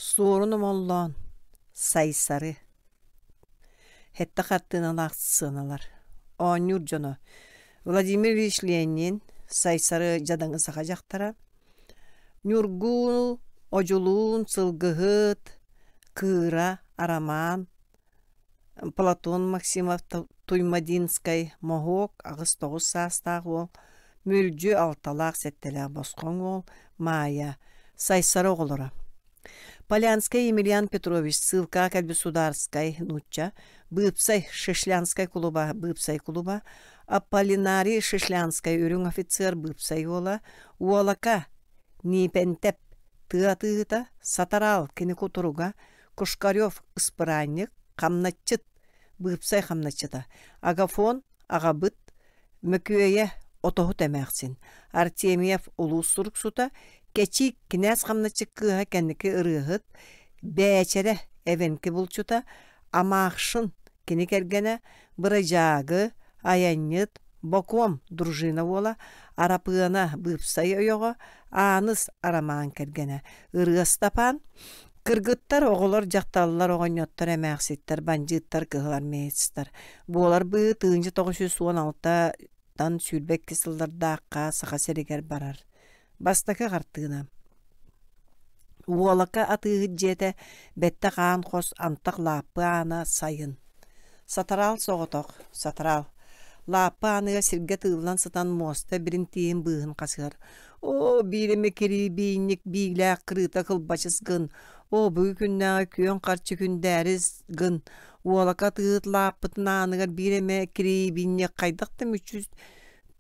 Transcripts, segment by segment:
Суорун Омоллоон, Сайсары Сэттэ хартыыналаах сыаналар Оонньуур дьоно Владимир Ильич Ленин, Сайсары дьадаҥы саха дьахтара, Ньургуу, Одьулуун, Сылгыһыт, Кыыра, Арамаан, Платон Максимов Туймадинскай, Моһуок 8-9 саастаах уол, Мүлдьү 6-лаах-сэттэЛээх босхоҥ уол, Маайа, Сайсары оҕолоро. Полянскай Емельян Петрович ссылкаҕа кэлбит судаарыскай нуучча, Быыпсай Шишлянскай кулуба Быыпсай кулуба, Аполлинарий Шишлянскай үрүҥ офицер Быыпсай уола, Уолака Ниипэнтэп тыа атыыһыта, Сатараал кини кутуруга, Кушкарев ыспыраанньык, хамначчыт, быыпсай хамначчыта, Агафон аҕабыт, Мөкүөйэ отоһут эмээхсин, Артемьев улуус суруксута, Кэчиик кинээс хамначчыт кыыһа кэнники ырыаһыт, Бээчэрэ эвенки булчута, Амаахшын кини кэргэнэ, Бырадьаагы, айанньыт, Бокуом дружина уола, Арапыана быыпсай ойоҕо, Ааныс Арамаан кэргэнэ, Ырыа Ыстапаан, кыргыттар, оҕолор, дьахталлар, оҕонньоттор, эмээхситтэр, бандьыыттар, кыһыл армеецтар. Буолар быһыы 1916-тан 22 сыллардаахха Саха сиригэр барар. Бастакы хартыына. Уолака атыыһыт дьиэтэ, бэттэх аан хос, антах лааппы аана, сайын. Сатараал соҕотох, сатараал. Лааппы ааныгар сиргэ тыыллан сытан муоста бирин тииһин быыһын хасыһар. Оо, биир эмэ кирибиинньик биилээх кырыыта кылбачыс гын, оо, бүгүн күннээҕи күөн харчы күндээрис гын, уолака атыыһыт лааппытын ааныгар биир эмэ кирибиинньик хайдах да мүччү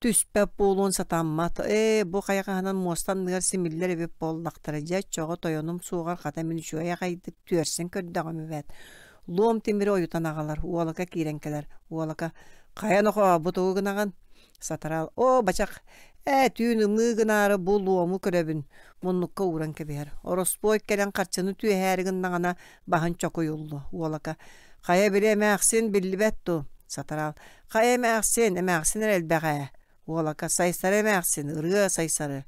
түспэт буолуон сатаммат. Ээ, бу хайаҕаһынан муоста анныгар симиллэр эбит буоллахтара. Дьэ, оччоҕо тойонум суоҕар хата мин үчүгэй аҕайдык түөрсэн көрдөҕүм эбээт. Луом тимири ойутан аҕалар, уолака киирэн кэлэр. Уолака, хайа нохоо, бу тугу гынаҕын? Сатараал, оо, бачах, ээ, түүн ымыы гынаары бу луому көрөбүн. Муннукка ууран кэбиһэр. Ороспуой кэлэн харчыны түөһээри гыннаҕына баһын чокуйуллу. Уолака, хайа били эмээхсин биллибэт дуу? Сатараал, Хайа эмээхсин, эмээхсин эрэ элбэх ээ. Уолака Сайсары эмээхсин, ырыа Сайсары.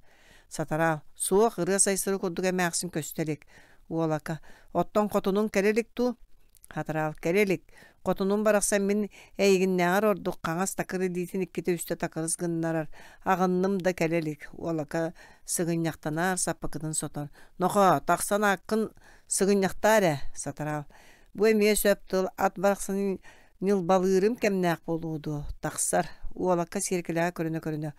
Сатараал, суох ырыа Сайсары курдук эмээхсин көстө илик. Уолака, оттон хотунуҥ кэлэ илик дуу? Хатараал, кэлэ илик. Хотунум барахсан мин эйигиннээҕэр ордук хаҥас такыр илиитин иккитэ-үстэ такырыс гыннарар. Аҕынным да кэлэ илик. Уолака сыгынньахтанар, саппыкытын сотор. Нохоо, тахсан ааккын сыгынньахтаа эрэ, Сатараал. Бу эмиэ сөп тыл ат барахсанын Ньылбалыырым кэмнээх буолуо дуо, тахсар, уолакка сиэркилэҕэ көрүнэ-көрүнэ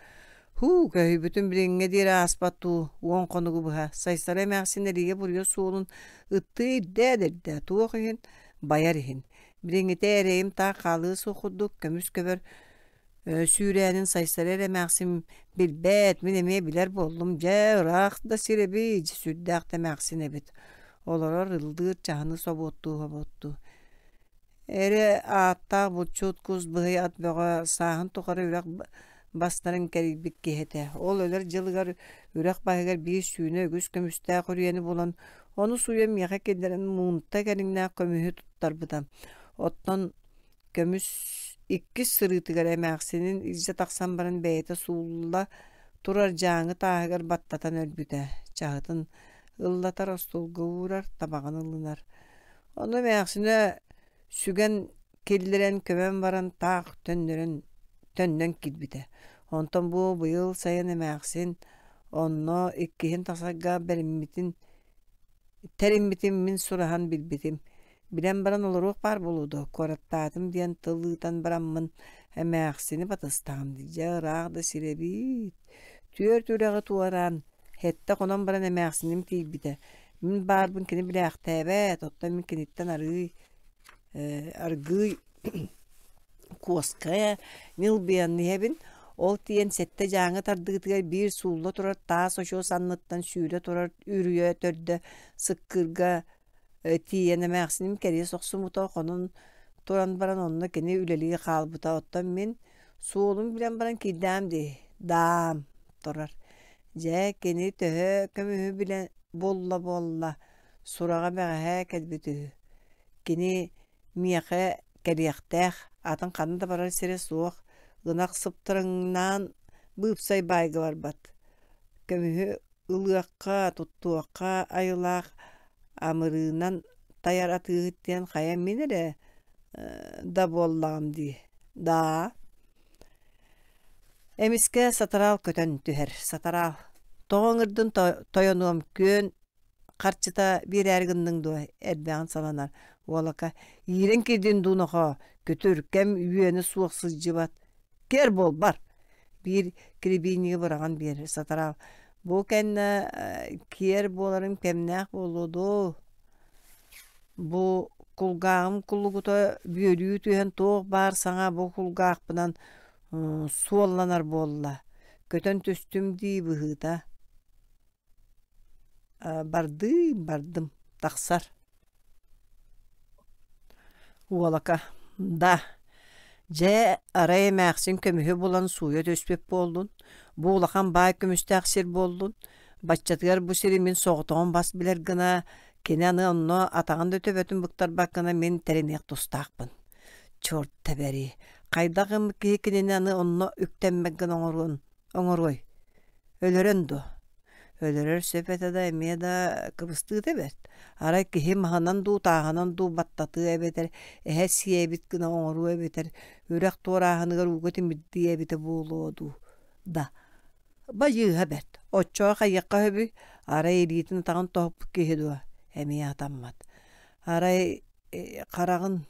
«Һуу, көһүйбүтүм билиҥҥэ диэри ааспат дуу, уон хонугу быһа, Сайсары эмээхсин эрийэ-буруйа суолун ыттыы ирдээ да ирдээ, туох иһин, байар иһин. Билиҥҥитэ эрэйим таах хаалыа суох курдук, көмүс көбөр сүүрээнин Сайсары эрэ эмээхсин билбэт, мин эмиэ билэр буоллум, дьэ, ыраах да сир эбит, сүрдээх да эмээхсин эбит. Олорор, ыллыыр, чаһыны собуоттуу-собуоттуу Эрэ ааттаах булчут кус быһый ат бөҕө сааһын тухары үрэх бастарын кэрийбит киһи этэ. Ол өлөр дьылыгар үрэх баһыгар биир сүүнэ үгүс көмүстээх үрүйэни булан, ону сууйан миэхэ киллэрэн муунта кэриҥнээх көмүһү туттарбыта. Оттон көмүс иккис сырыытыгар эмээхсинин илдьэ тахсан баран бэйэтэ суулла турар дьааҥы тааһыгар баттатан өлбүтэ. Чаһытын ыллатар, остуолга уурар, табаҕын ылынар. Ону эмээхсинэ сүгэн киллэрэн көмөн баран таах төннөрөн төннөн киирбитэ. Онтон бу быйыл сайын эмээхсин онно иккиһин тахсарга бэриммитин тэриммитин мин сураһан билбитим. Билэн баран олоруох баар буолуо дуо, куораттаатым диэн тыл ыытан бараммын эмээхсини батыстаҕым дии, дьэ ыраах да сир эбит. Түөрт үрэҕи туораан, сэттэ хонон баран эмээхсиним тиийбитэ. Мин баарбын кини билээхтээбэт, оттон мин киниттэн арыый аргыый куоска ньылбыйан иһэбин. Ол тиийэн сэттэ дьааҥы тардыытыгар биир суулла турар таас очуос анныттан сүүрэ турар үрүйэ төрдө сыккырга тиийэн эмээхсиним кэриэс охсубута, хонон туран баран онно кини үлэлии хаалбыта. Оттон мин суолун билэн баран киирдэҕим дии, даам турар. Дьэ, кини төһө көмүһү билэн булла буолла, сураҕа бэҕэһээ кэлбит үһү. Кини миэхэ кэлиэхтээх, атын ханна да барар сирэ суох, ынах сыптарыҥнаан быыпсай баайга барбат. Көмүһү ылыахха, туттуохха айылаах. Амырыынан тайар атыыһыт диэн хайа мин эрэ да буоллаҕым дии. Даа. Эмискэ сатараал көтөн түһэр. Сатараал. Тоҕо ыҥырдын тойонуом күөн харчыта биэрээри гынныҥ дуо эрбэҕин саланар уолака иирэн киирдин дуу нохоо күтүр кэм үөнэ суох сылдьыбат кэр буолбар биир кирибиинньиги быраҕан биэрэр сатараал бу кэннэ киэр буоларым кэмнээх буолуо дуу бу кулгааҕым кулугута бүөлүү түһэн туох баар саҥа бу кулгаахпынан суолланар буолла көтөн түстүм дии быһыыта Бардыым, бардым, тахсар Уолака: «Да, дьэ, арай эмээхсин көмүһү булан сууйа түспүт буоллун, бу улахан баай көмүстээх сир буоллун, баччатыгар бу сири мин соҕотоҕун бас билэр гына, кини аны онно атаҕын да төбөтүн быктарбат гына мин тэриниэх тустаахпын. Черт тэбэри, хайдах гыммыт киһи кинини аны онно үктэммэт гына оҥоруон оҥоруой? Өлөрөн дуо? Өлөрөр сөп этэ да эмиэ да кыбыстыыта бэрт. Арай киһи маһынан дуу, тааһынан дуу баттатыа эбэтэр эһэ сиэбит гына оҥоруо эбэтэр үрэх туорааһыныгар ууга тимирдиэ эбитэ буолуо дуу да. Байыыһа бэрт. Оччоҕо хайыахха сөбүй? Арай илиитин атаҕын тоһуппут киһи дуо? Эмиэ хатаммат. Арай хараҕын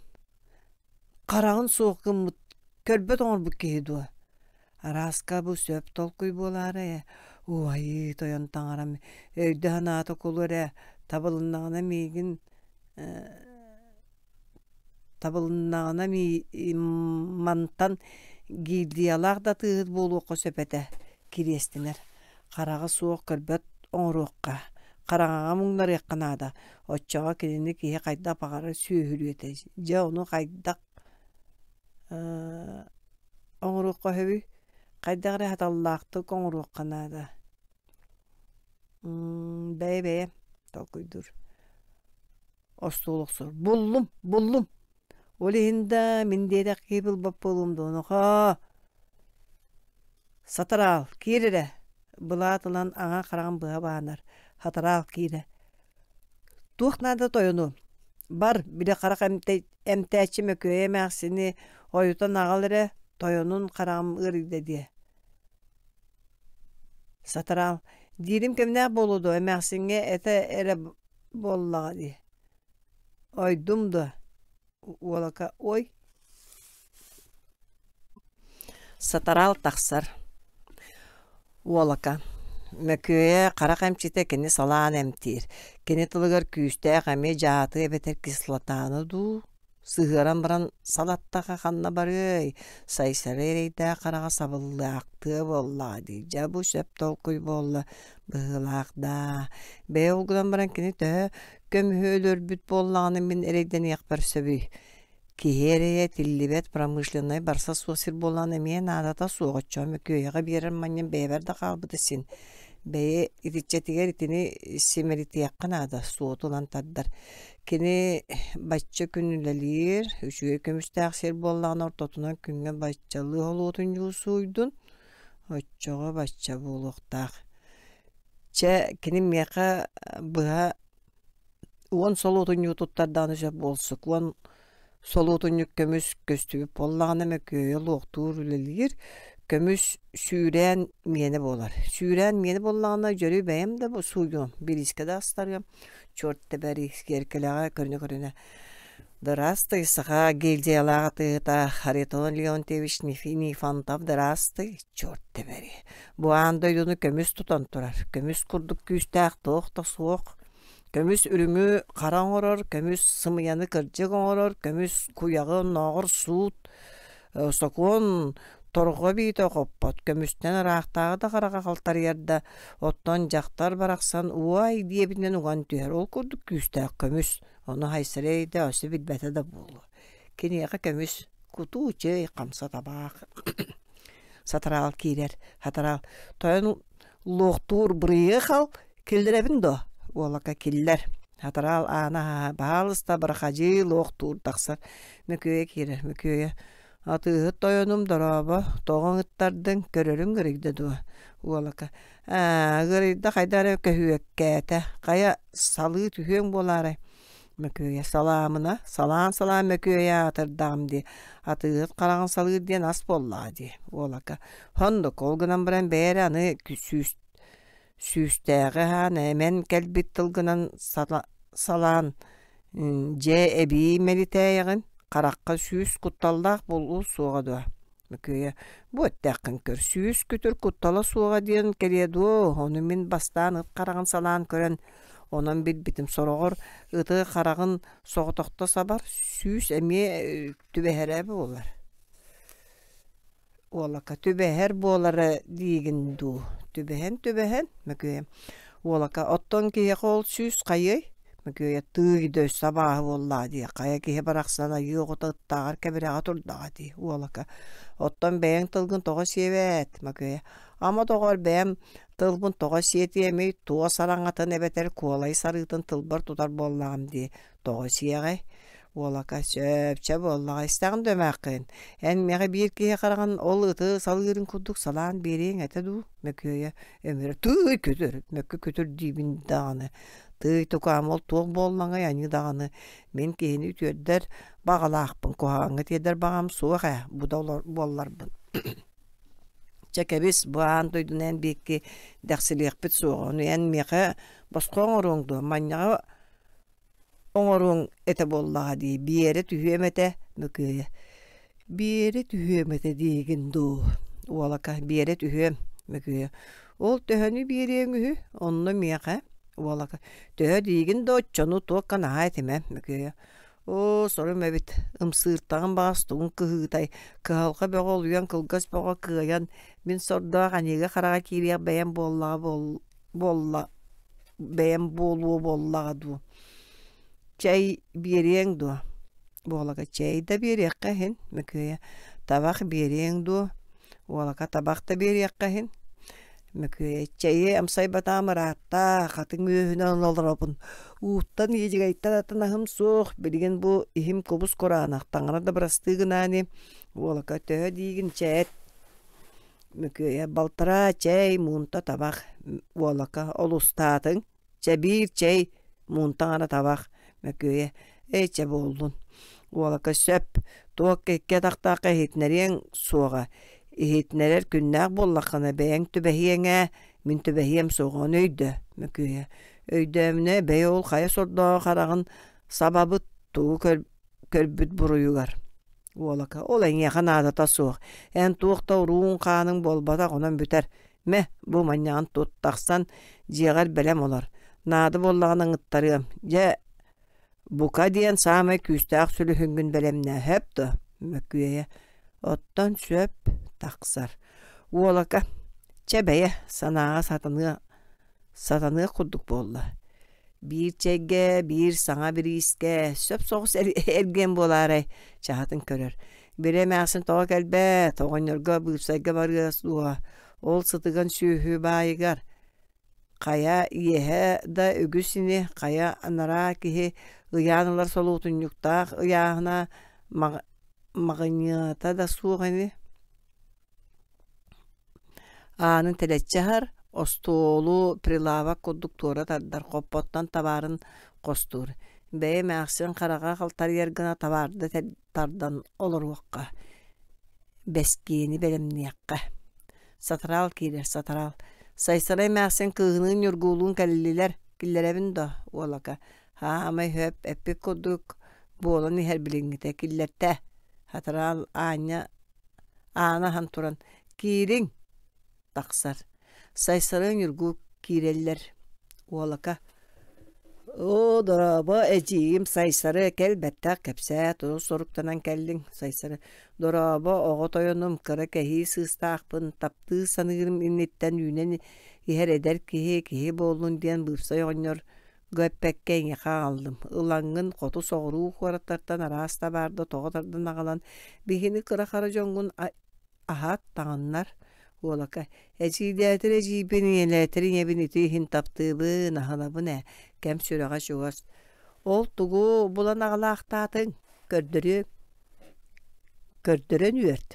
хараҕын суох гыммыт, көрбөт оҥорбут киһи дуо? Арааска бу сөп толкуй буолаарай ээ, уайыы тойон таҥарам, өйдө-санаата кулу эрэ, табылыннаҕына миигин табылыннаҕына мантан гильдиялаах да атыыһыт буолуохха сөп этэ, кириэстэнэр. Хараҕа суох көрбөт оҥоруохха, хараҥаҕа муҥнарыахха наада, оччоҕо кинини киһи хайдах баҕарар сүөһүлүө этэ. Дьэ ону хайдах оҥоруохха сөбүй? Хайдах эрэ саталлаахтык оҥоруохха наада. Бэйэ-бэйэ толкуйдуур. Остуол охсор. Буллум, буллум. Ол иһин да мин диэтэх киһи булбат буолуом дуо, нохоо. Сатараал, киир эрэ. Былаат ылан аҥа хараҕын быһа баанар. Сатараал киирэ. Туох наада тойону? Бар, били харах эмтээччи Мөкүөйэ эмээхсини ойутан аҕал эрэ, тойонун хараҕым ыарыйда диэ. Сатараал, диирим кэмнээх буолуо дуо, эмээхсиҥҥэ этэ эрэ буоллаҕа дии. Ойдум дуо? Уолака ой Сатараал тахсар. Уолака Мөкүөйэ харах эмчитэ кини салаан эмтиир. Кини тылыгар күүстээх эмиэ дьааты эбэтэр кислотаны дуу сыһыаран баран салаттаха ханна барыай, Сайсары эрэйдээх хараҕа сабыллаахтыа буоллаҕа дии. Дьэ бу сөп толкуй буолла быһыылаах даа. Бэйэ ол гынан баран кини төһө көмүһү өлөрбүт буоллаҕына мин эрэйдэниэхпэр сөбүй? Киһи эрэйэ тиллибэт промышленнай барса суох сир буолан эмиэ наадата суох оччоҕо мөкүөйэҕэ биэрэр манньам бэйэбэр да хаалбыта син. Бэйэ итиччэтигэр итини симэлитиэххэ наада, суоту ылан тардар. Кини бачча күн үлэлиир, үчүгэй көмүстээх сир буоллаҕына ортотунан күҥҥэ баччалыы холуотун дьуусуйдун, оччоҕо бачча буолуохтаах. Чэ, кини миэхэ быһа уон солуотунньугу туттардаҕына сөп буолсук, уон солуотунньук көмүс көстүбүт буоллаҕына мөкүөйэ луохтуур үлэлиир, көмүс сүүрээн миэнэ буолар. Сүүрээн миэнэ буоллаҕына дьөрү бэйэм да сууйуом, бириискэ да астарыам, черт тэбэри сиэркилэҕэ көрүнэ-көрүнэ Здравствуй, саха гильдиялаах атыыһыта Харитон Леонтьевич Нифонтов здравствуй, черт тэбэри. Бу аан дойдуну көмүс тутан турар. Көмүс курдук күүстээх туох да суох. Көмүс үрүҥү хара оҥорор, көмүс сымыйаны кырдьык оҥорор, көмүс куйаҕы оннооҕор суут, сокуон торҕо биитэ хоппот, көмүстэн ыраахтааҕы да хараҕа халтарыйар да, оттон дьахтар барахсан уой диэбитинэн уган түһэр. Ол курдук күүстээх көмүс. Ону Хайсарай да өссө билбэтэ да буолуо. Киниэхэ көмүс кутуу чэй, хамса табаах. Сатараал киирэр. Сатараал тойон луохтуур бырыйыахал киллэрэбин дуо? Уолака киллэр. Сатараал аана аһаһа баһаалыста барахадьыы луохтуур тахсар. Мөкүөйэ киирэр. Мөкүөйэ атыыһыт тойонум дорообо, тоҕо ыҥыттардыҥ, көрөрүҥ ыарыйда дуо? Уолака. Ээ, ыарыйда хайдах эрэ көһүөккээтэ. Хайа, салыы түһүөҥ буолаарай? Мөкүөйэ салаамына, салаан-салаан мөкүөйэ аатырдаҕым дии, атыыһыт хараҕын салыыр диэн ас буоллаҕа дии, уолака. Оннук, ол гынан баран бэйэ эрэ аны сүүс сүүстээҕи аһаан эмэн кэлбит тылгынан салаан дьэ эбии мэлитээйэҕин, харахха сүүс кутталлаах буолуо суоҕа дуо? Мөкүөйэ бу эттэххин көр, сүүс күтүр куттала суоҕа диэн кэлиэ дуо, ону мин бастаан ыт хараҕын салаан көрөн, онон билбитим сороҕор ыты хараҕын соҕотохто сабар, сүүс эмиэ түбэһэрэ буолар. Уолака түбэһэр буолара диигин дуу, түбэһэн-түбэһэн Мөкүөйэ Уолака оттон киһиэхэ ол сүүс хайыай Мөкүөйэ тыый да өссө абааһы буоллаҕа дии, хайа киһи барахсан айыы оҕото ыттааҕар кэбирэҕэ турдаҕа дии Уолака оттон бэйэҥ тылгын тоҕо сиэбэт Мөкүөйэ ама доҕоор бэйэм тылбын тоҕо сиэтиэмий туос араҥатын эбэтэр куолай сарыытын тылбар тутар буоллаҕым дии тоҕо сиэҕэй Уолака сөп чэ буоллаҕа истэҕин да эмээххин эн миэхэ биир киһи хараҕын ол ыты салыырын курдук салаан биэриэҥ этэ дуу Мөкүөйэ өмүрэ тыый күтүр мөкү күтүр диибин даҕаны тыый тукаам ол туох буоллаҥай аньыы даҕаны мин киһини үтүөрдэр баҕалаахпын куһаҕаҥҥа тиэрдэр баҕам суох ээ бу да буолларбын чэ кэбис бу аан дойдуну эн биэкки дэхсилиэхпит суоҕа ону эн миэхэ босхо оҥоруоҥ дуо манньаҕа оҥоруоҥ этэ буоллаҕа дии Биэрэ түһүөм этэ Мөкүөйэ Биэрэ түһүөм этэ диигин дуу Уолака Биэрэ түһүөм Мөкүөйэ Ол төһөнү биэриэҥ үһү онно миэхэ Уолака Төһө диигин да оччону туохха наһаа этимэ Мөкүөйэ Оо сорум эбит ымсыыртаҕым баҕас тугун кыһыытай кыһалҕа бөҕө олуйан кылгас бөҕө кыайан мин сордоох аньыыга-хараҕа киириэх бэйэм буоллаҕа буолла бэйэм буолуо буоллаҕа дуу чэй биэриэҥ дуо Буолака чэй да биэриэххэ иһин Мөкүөйэ табах биэриэҥ дуо Уолака табах да биэриэххэ иһин Мөкүөйэ чэйи амсайбатаҕым ыраатта хатыҥ үөһүнэн олоробун ууттан иэдьэгэйтэн атын аһым суох билигин бу иһим кубус кураанах таҥара да бырастыы гынаа ини Уолака төһө диигин чээт Мөкүөйэ балтараа чэй, муунта табах, уолака олустаатыҥ, чэ биир чэй, муунта аҥара табах, Мөкүөйэ эй чэ буоллун, уолака сөп, туох икки атахтаахха иһитинэриэҥ суоҕа, иһитинэрэр күннээх буоллаххына бэйэҥ түбэһиэҥ ээ, мин түбэһиэм суоҕа ону өйдөө, Мөкүөйэ өйдөөмүнэ бэйэ ол хайа сордооҕо хараҕын сабабыт тугу көрбүт буруйугар Уолака, ол эйиэхэ наадата суох. Эн туох да урууҥ-хааныҥ буолбатах, онон бүтэр. Мэ, бу манньаҕын тут, тахсан дьиэҕэр бэлэм олор. Наада буоллаҕына ыҥыттарыам. Дьэ, бука диэн саамай күүстээх сүлүһүҥҥүн бэлэмнээ, сөп дуо? Мөкүөйэ. Оттон сөп, тахсар. Уолака, чэ бэйэ, санааҕа сатаныа сатаныах курдук буолла. Биир чэйгэ, биир саҥа бириискэ, сөп соҕус эргиэн буолаарай, чаһытын көрөр. Били эмээхсин тоҕо кэлбэт, оҕонньорго быыпсайга барыа дуо, ол сытыган сүөһү баайыгар. Хайа иэһэ да үгүс ини, хайа анараа киһи ыйаан ылар солуотунньуктаах ыйааһына маҕыньыата да суох ини. Аанын тэлэччи аһар, остуолу прилавок курдук туора тардар, хоппоттон табаарын хостуур. Бэйэ эмээхсин хараҕа халтарыйар гына табаарда тардан олоруохха, бэскиэни бэлэмниэххэ. Сатараал киирэр, сатараал. Сайсара эмээхсин кыыһыныын Ньургуулуун кэллилэр, киллэрэбин дуо, уолака? Хаамай сөп, эппит курдук буолан иһэр билиҥҥитэ киллэртэ. Сатараал аанньа Аана аһан туран «Киириҥ!» тахсар. Сайсары Ньургу киирэллэр. Уолака «Оо, дорообо, эдьиийим Сайсары, кэл бэттэх кэпсээ, тугу соруктанан кэллиҥ?» Сайсары «Дорообо, оҕо тойонум, кыра кэһии сыыстаахпын, таптыы саныырым инниттэн үүнэн иһэр эдэр киһи, киһи буоллун диэн быыпсай оҕонньор эппэккэ эйиэхэ аҕаллым. Ылаҥҥын хоту соҕуруу куораттартан араас табаарда тоҕо тардан аҕалан, биһини кыра-хара дьоҥҥун аһат, таҥыннар. Уолака, эдьиийдээтэр эдьиийбин, ийэлээтэр ийэбин ити иһин таптыыбын, аһынабын ээ, кэм сүрэҕэ чугас. Ол тугу булан аҕалаахтаатыҥ? Көрдөрүөм. Көрдөрөн үөрт,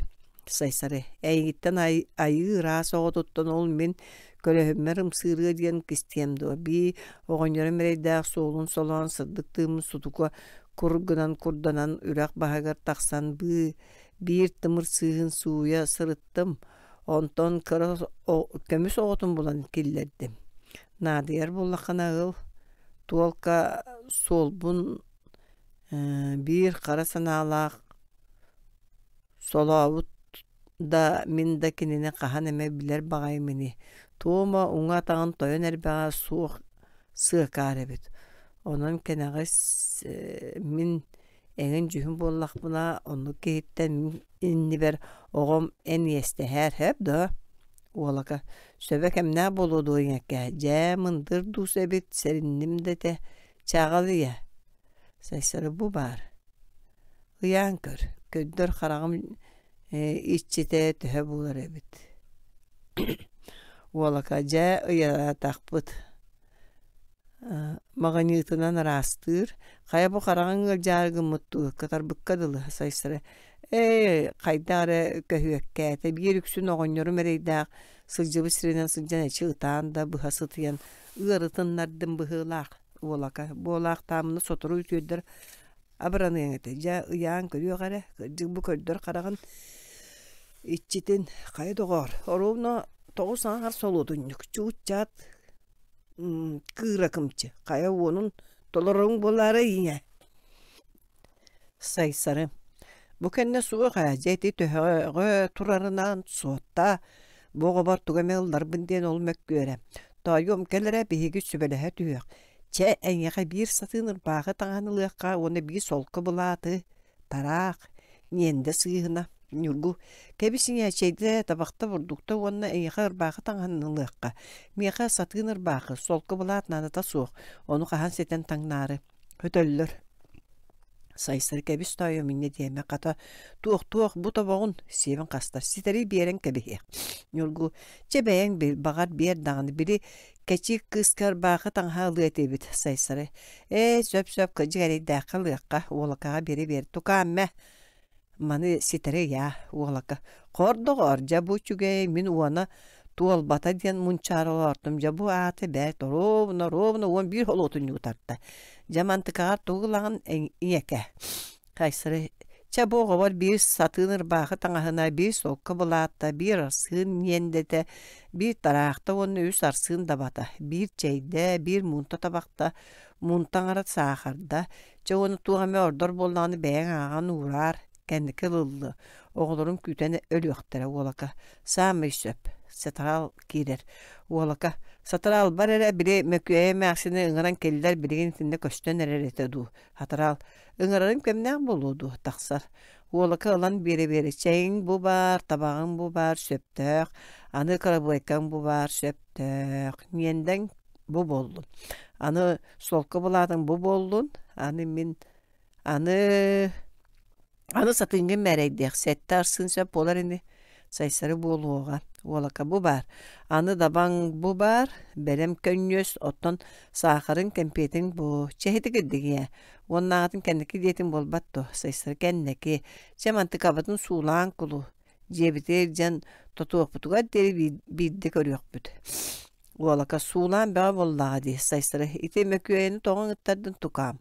Сайсары, эйигиттэн айыы ыраас оҕотуттан ол мин Көлөһүммэр ымсыырыа диэн кистиэм дуо, бии оҕонньорум эрэйдээх суолун солоон сырдык тыыммын сутука кур гынан курданан үрэх баһыгар тахсан быы биир тымыр сыыһын сууйа сырыттым, онтон кыра көмүс оҕотун булан киллэрдим. Наадыйар буоллаххына ыл, туолка суолбун биир хара санаалаах солообут да мин да кинини хаһан эмэ билэр баҕайым ини. Туома уҥа атаҕын тойон эрбэҕэ суох сыакаар эбит. Онон кэнэҕэс мин эҥин дьүһүн буоллахпына, оннук киһиттэн мин иннибэр оҕом эн иэстэһээр сөп дуо? Уолака сөбө кэмнээх буолуо дуо ийэккээ, дьээ мындыр дуус эбит, сэринним да этэ, чааҕал ийэ. Сайсары бу баар. Ыйаан көр, көрдөр хараҕым иччитэ төһө буолар эбит. Уолака дьэ ыйаатахпыт. Маҕыньыытынан ыраастыыр, хайа бу хараҕыҥ ыалдьаары гыммыт дуу, кытарбыкка дылы Сайсары ээ хайдах эрэ көһүөккээтэ, биир үксүн оҕонньорум эрэйдээх сылдьыбыт сиринэн сылдьан эчи ытаан да быһа сытыйан ыарытыннардым быһыылаах уолака буолаахтаамына сотору үтүөрдэр абыраныаҥ этэ дьэ ыйаан көрүөх эрэ кырдьык бу көрдөр хараҕын иччитин хайа доҕоор оруобуна тоҕус аҥаар солуотунньук чуут-чаат кыыра кымчы хайа уонун толороруҥ буолаарай ийэ Сайсары бу кэннэ суох ээ дьэ ити төһөҕө турарынан суоттаа бу оҕобор тугу эмэ ылларбын диэн ол мөккүөрэ тоойуом кэл эрэ биһиги сүбэлэһэ түһүөх чэ эйиэхэ биир сатыын ырбаахы таҥаһын ылыахха уонна биир солко былааты тараах ньиэндэ сыыһына Ньургу кэбис ийээчэйдэ табахта бурдукта уонна эйиэхэ ырбаахы таҥаһын ылыахха миэхэ сатыын ырбаахы солко былаат наадата суох ону хаһан ситэн таҥнаары Өтөллөр. Сайсары кэбис тоойуом инньэ диэмэ, хата туох-туох бу тобоҕун сиэбин хастар, ситэри биэрэн кэбиһиэх. Ньургу, чэ бэйэҥ бил, баҕар биэр даҕаны, били кэчиик кыыска ырбаахы таҥаһа ылыа этибит, Сайсары. Ээ, сөп-сөп, кырдьык эрэйдээххэ ылыахха, уолакаҕа биэрэ-биэр, тукаам мэ, Маны ситэри ыйаа, уолака: «Хор доҕоор, дьэ бу үчүгэй, мин уона туолбата диэн мунчаара олоортум, дьэ бу аата бэрт, оруобуна, оруобуна 11 холуотунньугу тарта. Дьэ мантыкаҕар тугу ылаҕын ийэкэ?» Хайсары: «Чэ бу оҕобор биир сатыын ырбаахы таҥаһына, биир солко былаатта, биир арсыын ньиэндэтэ, биир тараахта уонна үс арсыын дабата, биир чэйдэ, биир муунта табахта, муунта аҥара саахарда, Чэ уонна туох эмэ ордор буоллаҕына бэйэҥ ааҕан уураар, кэнники ылыллыа, оҕолорум күүтэн өлүөхтэрэ уолака, саамай сөп, сатараал киирэр, уолака, сатараалбар эрэ били Мөкүөйэ эмээхсини ыҥыран киллэр билигин итиннэ көстөн эрэр этэ дуу, сатараал, ыҥырарым кэмнээх буолуо дуо, тахсар, уолака ылан биэрэ-биэрэ чэйиҥ бу баар, табаҕыҥ бу баар, сөптөөх, аны кырабыайкаҥ бу баар, сөптөөх, ньиэндэҥ бу буоллун, аны Солко былаатыҥ бу буоллун, аны мин аны аны сатыыҥҥын мээрэйдиэх, сэттэ арсыын сөп буолар ини, сайсары буолуоҕа, уолака бу баар, аны дабаҥ бу баар, бэлэм көнньүөс, оттон саахарыҥ, кэмпиэтиҥ бу, чэһити кирдик ийээ, уоннааҕытын кэнники диэтиҥ буолбат дуо, сайсары кэнники, чэ мантыкабытын суулаан кулу, дьиэбитигэр илдьэн тотуохпутугар диэри биирдэ көрүөхпүт Уолака суулаан бөҕө буоллаҕа дии, Сайсары ити Мөкүөйэни тоҕо ыҥыттардын тукаам.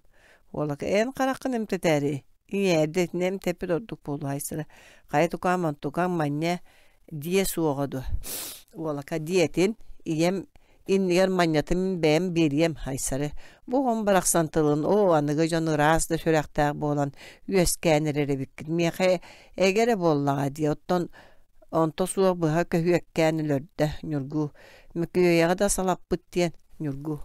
Уолака эн хараххын эмтэтээри, ийээ эрдэ итини эмтэппит ордук буолуо Айсары хайа тукаам онтукаҥ манньа диэ суоҕа дуо Уолака диэтин, ийэм иннигэр манньатын бэйэм биэриэм Айсары бу оҕом барахсан тылын оо аныгы дьон ыраас да сүрэхтээх буолан үөскээн эрэр эбиккит миэхэ эгэ эрэ буоллаҕа дии оттон Онто суох быһа көһүөккээн өлөрдө Ньургу. Мөкүөйэҕэ да салаппыт диэн Ньургу.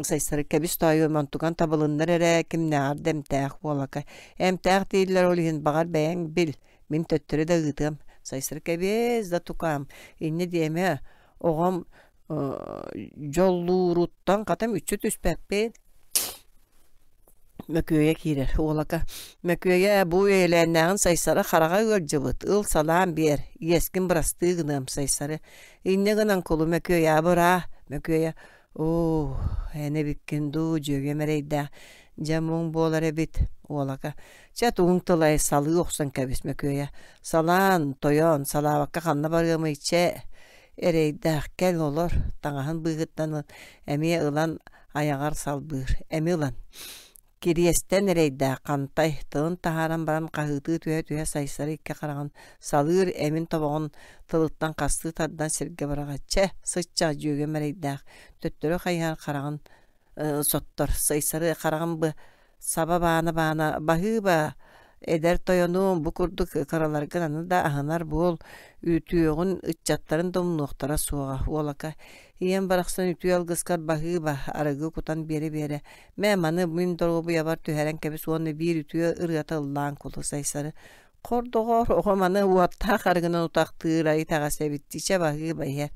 Сайсары кэбис тоойуом онтукан табылыннар эрэ кимнээҕэр да эмтээх уолака. Эмтээх дииллэр ол иһин баҕар бэйэҥ бил, мин төттөрү да ыытыам. Сайсары кэбиэс да тукаам, инньэ диэмэ, оҕом дьоллууруттан хата мүччү түспэппин. Мөкүөйэ киирэр уолака Мөкүөйэ бу үйэлээннээҕин Сайсары хараҕа ыалдьыбыт, ыл салаан биэр, иэскин бырастыы гыныам Сайсары инньэ гынан кулу Мөкүөйэ абыраа Мөкүөйэ оо эн эбиккин дуу дьүөгэм эрэйдээх дьэ муҥ буолар эбит уолака чэ тугуҥ тылай салыы охсон кэбис Мөкүөйэ салаан тойон салаабакка ханна барыамый чэ. Эрэйдээх кэл олор, таҥаһын быыһыттан эмиэ ылан айаҕар салбыыр, эми ылан. Кириэстэн эрэйдээх хантай, тылын таһааран баран хаһыытыы түһэ-түһэ Сайсары икки хараҕын салыыр эмин тобоҕун тылыттан хастыы тардан сиргэ быраҕар: «Чэ, сыччах дьүөгэм эрэйдээх, төттөрү хайыһар хараҕын соттор, Сайсары хараҕын саба баана-баана баһыыба, эдэр тойонуом бу курдук кыраларгын аны да аһынар буол, үтүөҕүн ыччаттарын да умнуохтара суоҕа, уолака ийэм барахсан үтүө алгыскар баһыыба, арыгы кутан биэрэ-биэрэ, мэ маны мин доруобуйабар түһэрэн кэбис уонна биир үтүө ырыата ыллаан кулу Сайсары Хор доҕоор, оҕом аны уоттаах арыгынан утахтыыр итэҕэс эбит чэ баһыыба иһэр.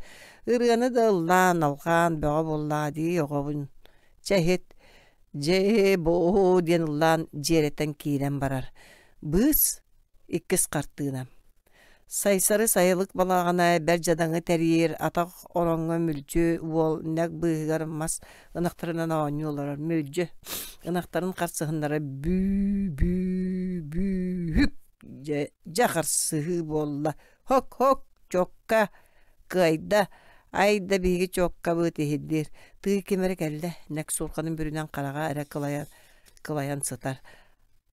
Ырыаны да ыллаан, алҕаан бөҕө буоллаҕа дии оҕобун. Чэ иһит, дьээ-боо диэн ыллаан дьиэрэтэн киирэн барар. Быыс иккис хартыына. Сайсары сайылык балаҕана бэрт дьадаҥы тэрийэр атах ороҥҥо мүлдьү уол нэк быыһыгар мас ынахтарынан оонньуу олорор. Мүлдьү ынахтарын харсыһыннара бүү-бүү бүүһүк дьэ, дьэ харсыһыы буолла. Хок-хок чокка кыайда ай да биһиги чоккабыт иһиллиир. Тыы ким эрэ кэллэ, нэк суурханын бүрүнэн хараҕа эрэ кылайан, кылайан сытар.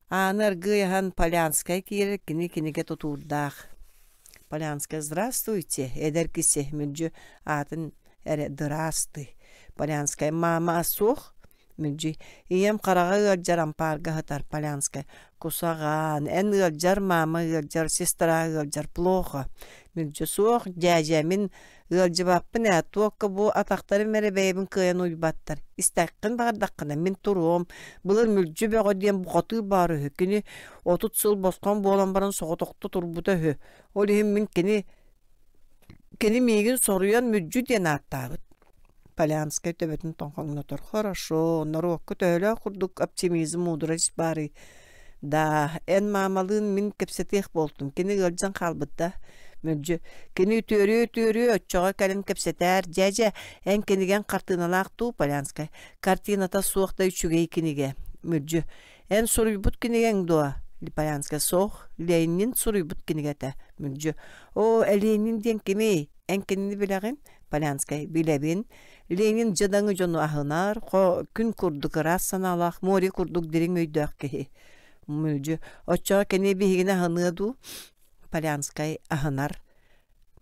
Ааны аргыый аһан Полянскай киирэр, кини кинигэ тутуурдаах. Полянскай «Здравствуйте, эдэр киси» мүлдьү аатын эрэ «Дыраастый». Полянскай «Маама суох?» Мүлдьү «Ийэм хараҕа ыалдьар ампаарга сытар». Полянскай «Кусаҕаан, эн ыалдьар, маама ыалдьар, сестра ыалдьар, плохо». Мүлдьү «Суох, дьээдьэ, мин Ыалдьыбаппын ээ, туокка бу атахтарым эрэ бэйэбин кыайан уйбаттар. Истэххин баҕардаххына мин туруом. Былыр Мүлдьү Бөҕө диэн бухатыыр баар үһү. Кини 30 сыл босхоҥ буолан баран соҕотохто турбута үһү. Ол иһин мин кини кини миигин соруйан Мүлдьү диэн ааттаабыт. Полянскай төбөтүн тоҥхоҥнотор. Хорошо, норуокка төһөлөөх курдук оптимизм, мудрость баарый? Да, эн маамалыын мин кэпсэтиэх буолтум. Кини ыалдьан хаалбыт да. Мүлдьү, кини үтүөрүө-үтүөрүө оччоҕо кэлин кэпсэтээр. Дьэ-дьэ, эн кинигэҥ хартыыналаах дуу, Полянскай? Картината суох да үчүгэй кинигэ. Мүлдьү, эн суруйбут кинигэҥ дуо? Полянскай суох, Ленин суруйбут кинигэтэ. Мүлдьү, оо, Ленин диэн кимий? Эн кинини билэҕин? Полянскай, билэбин. Ленин дьадаҥы дьону аһынар, хо күн курдук ыраас санаалаах, море курдук дириҥ өйдөөх киһи. Мүлдьү, оччоҕо кини биһигини аһыныа дуу? Полянскай аһынар.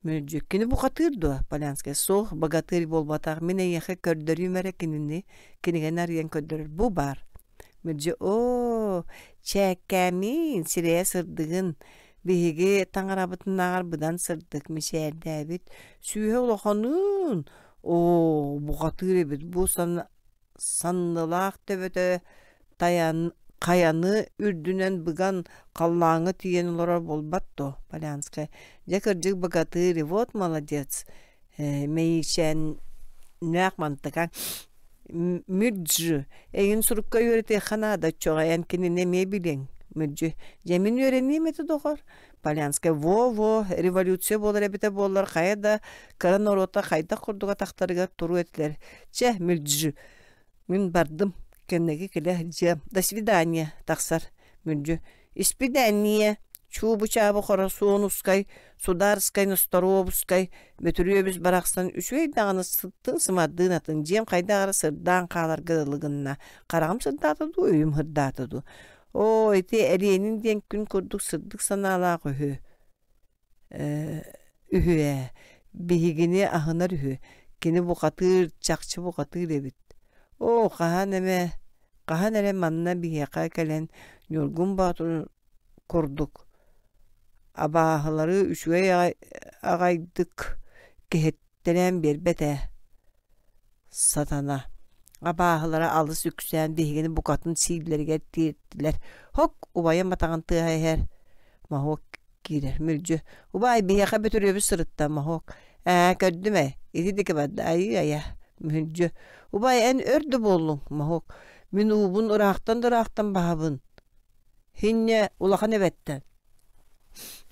Мүлдьү, кини бухатыыр дуо? Полянскай, суох, богатырь буолбатах. Мин эйиэхэ көрдөрүүм эрэ кинини, кинигэни арыйан көрдөрөр. Бу баар. Мүлдьү, оо, чээккээмиин, сирэйэ сырдыгын, Биһиги таҥарабытынааҕар быдан сырдык, мичээрдээбит, сүүһэ улаханыын, оо, бухатыыр эбит бу саннылаах төбөтө тайан хайаны үрдүнэн быган халлааҥҥа тиийэн олорор буолбат дуо, Полянскай. Дьэ кырдьык богатырь, вот молодец Мэйиичээннээх мантыка Мүрдьү, эйигин сурукка үөрэтиэххэ наада, оччоҕо эн кинини эмиэ билиэҥ. Мүрдьү, дьэ мин үөрэниэм этэ доҕор. Полянскай, во-во, революция буолар эбитэ буоллар хайа да кыра норуота хайдах курдук атахтарыгар туруо этилэр. Чэ, Мүрдьү, Мин бардым, кэнники кэлэ сылдьыам. До свидания, тахсар. Мүлдьү. Испидээнньийэ, чуубу-чаабы хоросуонускай, судаарскай, носторуобускай, Бөтүрүөбүс барахсан үчүгэй даҕаны сыттын-сымардыын атын, дьиэм хайдах эрэ сырдаан хааларга дылы гынна. Хараҕым сырдаата дуу, өйүм сырдаата дуу. Оо, ити Эриэнин диэн күн курдук сырдык санаалаах үһү. Үһү ээ, биһигини аһынар үһү, кини бухатыыр, чахчы бухатыыр эбит. Оо, хаһан эмэ, хаһан эрэ манна биһиэхэ кэлэн Ньургун Боотур курдук абааһылары үчүгэй аҕайдык кэһэттэрэн биэрбэт ээ. Сатана абааһылара алыс үксээн биһигини букатын сииллэригэр тиэртилэр. Хок, убайым атаҕын тыаһа иһэр. Моһуок киирэр. Мүлдьү. Убаай, биһиэхэ Бөтүрүөбүс сырытта, Моһуок. Ээ, көрдүм ээ. Ити диэки барда. Айыы-айа. Мүлдьү. Убаай, эн өр да буоллуҥ, Моһуок. Мин уубун ыраахтан да ыраахтан баһабын. Һинньэ улахан эбэттэн.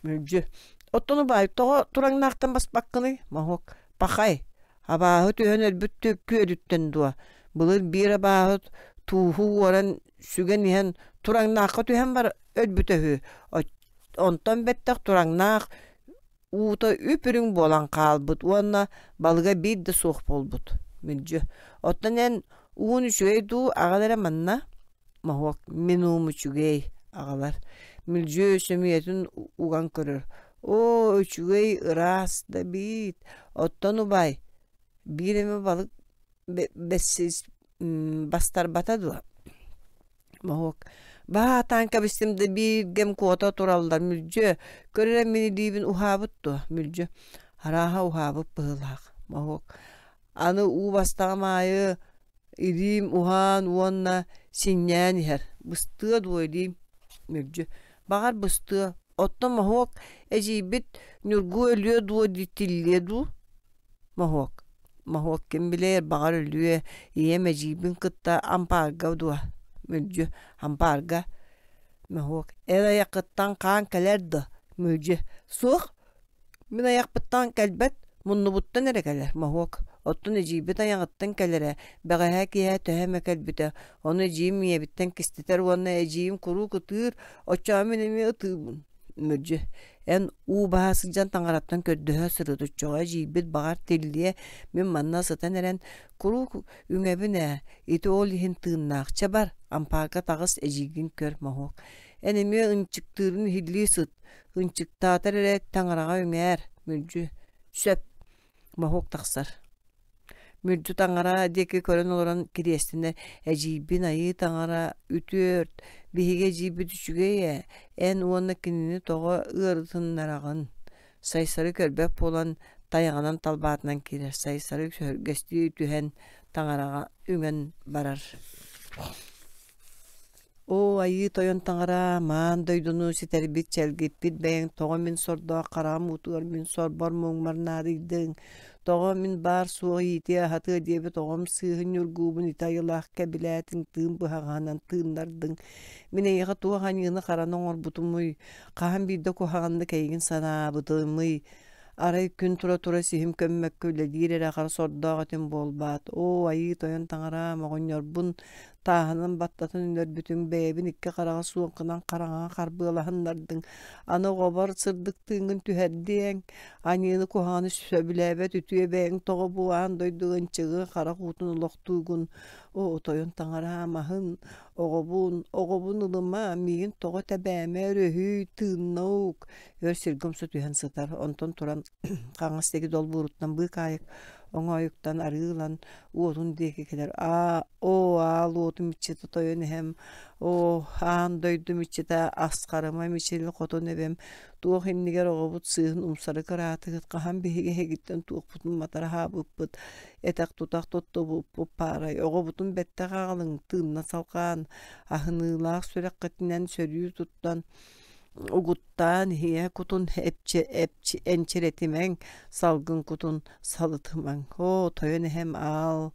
Мүлдьү. Оттон убаай, тоҕо тураҥнаахтан баспаккыный? Моһуок. Пахай, абааһы түһэн өлбүт күөлүттэн дуо? Былыр биир абааһы тууһу уоран сүгэн иһэн тураҥнаахха түһэн бар өлбүтэ үһү. Онтон бэттэх тураҥнаах Уута үп-үрүҥ буолан хаалбыт уонна балыга биир да суох буолбут. Мүлдьү. Оттон эн уун үчүгэй дуу, аҕал эрэ манна? Моһуок мин уум үчүгэй, аҕалар. Мүлдьү сөмүйэтин уган көрөр. Оо, үчүгэй, ыраас да биит. Оттон убай, биир эмэ балык бэссис бастарбата дуо? Моһуок баһаатаан кэбистим да бииргэм куота тураллар мүлдьү көр эрэ мин илиибин уһаабыт дуо мүлдьү арааһа уһаабыт быһыылаах моһуок аны уу бастаҕым аайы илиим уһаан уонна синньээн иһэр быстыа дуо илиим мүлдьү баҕар быстыа оттон моһуок эдьиийбит Ньургу өлүө дуо дии тиллиэ дуу Моһуок Моһуок ким билээр, баҕар өлүө, ийэм эдьиийбин кытта ампаарга дуо? Мүлдьү ампаарга Моһуок эр айаххыттан хаан кэлэр дуо? Мүлдьү суох, мин айахпыттан кэлбэт, муннубуттан эрэ кэлэр Моһуок оттон эдьиийбит айаҕыттан кэлэрэ, бэҕэһээ киэһэ төһө эмэ кэлбитэ, ону эдьиийим ийэбиттэн кистэтэр уонна эдьиийим куруук ытыыр, оччоҕо мин эмиэ ытыыбын Мүлдьү эн уу баһа сылдьан таҥараттан көрдөһө сырыт оччоҕо эдьиийбит баҕар тиллиэ мин манна сытан эрэн куруук үҥэбин ээ ити ол иһин тыыннаах чэ бар ампаарга таҕыс эдьиийгин көр моһуок эн эмиэ ынчыктыырын иһиллии сыт ынчыктаатар эрэ таҥараҕа үҥээр Мүлдьү сөп Моһуок тахсар Мүлдьү таҥара диэки көрөн олорон кириэстэнэр эдьиийбин айыы таҥара үтүөрт биһиги эдьиийбит үчүгэй ээ эн уонна кинини тоҕо ыарытыннараҕын Сайсары көрбөт буолан тайаҕынан талбаатынан киирэр Сайсары сөһүргэстии түһэн таҥараҕа үҥэн барар Оо, айыы тойон таҥара, маан дойдуну ситэрбит, чэлгиппит бэйэҥ тоҕо мин сордоох хараҕым уутугар мин сорбор муҥмар наадыйдыҥ? Тоҕо мин баар-суох иитиэ-аһатыа диэбит оҕом сыыһын ньургуубун ити айылаах кэбилээтиҥ, тыын быһаҕаһынан тыыннардыҥ? Мин эйиэхэ туох аньыыны-хараны оҥорбутумуй? Хаһан биирдэ куһаҕаннык эйигин санаабытымый? Арай күн тура-тура сиһим көммөккө үлэлиир эрэ хара сордоох этим буолбаат? Оо, айыы тойон таҥараам, оҕонньорбун Тааһынан баттатан өлөрбүтүҥ, бэйэбин икки хараҕа суоҥкунан хараҥаҕа харбыалаһыннардыҥ, аны оҕобор сырдык тыыҥҥын түһэрдиэҥ, аньыыны куһаҕаны сөбүлээбэт үтүө бэйэҥ тоҕо бу аан дойдуга ынчыгы харах уутун олохтуугун, оо, тойон таҥараам аһын, оҕобун, оҕобун ылыма, миигин тоҕо тэбээмэ, өрөһүй, тыынна ук, өр сиргэ умса түһэн сытар, онтон туран хаҥас диэки долбууруттан быыкаайык оҥоойуктан арыы ылан уотун диэки кэлэр аа оо аал уотум иччитэ тойон эһэм оо аан дойдум иччитэ асхарыма мичил хотун эбэм туох иннигэр оҕобут сыыһын умсары кыраатыгыт хаһан биһиги эһигиттэн туохпутун матараһаабыппыт этэх тутах туттубуппут паарай оҕобутун бэттэх аҕалыҥ тыынна салҕаан аһыныылаах сүрэххитинэн сөрүү туттан угуттаан иһийэ кутун энчирэтимэҥ, салгын кутун салытымаҥ. Оо, тойон эһэм аал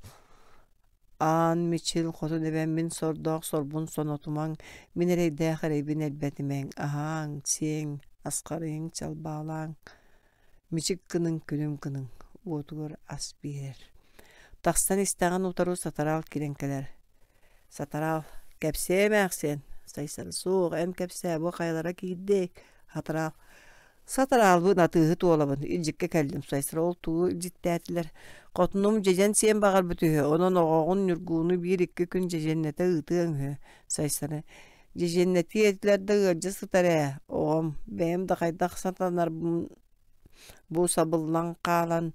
аан мичил хотун эбэм мин сордоох сорбун сонотумаҥ, мин эрэйдээх эрэйбин элбэтимэҥ, аһааҥ, сиэҥ, асхарыйыҥ, чалбаалааҥ, мичик гыныҥ, күлүм гыныҥ, уотугар ас биэрэр. Тахсан истэҕин утары сатараал киирэн кэлэр. Сатараал, кэпсээ эмээхсиэн, Сайсары суох, эн кэпсээ, бу хайалара киирдэй? Сатараал, Сатараалбын атыыһыт уолабын, илдьиккэ кэллим Сайсары ол тугу илдьиттээтилэр? Хотунум дьэдьэн сиэн баҕарбыт үһү, онон оҕоҕун Ньургууну биир-икки күн дьэдьэннэтэ ыытыаҥ үһү Сайсары дьэдьэннэтиэ этилэр да ыалдьа сытар ээ, оҕом, бэйэм да хайдах сатанарбын бу сабыллан хаалан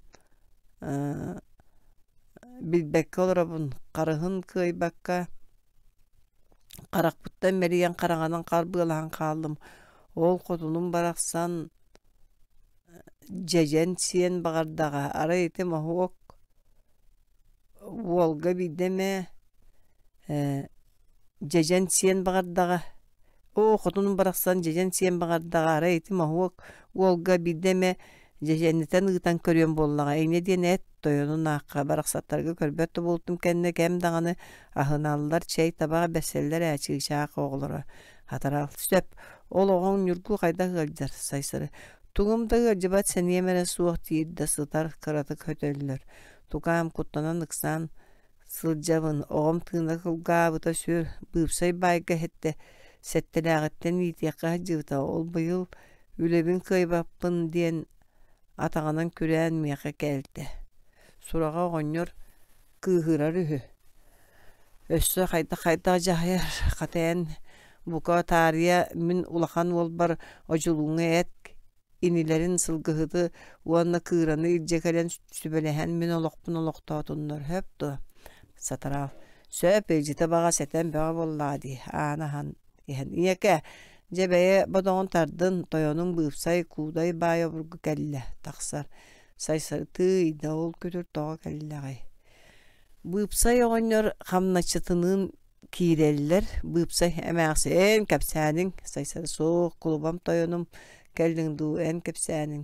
билбэккэ олоробун, харыһын кыайбакка харахпыттан мэлийэн хараҥанан харбыалаһан хааллым. Ол хотунум барахсан дьэдьэн сиэн баҕардаҕа, арай ити моһуок уолга биирдэ эмэ дьэдьэн сиэн баҕардаҕа Оо, хотунум барахсан дьэдьэн сиэн баҕардаҕа, арай ити моһуок уолга биирдэ эмэ дьэдьэннэтэн ыытан көрүөм буоллаҕа, инньэ диэн эт, тойонун аахха барахсаттарга көрбөт да буолтум кэннэ кэм даҕаны аһыналлар, чэй табаҕа бэрсэллэр ээ чыычаах оҕолоро. Хатарал, сөп, ол оҕоҥ Ньургу хайдах ыалдьар, Сайсары, тугум да ыалдьыбат сэниэм эрэ суох диир да сытар, кыратык хөтөллөр. Тукаам куттанан ыксаан Сылдьабын, оҕом тыына кылгаабыта сүр, быыпсай баайга иһиттэ, сэттэлээҕиттэн иитиэххэ сылдьыбыта, ол быйыл үлэбин кыайбаппын диэн Атаҕынан күрээн миэхэ кэлтэ. Сураҕа оҕонньор кыыһырар үһү. Өссө хайдах-хайдах дьаһайар, хата эн бука таарыйа мин улахан уолбар Одьулууҥҥа эт инилэрин сылгыһыты уонна кыыраны илдьэ кэлэн сүбэлэһэн мин олохпун олохтоотуннар сөп дуо? Сатараал сөп илдьитэ баҕас этэн бөҕө буоллаҕа дии ааны аһан иһэн ийэкэ дьэ бэйэ бодоҕун тардын тойонуҥ быыпсай куудай баай обургу кэллэ тахсар сайсары да ол күтүр тоҕо кэллэҕэй Быыпсай оҕонньор хамначчытыныын киирэллэр. Быыпсай эмээхсин кэпсээниҥ, Сайсары суох, кулубам тойонум кэллиҥ дуу, эн кэпсээниҥ.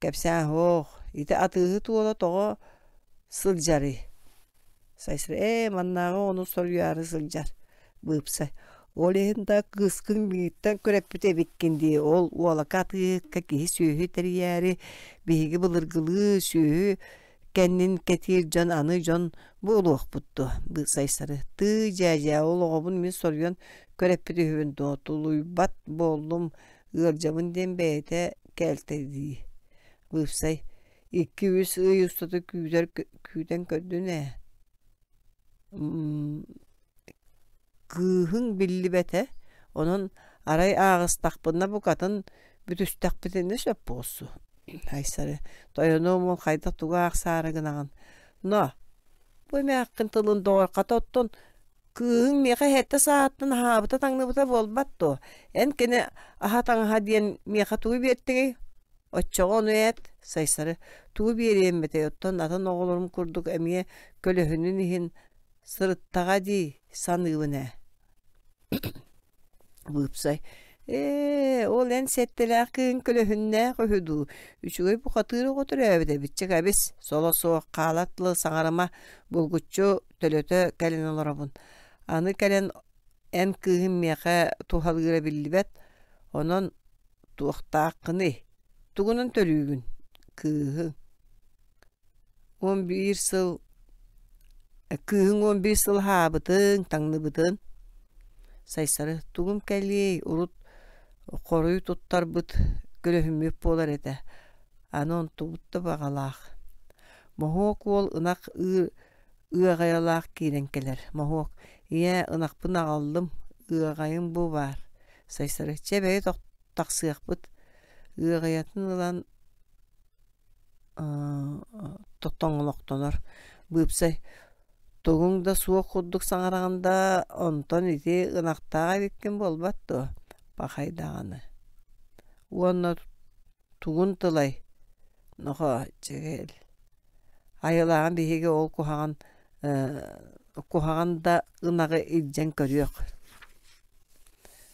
Кэпсээн суох, ити атыыһыт уола тоҕо сылдьарый? Сайсары ээ маннааҕы ону соруйаары сылдьар. Быыпсай ол иһин да кыыскын миигиттэн күрэппит эбиккин дии ол уолака атыыһыкка киһи-сүөһү тэрийээри биһиги былыргылыы сүөһү кэннин кэтиир дьон аны дьон буолуохпут дуо Сайсары тыы дьээдьээ ол оҕобун мин соруйан көрөппүт үһүбүн дуо тулуйбат буоллум ыалдьабын диэн бэйэтэ кээлтэ дии Быыпсай 2-3 ый устата күүтэр күүтэн көрдүн ээ Кыыһыҥ биллибэтэ, онон арай ааҕыстахпына букатын бүтүстэхпитинэ сөп буолсу. Айсары, тойонуом уол хайдах тугу аахсаары гынаҕын? Но, бу эмээххин тылын доҕор хата оттон кыыһыҥ миэхэ сэттэ сааттан аһаабыта-таҥныбыта буолбат дуо? Эн кини аһа-таҥаһа диэн миэхэ тугу биэртиҥий? Оччоҕо ону эт, Сайсары, тугу биэриэм этэй, оттон атын оҕолорум курдук эмиэ көлөһүнүн иһин сырыттаҕа дии саныыбын ээ Быыпсай ээ ол эн сэттэлээх кыыһыҥ көлөһүннээх үһү дуу үчүгэй бухатыыр оҕо төрөөбүт эбит чэ кэбис соло суох хаалар тылы саҥарыма булгуччу төлөтө кэлэн олоробун аны кэлэн эн кыыһым миэхэ туһалыыра биллибэт онон туохтааххыный тугунан төлүүгүн кыыһыҥ 11 сыл кыыһыҥ 11 сыл аһаабытыҥ, таҥныбытын Сайсары тугум кэлиэй, урут хоруй туттарбыт көлөһүммүт буолар этэ, аны онтубут да баҕалаах. Моһуок уол ынах ыыр ыаҕайалаах киирэн кэлэр. Моһуок, ийээ, ынахпын аҕаллым, ыаҕайым бу баар. Сайсары, чэ бэйи тахсыахпыт. Ыаҕайатын ылан тоҥолохтонор быыпсай тугуҥ да суох курдук саҥараҕын да онтон ити ынахтаах эбиккин буолбат дуо пахай даҕаны уонна тугун тылай нохоо чээл айылааҕын биһиги ол куһаҕан куһаҕан да ынаҕы илдьэн көрүөх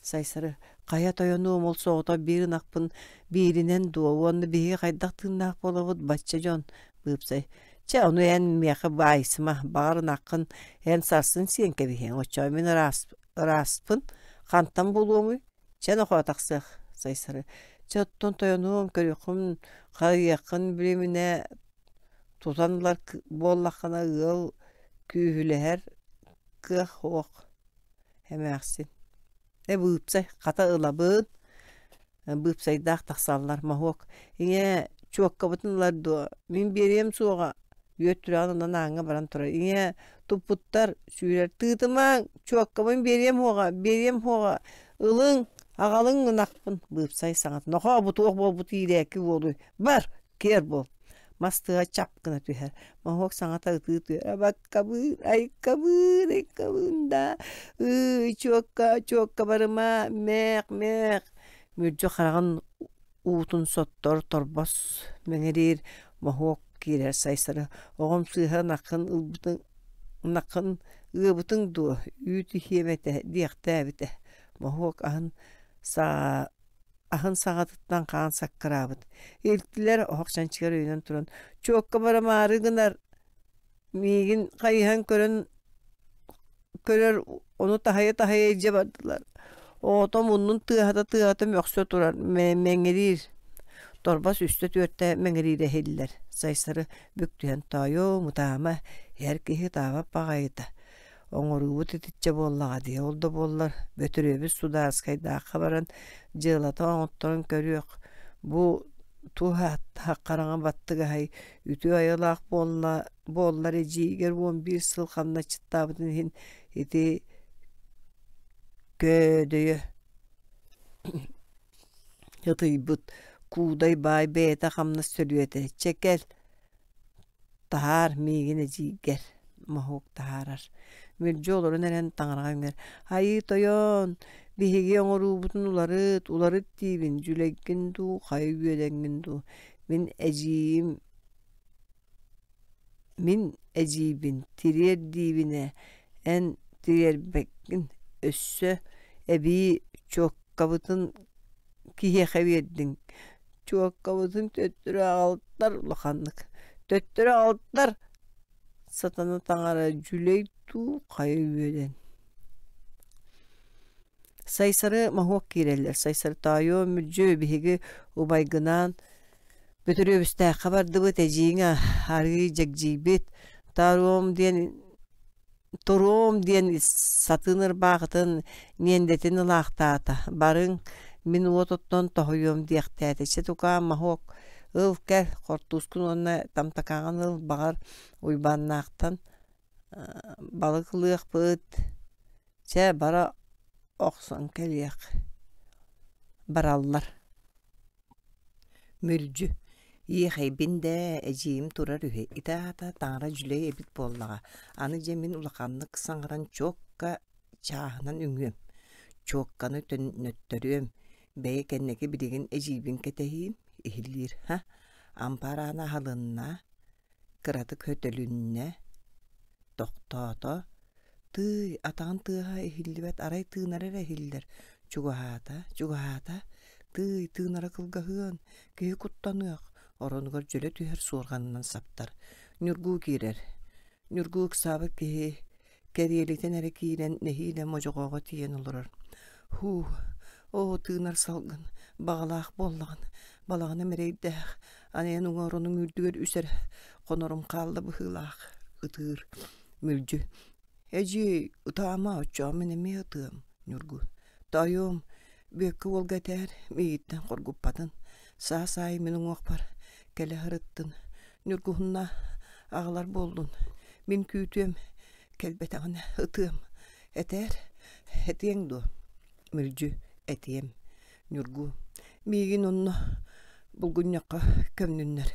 Сайсары хайа тойонуом ол соҕотох биир ынахпын бииринэн дуо уонна биһиги хайдах тыыннаах буолабыт бачча дьон быыпсай чэ ону эн миэхэ баайсыма баҕар ынаххын эн сарсын сиэн кэбиһиэҥ оччоҕо мин ыраас ырааспын хантан булуомуй чэ нохоо тахсыах Сайсары чэ оттон тойонуом көрүөххүн харыйыаххын билиминэ тутан ылар буоллаххына ыал күүһүлэһэр кыах суох Эмээхсин: «Э быыпсай, хата ылабын» быыпсайдаах тахсаллар Моһуок: «Ийээ, чуоккабытын ылар дуо? Мин биэриэм суоҕа» үөт түрэҕин ылан ааҥҥа баран турар «Ийээ, туппуттар, сүүрэр тыытымаҥ, чуоккабын биэриэм суоҕа, биэриэм суоҕа, ылыҥ, аҕалыҥ ынахпын» быыпсай саҥата «Нохоо, бу туох буолбут иирээки уолуй, бар, киэр буол» мас тыаһа чап гына түһэр Моһуок саҥата ытыы түһэр абаккабыыр айкабыыр айкабыын да ыы чуокка чуокка барыма мээх мээх Мүлдьү хараҕын уутун соттор торбос мэҥириир моһуок киирэр Сайсары оҕом сыыһа ынаххын ылбытыҥ ынаххын ыабытыҥ дуо үүт иһиэм этэ диэхтээбитэ Моһуок аһын саа аһын саҕатыттан хаан саккыраабыт. Илтилэр оһох чанчыгар өйөнөн туран «Чуокка барымаары гынар, миигин хайыһан көрөн көрөр, ону таһыйа-таһыйа илдьэ бардылар. Оҕото муннун тыаһата-тыаһата мөхсө турар, мэҥириир. Торбос үстэ-түөртэ мэҥириирэ иһиллэр. Сайсары бүк түһэн тоойуом, ытаама, эр киһи ытаабат баҕайыта. Оҥоруубут итиччэ буоллаҕа дии, ол да буоллар Бөтүрүөбүс судаарыскайдаахха баран дьыалата оҥотторон көрүөх, бу Туох ааттаах хараҥа баттыгаһай, үтүө айылаах буолла буоллар эдьиийигэр 11 сыл хамначчыттаабытын иһин ити көөдөйө ытыйбыт куудай баай бэйэтэ хамнас төлүөтэ чэ кэл Таһаар миигин эдьиийгэр, моһуок таһаарар. Мүлдьү олорон эрэн таҥараҕа үҥэр: «Айыы тойон, биһиги оҥоруубутун уларыт, уларыт диибин, дьүлэйгин дуу, хайа үөдэҥҥин дуу, мин эдьиийим мин эдьиийбин тириэр диибин ээ, эн тириэрбэккин, өссө эбии чуоккабытын киһиэхэ биэрдиҥ, Чуоккабытын төттөрү аҕалтар улаханнык, төттөрү аҕалтар сатана таҥара дьүлэй дуу, хайа үөдэн Сайсары моһуок киирэллэр. Сайсары тоойуом мүлдьү биһиги убайгынаан Бөтүрүөбүстээххэ бардыбыт, эдьиийиҥ арыый дьэгдьийбит. Тааруом диэн Туруом диэн сатыын ырбаахытын миэндэтин ылаахтаата, барыҥ, мин уот оттон тоһуйуом диэхтээтэ, чэ тукаам моһуок, ыл кэл, хортуускун уонна тамтакаҕын ыл, баҕар Уйбааннаахтан балык ылыахпыт, чэ бара охсон кэлиэх Бараллар Мүлдьү, иэхэйбин дээ, эдьиийим турар үһү, ити аата таҥара дьүлэй эбит буоллаҕа, аны дьэ мин улаханнык саҥаран чуокка чааһынан үҥүөм, чуокканы төннөттөрүөм, бэйэ кэнники билигин эдьиийбин кэтэһиим, иһиллиир, һа, ампаар аана аһылынна, кыратык хөтөлүннэ, тохтоото, Тыый, атаҕын тыаһа иһиллибэт, арай тыынара эрэ иһиллэр, чугаһаата, чугаһаата, тыый, тыынара кылгаһыан, киһи куттаныах, оронугар дьөлө түһэр суорҕанынан саптар. Ньургуу киирэр. Ньургуу ыксаабыт киһи кэриэлитэн эрэ киирэн нэһиилэ модьоҕоҕо тиийэн олорор. Һуу, оо, тыынар салгын, баҕалаах буоллаҕын, балаҕаным эрэйдээх, аны эн уҥа оронуҥ үрдүгэр үс эрэ хонорум хаалла быһыылаах, ытыыр. Мүлдьү: «Эдьиий, ытаама, оччоҕо мин эмиэ ытыам» Ньургу: «Тоойуом, Бүөккэ уолга этээр, миигиттэн хоргуппатын, саас аайы мин уҥуохпар кэлэ сырыттын, Ньургуһунна аҕалар буоллун, мин күүтүөм, кэлбэтэҕинэ ытыам, этээр, этиэҥ дуо?» Мүлдьү: «Этиэм» Ньургу: «Миигин онно булгунньахха көмнүннэр,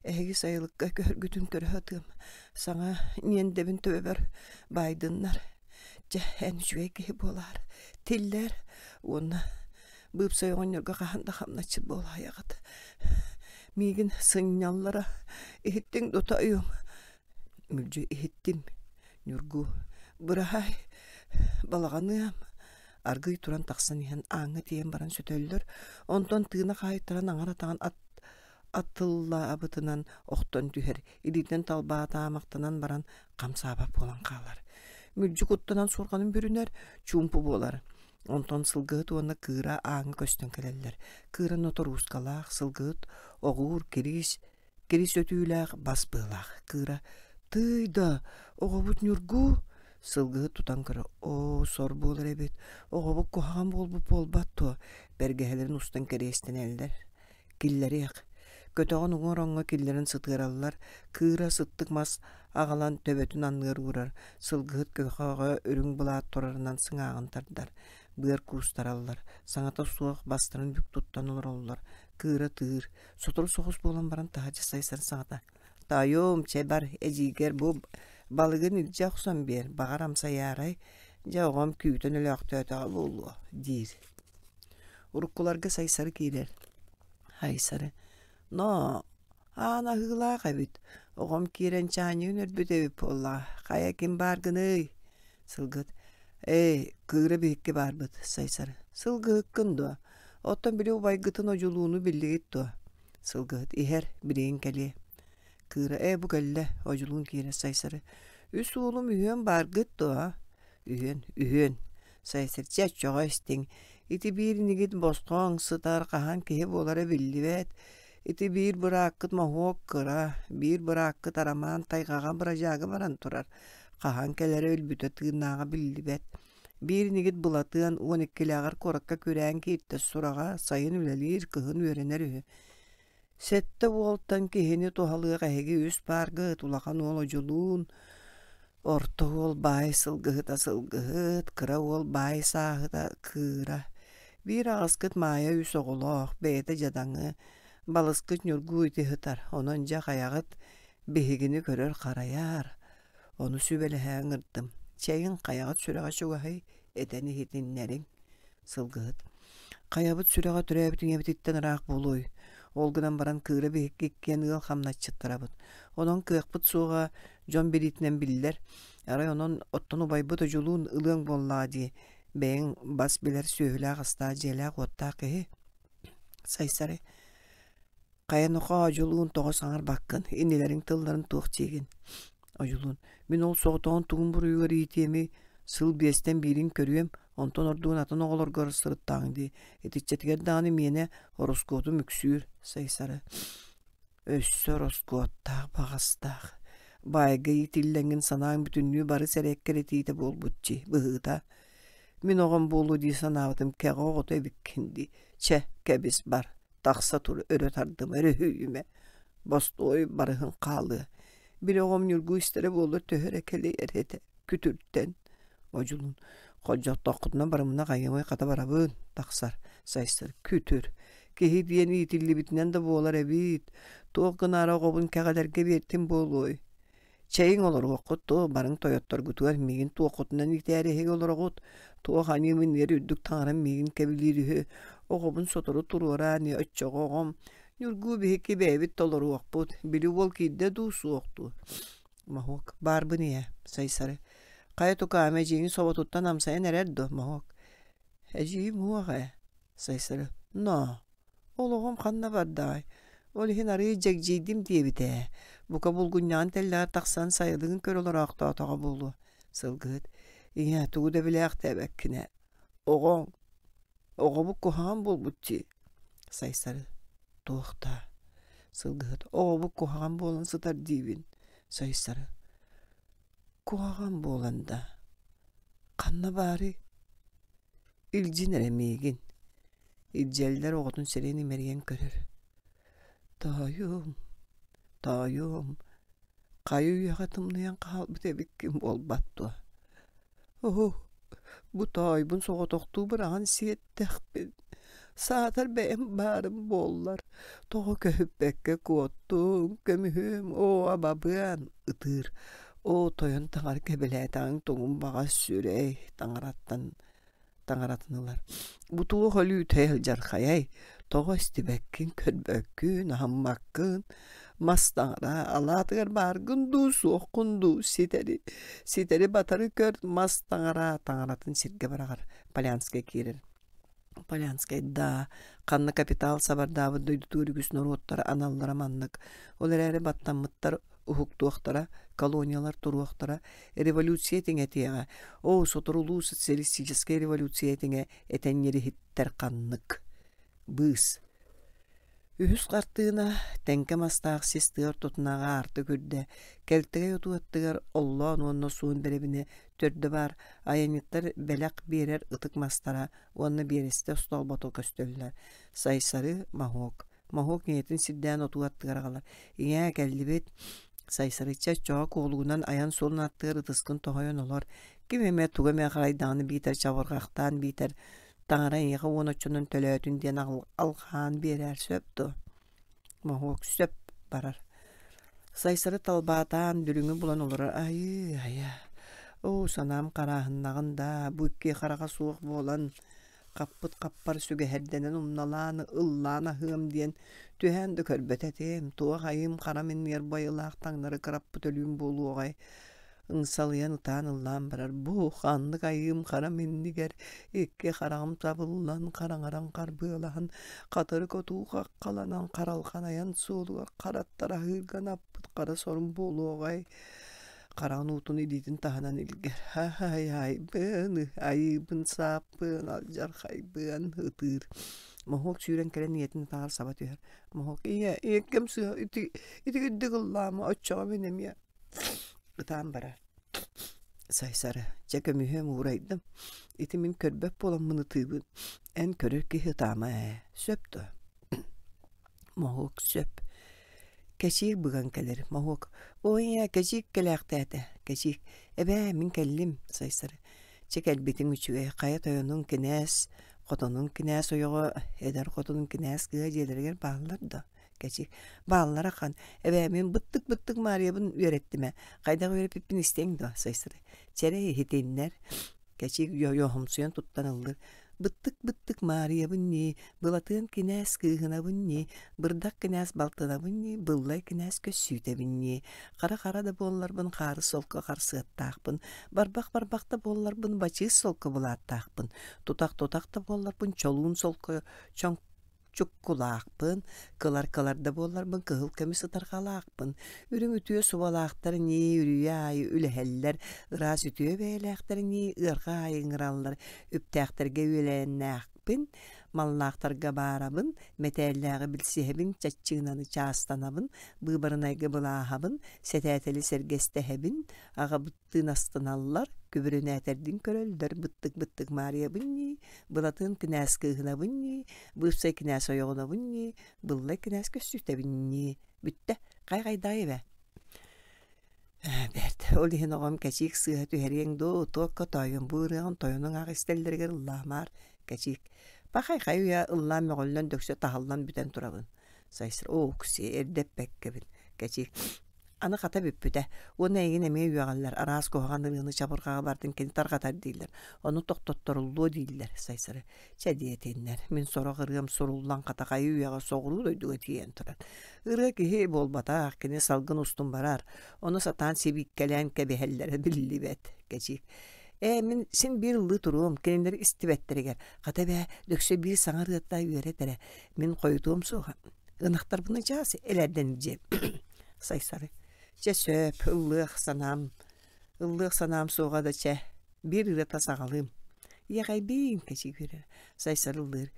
эһиги сайылыкка көһөргүтүн көрө сатыам, саҥа ньиэндэбин төбөбөр баайдыннар, чэ, эн үчүгэй киһи буолаар, тиллээр уонна быыпсай оҕонньорго хаһан да хамначчыт буолаайаҕыт, миигин сынньаллара иһиттиҥ дуо тоойуом?» Мүлдьү иһиттим, Ньургу: «Быраһаай, балаҕаныам» Аргыый туран тахсан иһэн ааҥҥа тиийэн баран сөтөллөр, онтон тыына хаайтаран аҥар атаҕын ат атыллаабытынан охтон түһэр, илиитинэн талбаатаамахтанан баран хамсаабат буолан хаалар. Мүлдьү куттанан суорҕанын бүрүнэр, чуумпу буолар. Онтон сылгыһыт уонна кыыра ааҥҥа көстөн кэлэллэр. Кыыра ноторуускалаах, сылгыһыт оҕуур, кириис Кирис өтүүлээх, бас быалаах кыыра: «Тыый да, оҕобут Ньургуу!» Сылгыһыт тутан көрө: «Оо, сор буолар эбит, оҕобут куһаҕан буолбут буолбат дуо?» Бэргэһэлэрин устан кэриэстэнэллэр. Киллэриэх. Көтөҕөн уҥа ороҥҥо киллэрэн сытыараллар, кыыра сыттык мас аҕалан төбөтүн анныгар уурар, сылгыһыт көхөҕө үрүҥ былаат турарынан сыҥааҕын тардар. Быар куустараллар, саҥата суох бастарын бүк туттан олороллор, кыыра тыыр, Сотору соҕус буолан баран таһырдьа сайсар саҥата: «Тоойуом, чэ бар, эдьиийгэр бу балыгын илдьэ охсон биэр, баҕар амсайаарай, дьэ оҕом күүтэн өлөөхтөөтөҕө буолуо» диир. Уруккуларга Сайсары киирэр. Айсары: «Ноо, аан аһыылаах эбит, оҕом киирэн чаанньыгын өлбүт эбит буоллаҕа, хайа ким бааргыный?» Сылгыт: «Ээ, кыыра биһикки баарбыт, Сайсары. Сылгыһыккын дуо? Оттон били убайгытын одьулууну биллигит дуо?» Сылгыһыт иһэр, билигин кэлиэ. Кыыра ээ бу кэллэ, одьулуун киирэр Сайсары. Үс уолум үһүөн бааргыт дуо? Үһүөн, үһүөн. Сайсары чэ оччоҕо истиҥ. Ити биир инигит босхоҥ сытар, хаһан киһи буолара биллибэт. Ити биир бырааккыт моһуок кыра, биир бырааккыт Арамаан тайҕаҕа бырадьаага баран турар. Хаһан кэлэрэ өлбүтэ тыыннааҕа биллибэт. Биир инигит Былатыан 12-лээҕэр куоракка күрээн кииртэ сураҕа сайын үлэлиир, кыһын үөрэнэр үһү. Сэттэ уолтан киһини туһалыах эһиги үс пааргыт улахан уол Одьулуун, орто уол баай сылгыһыта сылгыһыт, кыра уол баай сааһыта кыыра. Биир аҕаскыт Маайа үс оҕолоох, бэйэтэ дьадаҥы, балыскыт Ньургуу ити сытар, онон дьэ хайаҕыт биһигини көрөр-харайар, ону сүбэлэһэ ыҥырдым. Чэйиҥ хайаҕыт сүрэҕэ чугаһый, этэн иһитиннэриҥ. Сылгыһыт Хайабыт сүрэҕэ төрөөбүт ийэбититтэн ыраах буолуой? Ол гынан баран кыыра биһикки иккиэн ыал хамначчыттарабыт. Онон кыахпыт суоҕа дьон билиитинэн биллэр. Арай онон оттон убайбыт Одьулуун ылыаҥ буоллаҕа дии, бэйэҥ бас билэр сүөһүлээх-астаах дьиэлээх-уоттаах киһи. Сайсары Хайа нохоо, Одьулуун, тоҕо саҥарбаккын, иннилэриҥ тылларын туох диигин? Одьулуун, мин ол соҕотоҕун тугун буруйугар иитиэмий, сыл биэстэн биирин көрүөм, онтон ордугун атын оҕолоргор сырыттаҕыҥ дии, итиччэтигэр даҕаны миэнэ ороскуотум үксүүр, Сайсары. Өссө ороскуоттаах баҕастаах. Баайга иитиллэҥҥин санааҥ бүтүннүү бары сэрэккэр этиитэ буолбут дии, быһыыта. Мин оҕом буолуо дии санаабытым кэҕэ оҕото эбиккин дии. Чэ, кэбис бар, тахса тур, өрө тардыма, өрүһүйүмэ, бостуой барыһын хаалыа. Били оҕом Ньургу истэрэ буоллар төһө эрэ кэлэйэр этэ, күтүртэн. Одьулуун, холдьохтоххутуна барымына хайыамай хата барабын, тахсар, сайсар, күтүр. Киһи диэн иитиллибитинэн да буолар эбит, туох гынаары оҕобун кэҕэлэргэ биэртим буолуой? Чэйиҥ олоруоххут дуо, барыҥ тойотторгутугар миигин туоххутунан иитээри эһиги олороҕут, туох аньыым иннигэр үрдүк таҥарам миигин кэбилиир үһү, оҕобун сотору туруораа ини оччоҕо оҕом, Ньургуу биһикки бэйэбит толоруохпут, били уол киирдэ дуу, суох дуу Моһуок, баарбын ийээ, Сайсары. Хайа тукаам, эдьиийиҥ соботуттан амсайан эрэр дуо, Моһуок? Эдьиийим уох ээ, Сайсары. Ноо, Ол оҕом ханна бардаҕай? Ол иһин арыый дьэгдьийдим диэбитэ ээ. Бука булгунньаҕын тэллэҕэр тахсан сайылыгын көрө олороохтоотоҕо буолуо. Сылгыһыт, ийээ, тугу да билээхтээбэккин ээ. Оҕоҥ, оҕобут куһаҕан буолбут дии. Сайсары, туох даа? Сылгыһыт, оҕобут куһаҕан буолан сытар диибин. Сайсары, куһаҕан буолан да, ханна баарый? Илдьин эрэ миигин. Илдьэллэр оҕотун сирин имэрийэн көрөр. Тоойуом, тоойуом, хайа үйэҕэ тымныйан хаалбыт эбиккин буолбат дуо? Оо, бу тоойбун соҕотохтуу быраҕан сиэттэхпин, саатар бэйэм баарым буоллар, тоҕо көһүппэккэ куоттуҥ, көмүһүм, оо, абабыан, ытыыр. Оо, тойон таҥара кэбилээтэҕиҥ тугун баҕас сүрэй, таҥараттан таҥаратын ылар. Бу туох өлүүтэй алдьархайай, тоҕо истибэккин, көрбөккүн, аһыммаккын, мас таҥара алаатыгар бааргын дуу, суоххун дуу, ситэри, ситэри батары көр, мас таҥара таҥаратын сиргэ быраҕар. Полянскай киирэр. Полянскай да, ханна капитал сабардаабыт дойдутугар үгүс норуоттар аналлара маннык. Ол эрээри баттаммыттар уһуктуохтара, колониялар туруохтара, революция этиҥэтиэҕэ, оо, соторулуу социалистическай революция этиҥэ этэн ириһиттэр ханнык. Быыс. Үһүс хартыына тэҥкэ мастаах сис тыа ортотунааҕы аартык үрдэ, кэлтэгэй отуу аттыгар оллоон уонна суон бэрэбинэ төрдө баар айанньыттар бэлэх биэрэр ытык мастара уонна биэрэстэ остоолбото көстөллөр. Сайсары, моһуок. Моһуок ийэтин сирдээн отуу аттыгар аҕалар. Ийээ, кэллибит. Сайсарычча оччоҕо куолугунан айан суолун аттыгар ытыскын тоһойон олор. Ким эмэ тугу эмэ харайдаҕына биитэр чабырҕахтаан биитэр таҥара эйиэхэ уон оччонон төлөөтүн диэн алҕаан биэрээр сөп дуо? Моһуок сөп барар. Сайсары талбаатаан дүлүҥү булан олорор айыы айа. Оо, санаам харааһыннаҕын даа, бу икки хараҕа суох буолан Хаппыт хаппар сүгэһэрдэнэн умналаан, ыллаан аһыам диэн түһээн да көрбөт этим, туох айыым хара минньиэр байылаах таҥнары кыраппыт өлүүм буолуоҕай ыңсалыйан ытаан ыллаан барар бу ханнык айыым хара миннигэр икки хараҕым табыллан хараҥаран харбыалаһан хатырык отуу хаххаланан харалҕан айан суолугар хараттар аһыырга анаппыт хара сорум буолуоҕай хараҕын уутун илиитин таһынан илгэр һай-һайбын айыыбын сааппын алдьархайбын ытыыр моһуок сүүрэн кэлэн ийэтин атаҕар саба түһэр моһуок ийэ ийэккэм сыыһа ити итигирдик ыллаама оччоҕо мин эмиэ ытаан барар Сайсары чэ көмүһүөм уурайдым ити мин көрбөт буоламмын ытыыбын эн көрөр киһи ытаама ээ сөп дуо. Моһуок сөп. Кэчиик быган кэлэр. Моһуок «Ой ийээ, кэчиик кэлээхтээтэ». Кэчиик «Эбээ, мин кэллим» Сайсары «Чэ кэлбитиҥ үчүгэй, хайа тойонуҥ кинээс, хотонуҥ кинээс ойоҕо, эдэр хотунуҥ кинээс кыыһа дьиэлэригэр бааллар дуо?» Кэчиик «Бааллара ахан. Эбээ, мин быттык-быттык Маарыйабын үөрэттим ээ. Хайдах үөрэппиппин истиэҥ дуо?» Сайсары «Чэрэ иһитиннэр». Кэчиик йоһумсуйан туттан ыллыр. Быттык-быттык Маарыйабын ньии, Былатыан кинээс кыыһынабын ньии, Бырдах кинээс балтынабын ньии, Быллай кинээс көссүүтэбин ньии. Хара-хара да буолларбын хаары солко харсыаттаахпын, Барбах-барбах да буолларбын бачыыс солко былааттаахпын, Тутах-тутах да буолларбын чолуун солко чоҥ чуккулаахпын, кылар-кылар да буолларбын кыһыл көмүс ытарҕалаахпын, үрүҥ үтүө субалаахтар ньии үрүйэ аайы үлэһэллэр, ыраас үтүө бэйэлээхтэр ньии ыарҕа аайы ыҥыраллар, үптээхтэргэ үөлээннээхпин, маллаахтарга баарабын, мэтээллээҕи билсиһэбин, чаччыынаны чаастанабын, быыбарынайга былааһабын, сэтээтэли сэргэстэһэбин, аҕабыт Тыын астыналлар, күбүрүнээтэрдин көрөллөр, быттык-быттык Маарыйабын ньии, Былатыан кинээс кыыһынабын ньии, Быыпсай кинээс ойоҕунабын ньии, Быллай кинээс көссүүтэбин ньии. Бүттэ, хай-хайдаай эбээ. Бэрт, ол иһин оҕом кэчиик сыыһа түһэриэҥ дуу, туокка тоойуом бу ырыаҕын тойонуҥ аах истэллэригэр ыллаамаар, кэчиик. Пахай-хай уйа ыллаан мөҕүллэн дөксө таһыллан бүтэн турабын. Сайсыр, оо, оксиэ, эрдэ эппэккэбин, кэчиик. Аны хата бүппүтэ. Уонна эйигин эмиэ үөҕэллэр, араас куһаҕан ырыаны чабырҕаҕа бардын кини тарҕатар дииллэр. Ону тохтотторуллуо дииллэр, Сайсары. Чэ диэтиннэр, мин сорох ырыам суруллан хата хайы үйэҕэ соҕуруу дойдуга тиийэн турар. Ырыа киһи буолбатах, кини салгын устун барар. Ону сатаан сибииккэлээн кэбиһэллэрэ биллибэт. Кэчиик. Ээ, мин син биир ыллыы туруом, кинилэр истибэттэригэр. Хата эбээ, дөксө биир саҥа ырыата үөрэт эрэ. Мин хойутуом суоҕа. Ынахтарбын чаас элээрдэн илдьиэм. Сайсары. Чэ сөп, ыллыах санаам, ыллыах санаам суоҕа да чэ, биир ырыата саҕалыым. Иэҕэйбиин кэчигирэр, Сайсары ыллыыр.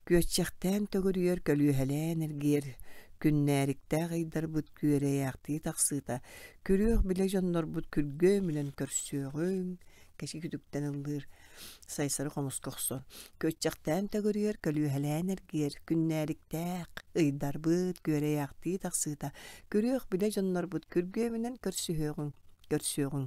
Күөччэхтээн төгүрүйэр, көлүөһэлээн эргийэр, күннээриктээх ыйдарбыт күөрэйээхтии тахсыыта, күрүөх билэ дьоннорбут күргүөмүнэн көрсүөҕүҥ, кэчи күтүктэн ыллыыр. Сайсары хомуска охсон, күөччэхтээн төгүрүйэр, көлүөһэлээн эргийэр, күннээриктээх, ыйдарбыт, күөрэйээхтии тахсыыта, күрүөх билэ дьоннорбут күргүөмүнэн көрсүһүөҕүҥ, көрсүөҕүҥ.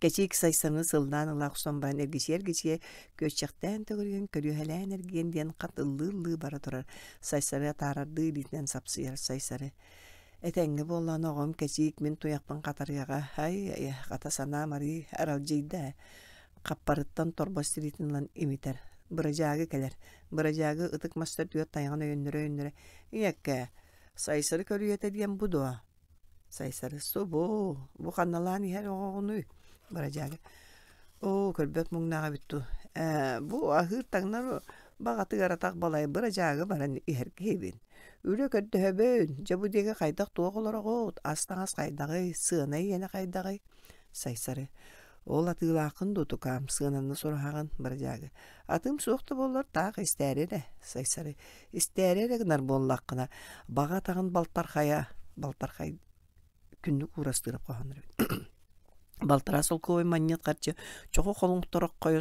Кэчиик Сайсаны сыллаан ыла охсон баран эргичийэ-эргичийэ күөччэхтээн төгүрүйэн, көлүөһэлээн эргийэн диэн хат ыллыы-ыллыы бара турар. Сайсары атаарардыы илиитинэн сапсыйар Сайсары. Этэҥҥэ буоллаҕына оҕом кэчиик мин туйахпын хатарыаҕа, ай-айа, хата санаам арыый аралдьыйда ээ. Хаппарыттан торбос тириитин ылан имитэр. Бырадьаагы кэлэр. Бырадьаагы ытык мастар түөрт тайаҕын өйөннөрө-өйөннөрө «Ийэккээ, Сайсары көлүйэтэ диэн бу дуо?» Сайсары «Субу, бу ханналаан иһэр оҕоҕунуй?» Бырадьаагы «Оо, көрбөт муҥнаах эбит дуу. Ээ, бу аһыыр-таҥнар баҕатыгар атах балай бырадьаагы баран иһэр киһибин. Үлэ көрдөһөбүн, дьэ бу диэки хайдах-туох олороҕут, ас-таҥас хайдаҕый, сыана иэнэ хайдаҕый?» Сайсары «Ол атыылааххын дуу, тукаам, сыананы сураһаҕын, бырадьаагы. Атыым суох да буоллар, таах истээри эрэ, Сайсары. Истээри эрэ гынар буоллаххына, баҕа атаҕын балтархайа, балтархай күннүк уурастыырап хоһооннор эбит. Балтараа солкуобай манньыат харчы, чоҕу холоҥтороххойо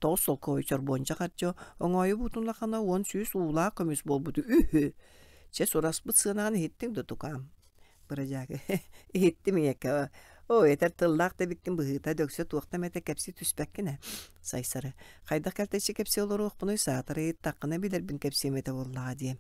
9 солкуобай чорбуонча харчы, оҥоойу буутун улахана 10 100 уулаах көмүс буолбуту үһү. Чэ, сураспыт сыанаҕын иһиттиҥ да тукаам? Бырадьаагы иһиттим ийэкэ оо этэр тыллаах да эбиккин быһыыта дөксө туохта эмэтэ кэпсии түспэккин ээ Сайсары хайдах кэлтэччи кэпсии олоруохпунуй саатар ыйыттаххына билэрбин кэпсиэм этэ буоллаҕа диэм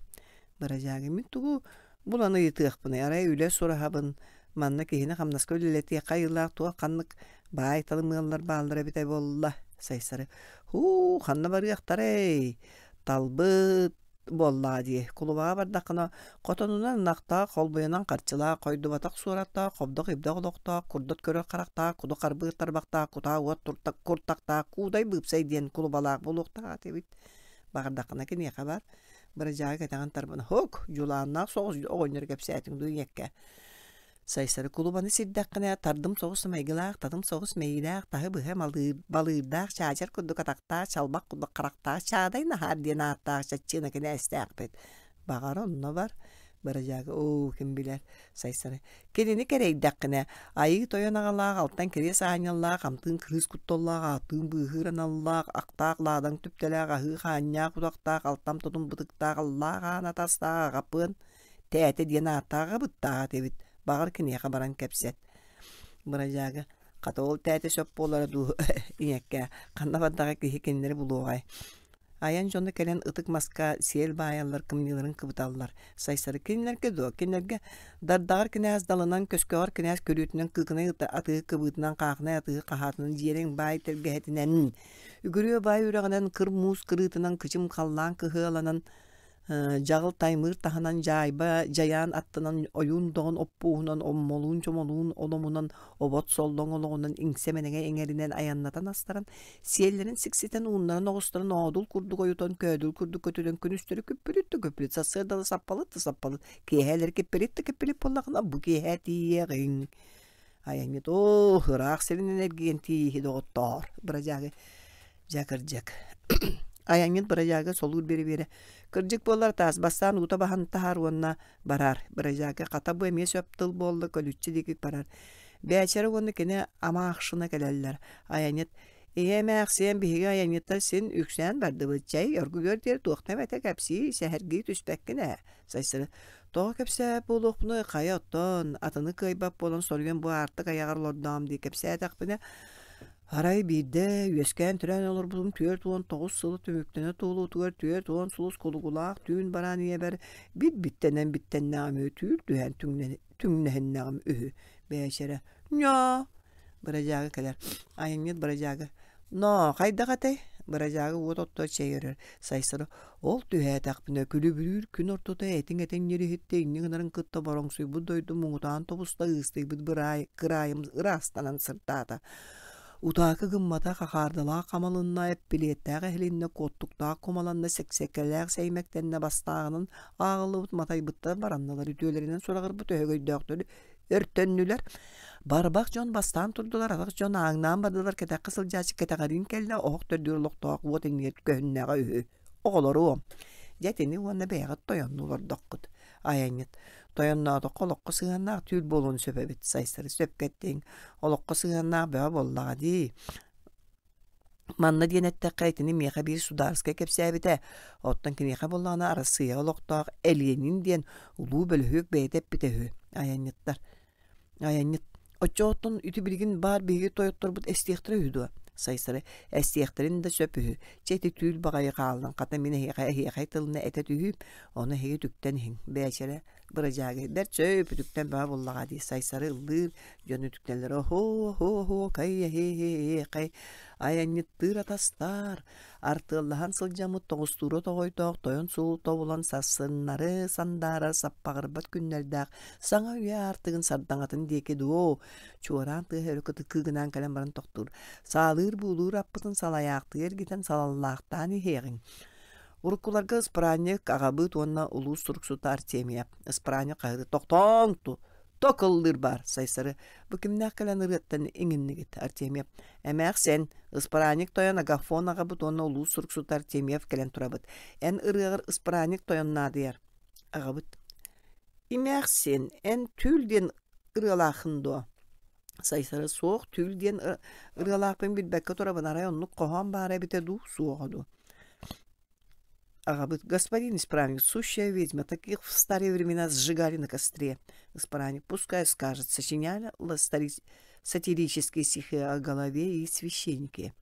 Бырадьаагы мин тугу булан ыйытыахпыный арай үлэ сураһабын манна киһини хамнаска үлэлэтиэххэ айылаах туох ханнык баай талым ыаллар бааллара эбитэ буолла Сайсары һуу ханна барыахтарай талбыт буоллаҕа дии кулубаҕа бардаххына хотонунан ынахтаах холбуйанан харчылаах хойдубатах суораттаах хобдох-ибдэх олохтоох курдат көрөр харахтаах куду харбыыр тарбахтаах кутаа уот куртахтаах куудай быыпсай диэн кулубалаах буолуохтаах этибит баҕардаххына киниэхэ бар бырадьаагы кэтэҕин тарбана һук дьулааннаах соҕус оҕонньор кэпсээтиҥ дуу ийэккэ Сайсары кулубаны сирдэххинэ, тардым соҕус майгылаах, татым соҕус мэйиилээх, таһы быһа малыыр, балыырдаах, чаачар курдук атахтаах, чалбах курдук харахтаах Чаадай Наһаар диэн ааттаах чаччыына кинээстээхпит. Баҕар, онно бар. Бырадьаага, оо, ким билэр, Сайсары. Кинини кэрэйдэххинэ, айыы тойон аҕалаах, алтан кириэс аанньаллаах, амтыын кырыыс кутталлаах, ааттыын быыһыыр аналлаах, ахтаах лаадаҥ түптэлээх, аһыы хаанньаах утахтаах, алтан тутум бытыктаах, аллаах аан атастаах аҕаппыан. Тээтэ диэн ааттаах аҕабыттаах этибит, баҕар киниэхэ баран кэпсэт. Бырадьаага хата ол тээтэ сөп буолара дуу ийэккээ, ханна бардаҕа киһи кинилэри булуоҕай. Айан дьоно кэлэн ытык маска сиэл баайаллар, кымньыыларын кыбыталлар. Сайсары кинилэргэ дуо? Кинилэргэ дардаҕар кинээс далынан, көскөҕөр кинээс көрүүтүнэн, кыыкынай атыы кыбыытынан, хаахынай атыы хаһаатынан, дьиэрэҥ баай тэлгэһэтинэн, үгүрүө баай үрэҕинэн, кыр муус кырыытынан, кычым халлаан кыһыаланан, Дьаҕыл таймыыр таһынан дьаайба дьайаан аттынан ойуун доҕун оппуоһунан оммолуун-чомолуун оломунан обот соллоҥ олоҕунан иҥсэ-мэнэҥэ иҥэринэн айаннатан астаран сиэллэрин сикситэн ууннаран оҕустаран оодул курдук ойутан көөдүл курдук көтүтэн күнүстэри күппүлүт да күппүлүт сарсыардалы саппалыт да саппалыт киэһээлэри киппилит да киппилит буоллахына бу киэһээ тиийиэҕиҥ айанньыт оо ыраах сиринэн эргийэн тиийиһи доҕоттоор бырадьаагы Дьэ, кырдьык. Айанньыт бырайаага солуур биэрэ-биэрэ «Кырдьык буоллар таас бастаан уута баһан таһаар уонна бараар». Бырайаага хата бу эмиэ сөп тыл буолла көлүччэ диэки барар. Бээчэрэ уонна кини амаахшына кэлэллэр. Айанньыт «Ийэ эмээхсиэн биһиги айанньыттар син үксээн бардыбыт. Чэй, оргуйуор диэри туохта эмэтэ кэпсии, сэһэргии түспэккин ээ». Сайсары «Тоҕо кэпсээбэт буолуохпунуй, хайа оттон, атыны кыайбат буолан соруйан бу аартык айаҕар олордоом дии кэпсээтэхпинэ, Арай биирдэ үөскээн-төрөөн олорбутум 49 сылы түмүктэнэ туолуутугар 40 сулус кулугулаах түүн бараан ийэбэр бит-биттэнэн биттэннэҕим үһү, түүл түһээн түҥнэһиннэҕим үһү. Бээчэрэ «Ньоо!» Бырадьаага кэлэр. Айанньыт бырадьаага «Ноо, хайдах этэй?» Бырадьаага уот отто чэй өрөр. Сайсары «Ол түһээтэхпинэ күлүбүрүүр күн ортото этиҥ-этиҥ ньириһиттэ инньэ гынарын кытта бороҥсуйбут дойду муҥутаан тобуста ыыстыйбыт быраай кыраайым ыраастанан сырдаата. Утаакы гыммата хахаардалаах хамалынна, эппилиэттээх эһилиннэ, куоттуктаах кумаланна, сэксэкэлээх сэймэктэннэ бастааҕынан ааҕыллыбыт матайбыттар баранналар үтүөлэринэн сураҕырбыт өһөгөйдөөхтөр өртөннүлэр. Барбах дьон бастаан турдулар, атах дьон ааҥнаан бардылар, кэтэххэ сылдьааччы кэтэҕэриин кэллэ, оһох төрдүгэр олохтоох уот иннигэр көһүннэҕэ үһү. Оҕолоруом, дьэ итини уонна бэйэҕит тойоннуу олордоххут. Айанньыт, тойонноотоххо олоххо сыһыаннаах түүл буолуон сөп эбит, Сайсары сөпкө эттиҥ, олоххо сыһыаннаах бөҕө буоллаҕа дии. Манна диэн эттэххэ, итини миэхэ биир судаарыскай кэпсээбитэ. Оттон киниэхэ буоллаҕына Арассыыйаҕа олохтоох Элиэнин диэн улуу бөлөһүөк бэйэтэ эппитэ үһү. Айанньыттар. Айанньыт. Оччоҕоттон ити билигин баар биһиги тойотторбут эстиэхтэрэ үһү дуо? Сайсары. Эстиэхтэрин да сөп үһү. Чэ ити түүл баҕайы хааллын, хата мин эһиэхэ эһиэхэй тылына этэ түһүүм, ону эһиги үтүктэн иһиҥ. Бээчэрэ бырадьаагы бэрт сөп үтүктэн бөҕө буллаҕа дии Сайсары ыллыыр дьон үтүктэллэр оһоо кай эһиэхэй айанньыттыыр атастаар артыаллаһан сылдьаммыт тоҕустуура тоҕойдоох тойон суол тобулан сарсыннары сандаарар саппаҕырбат күннэрдээх саҥа үйэ аартыгын сардаҥатын диэки дуо чуораан тыаһа өрө кытыкыы гынаан кэлэн баран тохтуур саалыыр буулуур аппытын салайаахтыы эргитэн салаллаахтаан иһиэҕиҥ Уруккуларга ыспыраанньык аҕабыыт уонна улуус суруксута Артемия ыспыраанньык хаһыаты тохтооҥ ток ыллыыр баар Сайсары бу кимнээх кэлэн ырыаттан иҥиннигит Артемьев эмээхсин ыспыраанньык тойон Агафон аҕабыт уонна улуус суруксута Артемьев кэлэн турабыт эн ырыаҕар ыспыраанньык тойон наадыйар аҕабыт имээхсин эн түүл диэн ырыалааххын дуо Сайсары суох түүл диэн ырыалаахпын билбэккэ турабын арай оннук хоһоон баара эбитэ дуу суоҕа дуу Аҕабыт господин исправник, сущая ведьма, таких в старые времена сжигали на костре. Исправник пускай скажет, сочиняли сатирические стихи о голове и священнике.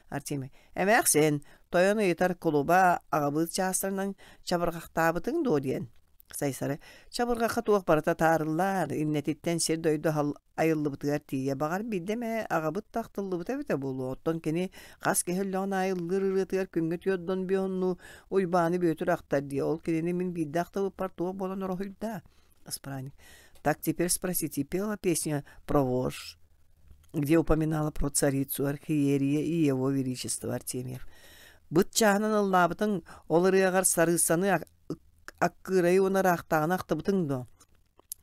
Артемий, эмээхсин, тойон ыйытар кулуба аҕабыт чаастарынан чабырҕахтаабытыҥ дуо диэн. Сайсары чабырҕахха туох барыта таарыллар, иннэтиттэн сир-дойду айыллыбытыгар тиийэ. Баҕар биирдэ эмэ аҕабыт да ахтыллыбыта эбитэ буолуо. Оттон кини хас киһи өллөҕүн аайы ыллыыр ырыатыгар күҥҥэ түөрт бионну Уйбааны Бүөтүр ахтар дии. Ол кинини мин биирдэ ахтыбыппар туох буолан ороһуйда? Исправник. Так теперь спросите, пела песня про вож, где упоминала про царицу Архиерия и его величество Артемьев. Быт чааһынан ыллаабытыҥ, ол ырыаҕар сарыыссаны аккыырайы уонна ыраахтааҕыны ахтыбытыҥ дуо?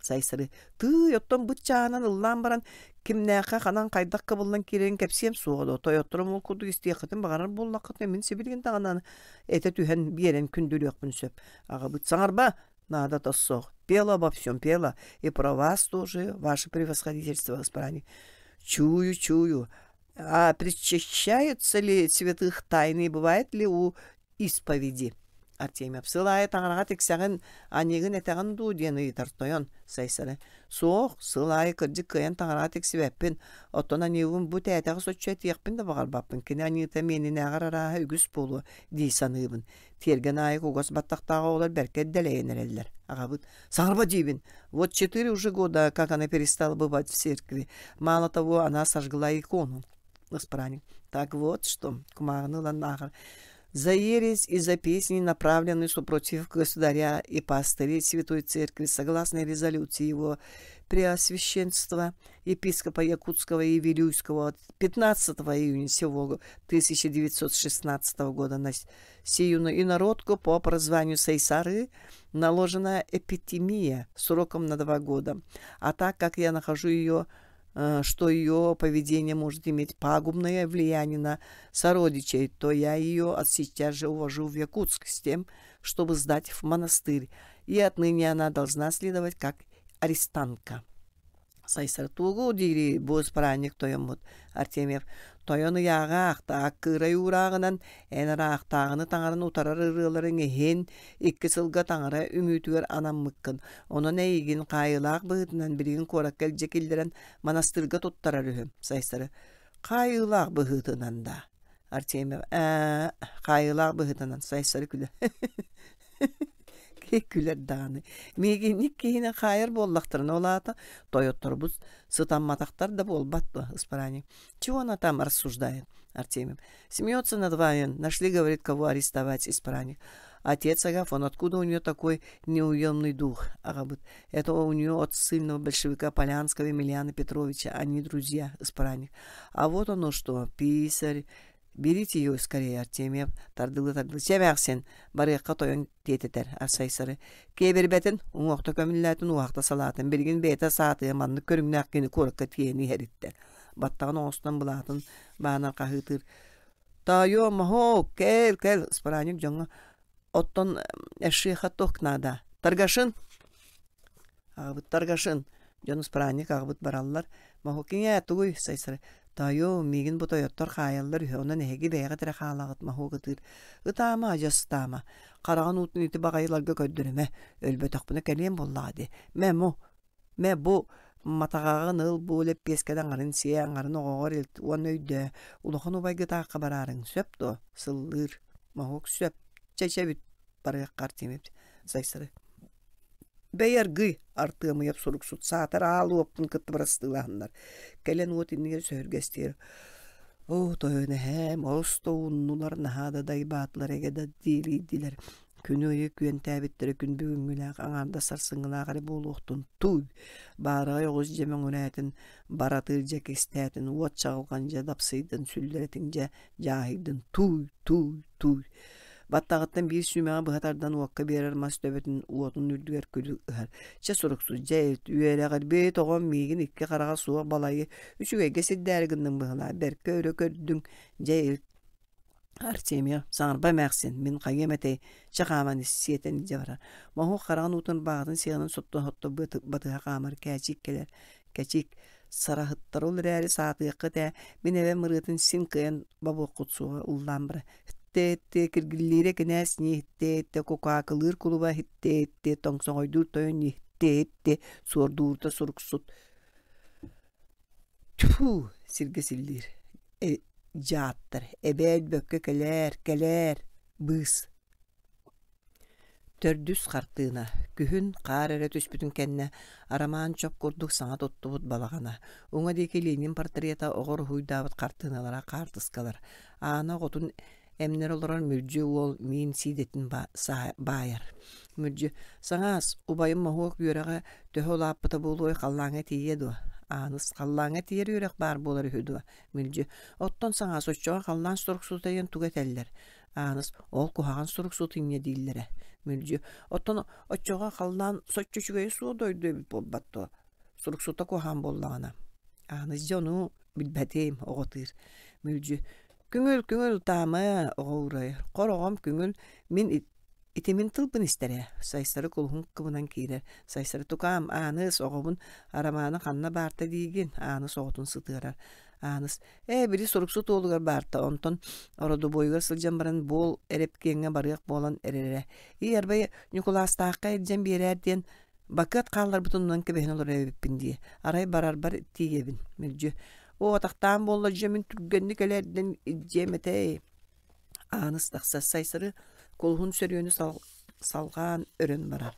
Сайсары тыый, оттон быт чааһынан ыллаан баран кимнээххэ ханан хайдах кыбыллан киирэрин кэпсиэм суоҕа дуо? Тойотторум ол курдук истиэххитин баҕарар буоллаххытына мин сибилигин даҕаны этэ түһэн биэрэн күндүлүөхпүн сөп. Аҕабыт саҥарба, наадата суох. Пела обо всем пела. И про вас тоже, ваше превосходительство, избрание. Чую, чую. А причащаются ли святых тайны, бывает ли у исповеди? Артемьев сыл аайы таҥараҕа тиксэҕин, аньыыгын этэҕин дуу диэн ыйытар тойон Сайсары. Суох, сыл аайы кырдьык кыайан таҥараҕа тиксибэппин. Оттон аньыыбын бу тээтэҕи соччо этиэхпин да баҕарбаппын. Кини аньыыта миэнинээҕэр арааһа үгүс буолуо дии саныыбын. Тиэргэн аайы кугас баттахтаах оҕолор бэркэ дэлэйэн эрэллэр. Аҕабыт «Саҥарба диибин! Вот четыре уже года, как она перестала бывать в церкви. Мало того, она сожгла икону». Ыспыраанньык «Так вот что» кумааҕыны ылан ааҕар «За ересь и за песни, направленные супротив государя и пастырей Святой Церкви, согласно резолюции его Преосвященства епископа Якутского и Вилюйского от 15 июня сего 1916 года на сию инородку по прозванию Сайсары наложена эпитемия сроком на два года. А так как я нахожу ее что ее поведение может иметь пагубное влияние на сородичей, то я ее от сейчас же увожу в Якутск с тем, чтобы сдать в монастырь, и отныне она должна следовать как арестантка. Сайсар тугу диири бу ыспыраанньык тойоммут Артемьев тойон ыйааҕа аахта кыырай уурааҕынан эн ыраахтааҕыны таҥаран утарар ырыаларыҥ иһин икки сылга таҥара үҥүүтүгэр анаммыккын онон эйигин хаайыылаах быһыытынан билигин куоракка илдьэ киллэрэн манастыырга туттарар үһү Сайсары хаайыылаах быһыытынан да Артемьев ээ хаайыылаах быһыытынан Сайсары күлэ Күлэр даҕаны. Миигинник киһини хаайар буоллахтарына ол аата тойотторбут сытамматахтар да буолбат дуо, ыспараанньык. Чего она там рассуждает, Артемьев? Смеется над вами. Нашли, говорит, кого арестовать, исправник. Отец Агафон, откуда у нее такой неуемный дух? Аҕабыт. Это у нее от сильного большевика Полянского Емельяна Петровича. Они друзья, исправник. А вот оно что, писарь, Берите ее скорее, Артемьев тардылы-тардылы чэ эмээхсин, барыахха тойон тиэтэтэр Арсайсары. Киэбирбэтин, уҥуохта көмүллээтин, уоһахта салаатын, билигин бэйэтэ саатыа маннык көрүҥнээх кини куоракка тиийэн иһэриттэ. Баттаҕын оҥостон былаатын баанар хаһыытыыр. Тоойуом, моһуок, кэл, кэл, ыспараанньык дьоҥҥо оттон эшиэхэ туох наада? Торгашин! Аҕабыт Торгашин! Дьон ыспыраанньык аҕабыт бараллар. Моһуок иҥээ, тугуй? Сайсары Тоойуом, миигин бу тойоттор хаайаллар үһү, онон эһиги бэйэҕит эрэ хаалаҕыт, моһуок ытыыр. Ытаама, адьас ытаама. Хараҕын уутун ити баҕайыларга көрдөрүмэ. Өлбөтөхпүнэ кэлиэм буоллаҕа дии. Мэ, му, мэ бу матаҕаҕын ыл, бу лэппиэскэни аҥарын сиэ, аҥарын оҕоҕор илт уонна өйдөө, улахан убайгытаахха бараарыҥ, сөп дуо? Сыллыыр. Моһуок сөп. Чэ, чэ бүт, барыаххар тимир. Сайсары Бэйи аргыый, Артыамыйап суруксут саатар аал уоппун кытта бырастыылаһыннар, кэлэн уот иннигэр сөһүргэстиир: «Оо, тойон эһээм, олус да ууннулар, наһаа да дайбаатылар эгэ да диилийдилэр, күнү-ыйы күөнтээбиттэрэ күн бүгүҥҥүлээх аҥаардас сарсыҥҥылаах эрэ буолуохтун, тууй, баараҕай оҕус дьэ мөҥүрээтин, баратыыр дьэ кистээтин, уот чаҕылҕан дьэ дапсыйдын, сүллэрэтиҥ дьэ дьааһыйдын, тууй, тууй, тууй» Баттаҕыттан биир сүүмэҕи быһа тардан уокка биэрэр мас төбөтүн уотун үрдүгэр күлү ыһар. Чэ суруксут, дьэ үөрэҕирбит оҕом миигин икки хараҕа суох балайы үчүгэйгэ сирдээри гынныҥ быһыылаах, бэркэ өрө көрдүҥ, дьэ илт. Артемьев, саҥарба эмээхсин, мин хайыам этэй, чэ хааман ис, сиэтэн илдьэ барар. Моһуок хараҕын уутун баҕатын сиэҕинэн сотто-сотто батыһа хаамар кээчиик кэлэр. Кэчик, сараһыттар ол эрээри саатыаххыт ээ, мин эбэм ырыатын син кыайан бобуоххут суоҕа ыллаан барар. Иттэ-иттэ киргиллиирэ кинээс ньии иттэ-иттэ кукаакылыыр кулуба иттэ-иттэ тоҥсоҕойдуур тойон ньии иттэ-иттэ суордуурда суруксут Тьфу сиргэ силлиир дьааттар эбээ өлбөккө кэлээр кэлээр быыс Төрдүс хартыына Күһүн, хаар эрэ түспүтүн кэннэ, Арамаан чоп курдук саҥа туттубут балаҕана, уҥа диэки Ленин портрета оҕо уруһуйдаабыт хартыыналара хаартыскалар, Аана оҕотун эмнэр олорор Мүлдьү уол миин сиидэтин баайар. Мүлдьү: «Саҥаас, убайым моһуок үөрэҕэ төһө улааппыта буолуой, халлааҥҥа тиийиэ дуо?» Ааныс: «Халлааҥҥа тиийэр үөрэх баар буолар үһү дуо?» Мүлдьү: «Оттон саҥаас, оччоҕо халлаан суруксута диэн тугу этэллэр?» Ааныс ол куһаҕан суруксут инньэ дииллэрэ. Мүлдьү оттон оччоҕо халлаан соччо үчүгэйэ суох дойду эбит буолбат дуо? Суруксута куһаҕан буоллаҕына. Ааныс дьэ ону билбэтим, оҕотыыр. Мүлдьү көҥүл, көҥүл ытаама, оҕо уурайар. Хор оҕом көҥүл, мин итимин тылбын истэрэ. Сайсары кулуһун кыбынан киирэр. Сайсары тукаам, Ааныс, оҕобун Арамааны ханна баарта диигин? Ааныс оҕотун сытыарар. Ааныс ээ били суруксут уолугар баарта онтон ородобуойугар сылдьан баран буол эрэпкиэҥҥэ барыах буолан эрэрэ. Ии арбай Ньукулаастаахха илдьэн биэрээр диэн бакыат хаалларбытын онон кэбиһэн олорор эбиппин дии. Арай барарбар тиийэбин мүлдьү. Оо атахтаан буолла дьэ мин түргэнник элээрдэн илдьиэм этэй. Ааныс тахсар Сайсары кулуһун сөрүөнү салҕаан өрөн барар.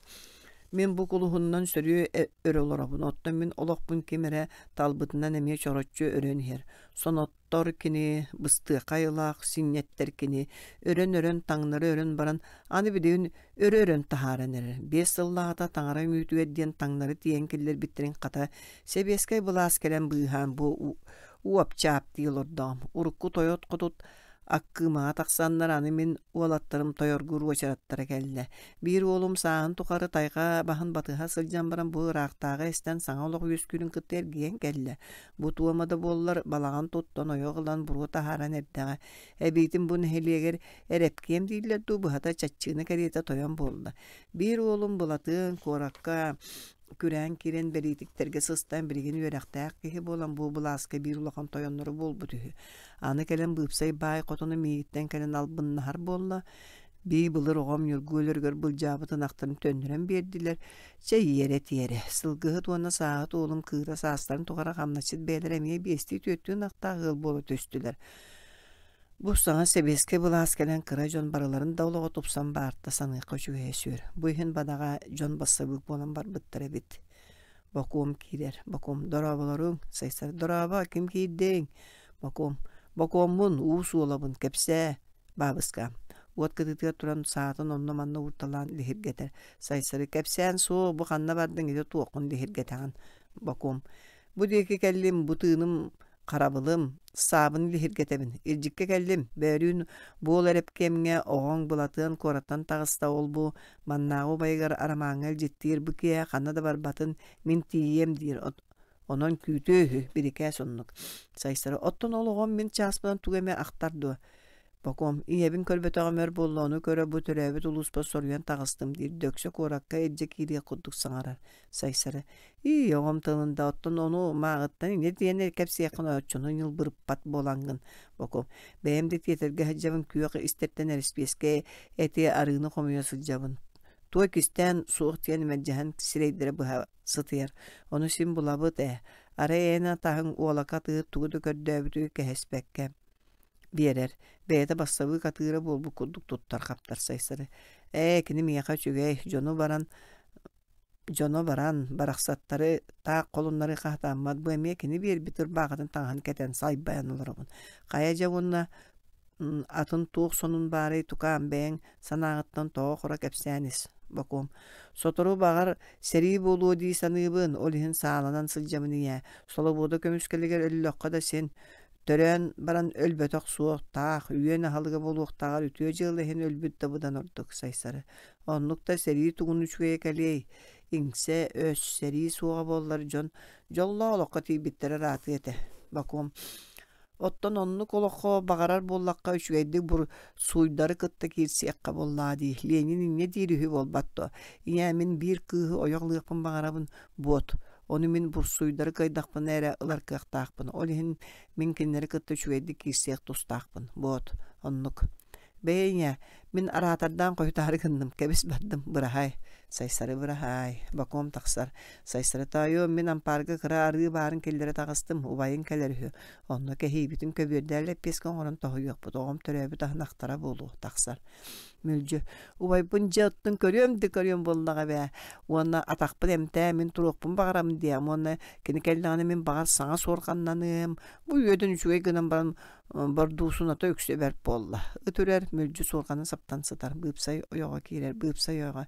Мин бу кулуһуннан сөрүө өрө олоробун, оттон мин олохпун ким эрэ талбытынан эмиэ чороччу өрөн иһэр. Соноттор кини, быстыаха айылаах синньэттэр кини, өрөн-өрөн таҥнары өрөн баран, аны билигин өрө-өрөн таһааран эрэр. 5 сыллааҕыта таҥара үҥүүтүгэр диэн таҥнары тиийэн киллэрбиттэрин хата сэбиэскэй былаас кэлэн быыһаан бу уопчаап дии олордоҕум. Урукку тойот-хотут Аккыымаҕа тахсаннар аны мин уолаттарым тойоргуур уочараттара кэллэ. Биир уолум сааһын тухары тайҕа баһын батыһа сылдьан баран бу ыраахтааҕы истэн саҥа олох үөскүүрүн кытта эргийэн кэллэ. Бу туома да буоллар балаҕан туттан ойох ылан буруо таһааран эрдэҕэ. Эбиитин бу нэһилиэгэр эрэпкиэм дииллэр дуу быһата чаччыына кэриэтэ тойон буолла. Биир уолум Былатыан куоракка күрээн киирэн бэлиитиктэргэ сыстан билигин үөрэхтээх киһи буолан бу былааска биир улахан тойонноро буолбут үһү. Аны кэлэн быыпсай баай хотону миигиттэн кэлэн албыннаһар буолла. Бии былыр оҕом Ньургу өлөрүгэр былдьаабыт ынахтарын төннөрөн биэрдилэр. Чэ иэрэ-тиэрэ. Сылгыһыт уонна сааһыт уолум кыыра саастарын тухары хамначчыт бэйэлэрэ эмиэ биэстии-түөртүү ынахтаах ыал буола түстүлэр. Бу саҥа сэбиэскэй былаас кэлэн кыра дьон барыларын да олоҕо тупсан баарта саныахха үчүгэйэ сүр. Бу иһин бадаҕа дьон бассабыык буолан барбыттар эбит. Бокуом киирэр. Бокуом дорооболоруҥ. Сайсар дорообо, ким киирдиҥ? Бокуом. Бокуоммун, уу суолабын, кэпсээ. Баабыска. Уот кытыытыгар туран саатын онно-манна уурталаан лиһиргэтэр. Сайсары кэпсээн суох, бу ханна бардыҥ ити туоххун лиһиргэтэҕин. Бокуом. Бу диэки кэллим, бу тыыным Харабылым, саабын лиһиргэтэбин, илдьиккэ кэллим, бөөлүүн буол эрэпкиэмҥэ оҕоҥ Былатыан куораттан таҕыста ол-бу маннааҕы убайыгар Арамааҥҥа илдьиттиир бу киэһэ ханна да барбатын мин тиийиэм диир онон күүтүө үһү бирикээс оннук Сайсары оттон ол оҕом мин чааспынан тугу эмэ ахтар дуо Бокуом ийэбин көрбөтөҕүм өр буолла ону көрө бу төрөөбүт улууспар соруйан таҕыстым диир дөксө куоракка илдьэ киириэх курдук саҥарар Сайсары Ии, оҕом тылын да оттон ону мааҕыттан инньэ диэн кэпсиэххин оччону ньылбырыппат буолаҥҥын Бокуом бэйэм да тиэтэргэ сылдьабын күөх истэртэн эрэспиэскэ эти арыыны хомуйа сылдьабын туой кистээн суох диэн мэлдьэһэн сирэйдэрэ быһа сытыйар ону син булабыт ээ арай эн атаһыҥ уолака атыыһыт тугу да көрдөөбүтү кэһэспэккэ биэрэр бэйэтэ бассабыык атыыра буолбут курдук туттар-хаптар Сайсары ээ кини миэхэ үчүгэй дьону баран Дьоно баран, барахсаттары таах холуннарыы хаһытааммат, бу эмиэ кини биэрбит ырбаахытын таҥаһын кэтэн сайбайан олоробун. Хайа дьэ уонна атын туох сонун баарый тукаам бэйэҥ санааҕыттан тоҕо-хоро кэпсээн ис, Бокуом. Сотору баҕар сэрии буолуо дии саныыбын, ол иһин сааланан сылдьабын ийээ. Солобуода көмүскэлигэр өллөххө да син Төрөөн баран өлбөтөх суох, таах, үөн аһылыга буолуохтааҕар үтүө дьыала иһин өлбүт да быдан ордук, Сайсары. Оннук да сэрии тугун үчүгэйэ кэлиэй? Иҥсэ, өс, сэрии суоҕа буоллар дьон дьоллоох олоххо тиийбиттэрэ ыраатыа этэ. Бокуом. Оттон оннук олоххо баҕарар буоллахха үчүгэйдик бур сууйдары кытта киирсиэххэ буоллаҕа дии. Ленин инньэ диир үһү буолбат дуо? Ийээ, мин биир кыыһы ойох ылыахпын баҕарабын, буот. Ону мин бурсуйдары кыайдахпына эрэ ылар кыахтаахпын. Ол иһин мин кинилэри кытта үчүгэйдик киирсиэх тустаахпын. Буот, оннук. Бэйэ ийээ, мин араатардаан хойутаары гынным, кэбис бардым, быраһаай. Сайсары быраһаай, бокуом тахсар. Сайсары тоойуом, мин ампаарга кыра арыы баарын киллэрэ таҕыстым, убайыҥ кэлэр үһү. Онно кэһиибитин көбүөрдээн лэппиэскэ оҥорон тоһуйуохпут, оҕом төрөөбүт аһын ахтара буолуо, тахсар. Мүлдьү, убайбын дьэ оттон көрүөм да көрүөм буоллаҕа эбээ. Уонна атахпын эмтээ, мин туруохпун баҕарабын диэм. Уонна кини кэллэҕинэ мин баҕар саҥа суорҕаннаныам. Бу үөдэн үчүгэй гынан баран бордуусуната үксэ бэрт буолла. Ыт үрэр, мүлдьү суорҕаны саптан сытар. Быыпсай ойоҕо киирэр, быыпсай ойоҕо.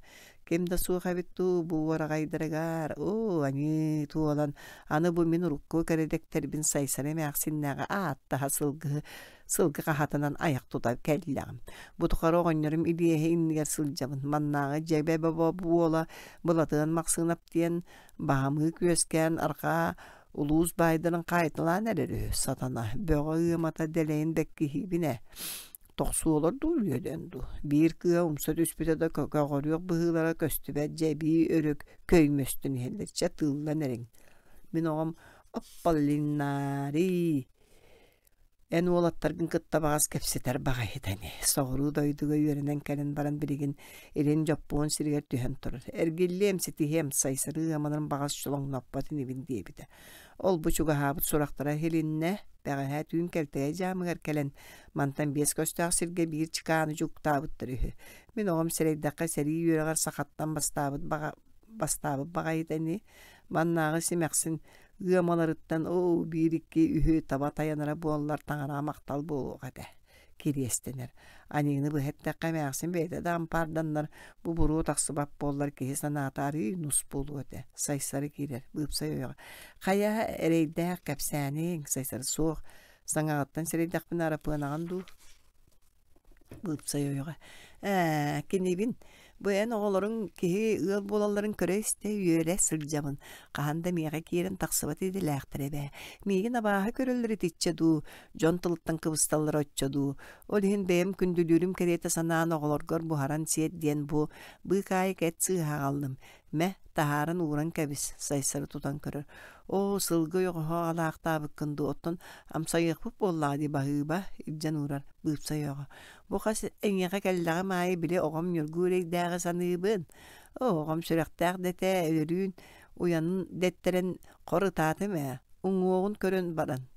Ким да суох эбит дуу, бу уораҕайдарыгар, оо, аньыы, туолан, аны бу мин урукку кэрэдэктэрбин Сайсары эмээхсиннээҕи ааттаһа сылгыһы сылгы хаһатынан айах тута кэллэҕим. Бу тухары оҕонньорум Илиэһэ иннигэр сылдьабын. Маннааҕы дьэбэ бобо буола Былатыан Махсыынап диэн баһамыы күөскээн арҕаа улуус баайдарын хаайталаан эрэр үһү сатана. Бөҕө ыамата дэлэйин бэккиһиибин ээ. Тохсуолар дуу, үөдэн дуу. Биир кыа умса түспүтэ да көҕөрүөх быһыылара көстүбэт дьэбии өрүк көймөстөн иһэллэр. Чэ тыыллан эриҥ. Мин оҕом Апполинарий. Эн уолаттаргын кытта баҕас кэпсэтэр баҕайыта ини. Соҕуруу дойдуга үөрэнэн кэлэн баран билигин илин Дьоппуон сиригэр түһэн турар. Эргиллиэм, ситиһиэм, Сайсары ыаманарын баҕас чолоҥноппот инибин диэбитэ. Ол-бу чугаһаабыт сурахтара иһилиннэ. Бэҕэһээ түүн Кэлтэгэй дьаамыгар кэлэн, мантан биэс көстөөх сиргэ биир чыкааны дьууктаабыттар үһү. Мин оҕом сэрэйдэххэ сэрии үөрэҕэр сахаттан бастаабыт баҕа бастаабыт баҕайыта ини. Маннааҕы симэхсин ыамаларыттан оо биир-икки үһү таба тайанара буоллар таҥараҕа махтал буолуох этэ кириэстэнэр. Аньыыны быһа эттэххэ эмээхсин бэйэтэ да ампаарданнар бу буруо тахсыбат буоллар киһи санаата арыый нус буолуо этэ. Сайсары киирэр, быыпсай ойоҕо. Хайа эрэйдээх кэпсээниҥ, Сайсары суох. Саҥаҕыттан сэрэйдэхпинэ Арапыанаҕын дуу? Быыпсай ойоҕо ээ кинибин бу эн оҕолоруҥ киһи ыал буолалларын көрө-истэ үөрэ сылдьабын хаһан да миэхэ киирэн тахсыбат идэлээхтэр эбээ миигин абааһы көрөллөр итиччэ дуу дьон тылыттан кыбысталлара оччо дуу ол иһин бэйэм күндүлүүрүм кэриэтэ санаан оҕолоргор буһаран сиэт диэн бу быыкаайык эт сыыһа аҕаллым Мэ, таһааран ууран кэбис, Сайсары тутан көрөр. Оо, сылгы ойоҕоһо аҕалаахтаабыккын дуу, оттон амсайыахпыт буоллаҕа дии баһыыба, илдьэн уурар быыпсай ойоҕо. Бу хас эйиэхэ кэллэҕим аайы били оҕом Ньургу эрэйдээҕи саныыбын. Оо, оҕом сүрэхтээх да этэ, өлөрүүн, уйанын дэттэрэн хор ытаатым ээ, уҥуоҕун көрөн баран.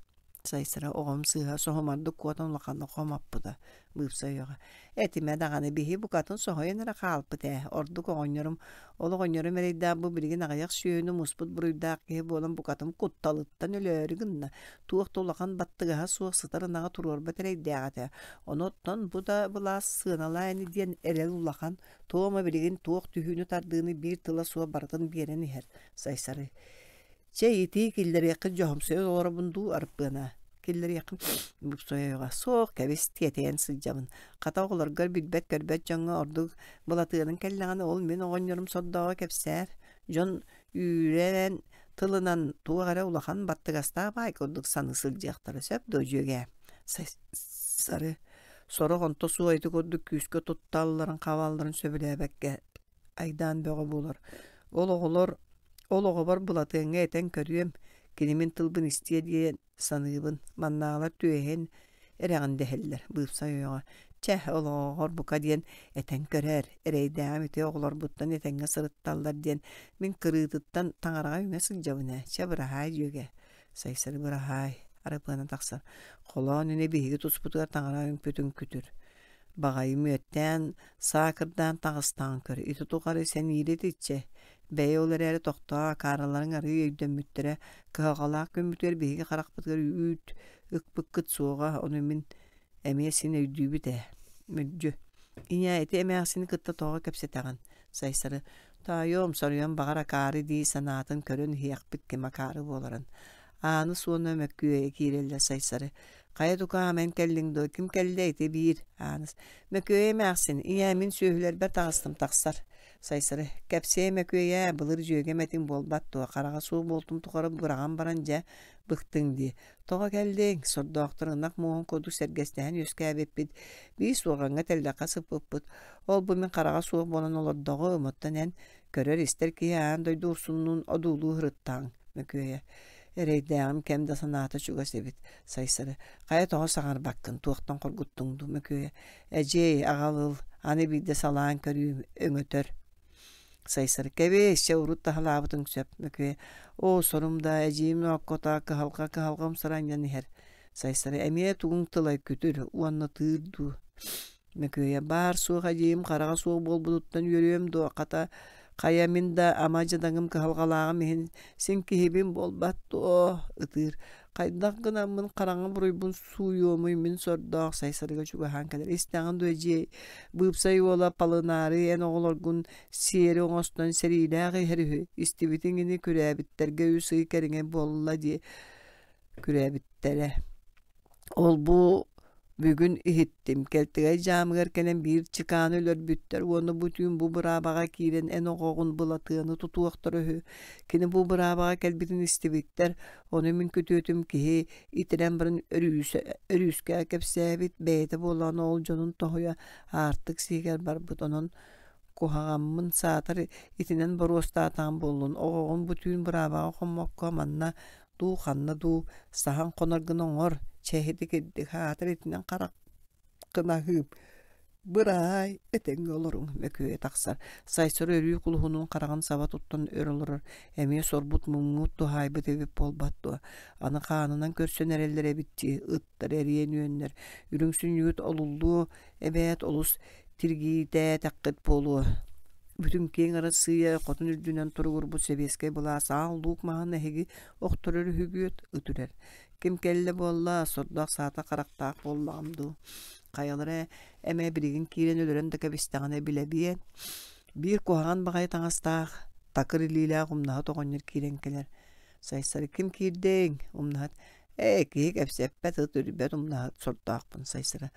Сайсара оҕом сыыһа соһумардык куотан улаханнык хомоппута, быыпсай ойоҕо. Этимэ даҕаны биһи букатын соһуйан эрэ хаалбыт ээ, ордук оҕонньорум. Ол оҕонньорум эрэйдээх бу билигин аҕыйах сүөһүнү муспут буруйдаах киһи буолан букатын кутталыттан өлөөрү гынна. Туох да улахан баттыгаһа суох сытар ынаҕы туруорбат эрэйдээх этэ. Ону оттон бу да былаас сыаналаа ини диэн эрэл улахан. Туома билигин туох түһүүнү-тардыыны биир тыла суох барытын биэрэн иһэр, Сайсары. Чэ, итии киллэриэххит дьоһумсуйа олоробун дуу, Арыппыана? Киллэриэххин Буксуйаҕа суох, кэбис, тиэтэйэн сылдьабын. Хата оҕолоргор билбэт-көрбөт дьоҥҥо ордук Былатыаныҥ кэллэҕинэ ол мин оҕонньорум сордооҕо кэпсээр. Дьон үүрэн тылынан туох эрэ улахан баттыгастаах баай курдук саныы сылдьыахтара сөп дуо, дьүөгээ? Сары сорох онто суох ити курдук күүскэ тутталларын-хабалларын сөбүлээбэккэ айдаан бөҕө буолар. Ол оҕолор ол оҕобор Былатыаҥҥа этэн көрүөм, кини мин тылбын истиэ диэн саныыбын. Маннааҕылар түөһэн эрэҕин дэһэллэр, быыпсай ойоҕо. Чэ, ол оҕоҕор бука диэн этэн көрөөр, эрэйдээҕим ити оҕолорбуттан этэҥҥэ сырытталлар диэн мин кырыытыттан таҥараҕа үҥэ сылдьабын ээ. Чэ, быраһаай дьүөгэ. Сайсары быраһаай, Арыпыана тахсар. Холоон ини биһиги туспутугар таҥара үҥпүтүн күтүр. Баҕайы мүөттээн, саакырдаан таҕыстаҕын көр, ити тухары сэниирэ итиччэ. Бэйэ ол эрээри тохтоо, акаарыларыҥ арыый өйдөммүттэрэ, кыһалҕалаах күммүтүгэр биһиги харахпытыгар үүт ыкпыккыт суоҕа, ону мин эмиэ син өйдүүбүт ээ. Мүлдьү. Ийээ, ити эмээхсини кытта тоҕо кэпсэтэҕин? Сайсары Таайыам, соруйан баҕар акаары дии санаатын көрөн иһиэхпит ким акаары буоларын. Ааныс уонна Мөккүөйэ киирэллэр Сайсары Хайа тукаам эн кэллиҥ дуо? Ким кэллэ ити биир Ааныс. Мөкүөйэ эмээхсин, ийээ мин сүөһүлэрбэр таҕыстым тахсар. Сайсары. Кэпсиэ Мөкүөйээ, былыр дьүөгэм этиҥ буолбат дуо? Хараҕа суох буолтум тухары быраҕан баран дьэ, быктыҥ дии. Тоҕо кэллиҥ? Сордоохтор ынах муоһун курдук сэргэстэһэн үөскээбиппит, биир суорҕаҥҥа тэллэххэ сыппыппыт. Ол бу мин хараҕа суох буолан олордоҕум, оттон эн көрөр-истэр киһи аан дойду урсуннуун одуулуу сырыттаҕыҥ, Мөкүөйэ. Эрэйдээҕим кэм да санаата чугас эбит, Сайсары. Хайа тоҕо саҥарбаккын, туохтан хоргуттуҥ дуу, Мөкүөйэ. Эдьиэй, аҕал ыл, аны биирдэ салаан көрүүм, өҥөтөр. Сайсары. Кэбис, чэ урут таһалаабытыҥ сөп, Мөкүөйэ. Оо, сорум да, эдьиийим нооккото, кыһалҕа кыһалҕам саранньан иһэр. Сайсары. Эмиэ тугуҥ тылай күтүр уонна тыыр дуу. Мөкүөйэ баар-суох эдьиийим хараҕа суох буолбутуттан үөрүөм дуо, хата, хайа мин да ама дьадаҥым кыһалҕалааҕым иһин син киһибин буолбат дуо, ытыыр. Хайдах гынаммын хараҥа буруйбун сууйуомуй мин сордоох Сайсарыга чугаһаан кэлэр. Истэҕин дуо эдьиэй, быыпсай уола Палынаары эн оҕолоргун сиэри оҥостон сэриилээх иһэр үһү. Истибитиҥ ини күрээбиттэргэ үс ый кэриҥэ буолла дии күрээбиттэрэ. Ол-бу бүгүн иһиттим, Кэлтэгэй дьаамыгар кэлэн биир чыкааны өлөрбүттэр уонна бу түүн бу быраабаҕа киирэн эн оҕоҕун Былатыаны тутуохтара үһү. Кини бу быраабаҕа кэлбитин истибиттэр, ону мин күтүөтүм киһи итирэн баран өрүүсэ, өрүүскэ кэпсээбит, бэйэтэ буоллаҕына ол дьонун тоһуйа аартык сиһигэр барбыт, онон куһаҕаммын саатар итинэн боруостаатаҕым буоллун, оҕоҕун бу түүн быраабаҕа хоммокко манна. дуу, ханна дуу саһан хонор гына оҥор, чэһити кирдик аатыр итинэн хараххын аһыым. Быраай, этэҥҥэ олоруҥ, мөкүө тахсар. Сайсары өрүү кулуһунун хараҕын саба туттан өр олорор, эмиэ сорбут муҥмут туһаайбыт эбит буолбат дуо? Аны хаанынан көрсөн эрэллэр эбит дии, ыттар эриэн үөннэр, үрүҥ сүнньүгүт олуллуо эбээт олус тиргиитээтэххит буолуо. Бүтүн киэҥ Арассыыйа хотун үрдүнэн туругурбут сэбиэскэй былаас аал луук маһын эһиги охторор үһүгүөт ыт үрэр. Ким кэллэ буолла, сордоох саата харахтаах буоллаҕым дуу. Хайалара эмэ билигин киирэн өлөрөн да кэбистэҕинэ билэбиэн. Биир куһаҕан баҕайы таҥастаах, такыр илиилээх умнаһыт оҕонньор киирэн кэлэр. Сайсары ким киирдиҥ? Умнаһыт ээ, киһи кэпсэппэт, ыт үрбэт умнаһыт сордоохпун Сайсары.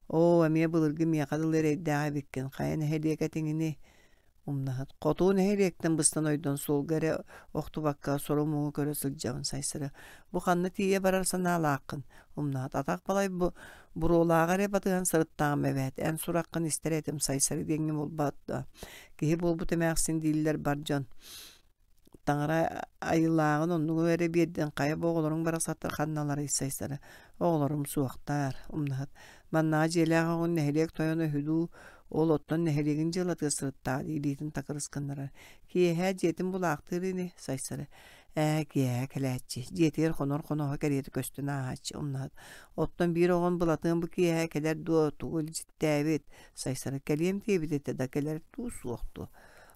Оо, эмиэ былыргы миэхэ дылы эрэйдээх эбиккин, хайа нэһилиэк этиҥиний? Умнаһыт хоту нэһилиэктэн быстан ойдон суолга эрэ охтубакка сору-муҥу көрө сылдьабын Сайсары. Бу ханна тиийэ барар санаалааххын? Умнаһыт атах балай бу буруолааҕы эрэ батыһан сырыттаҕым эбээт. Эн сураххын истэр этим Сайсары диэҥҥэ буолбат дуо? Киһи буолбут эмээхсин дииллэр бар дьон. Таҥара айылааҕын оннугу эрэ биэрдин хайа бу оҕолоруҥ барахсаттар ханналарый Сайсары оҕолорум суохтаар умнаһыт маннаҕа дьиэлээх оҕун нэһилиэк тойоно үһү дуу ол оттон нэһилиэгин дьыалатыгар сырыттаҕа дии илиитин такырыс гыннарар киэһэ дьиэтин булаахтыыр ини Сайсары ээ киэһэ кэлээччи дьиэтигэр хонор хоноһо кэриэтэ көстөн ааһааччы умнаһыт оттон биир оҕом Былатыан бу киэһэ кэлэр дуо тугу илдьиттээбит Сайсары кэлиэм диэбит этэ да кэлэр дуу суох дуо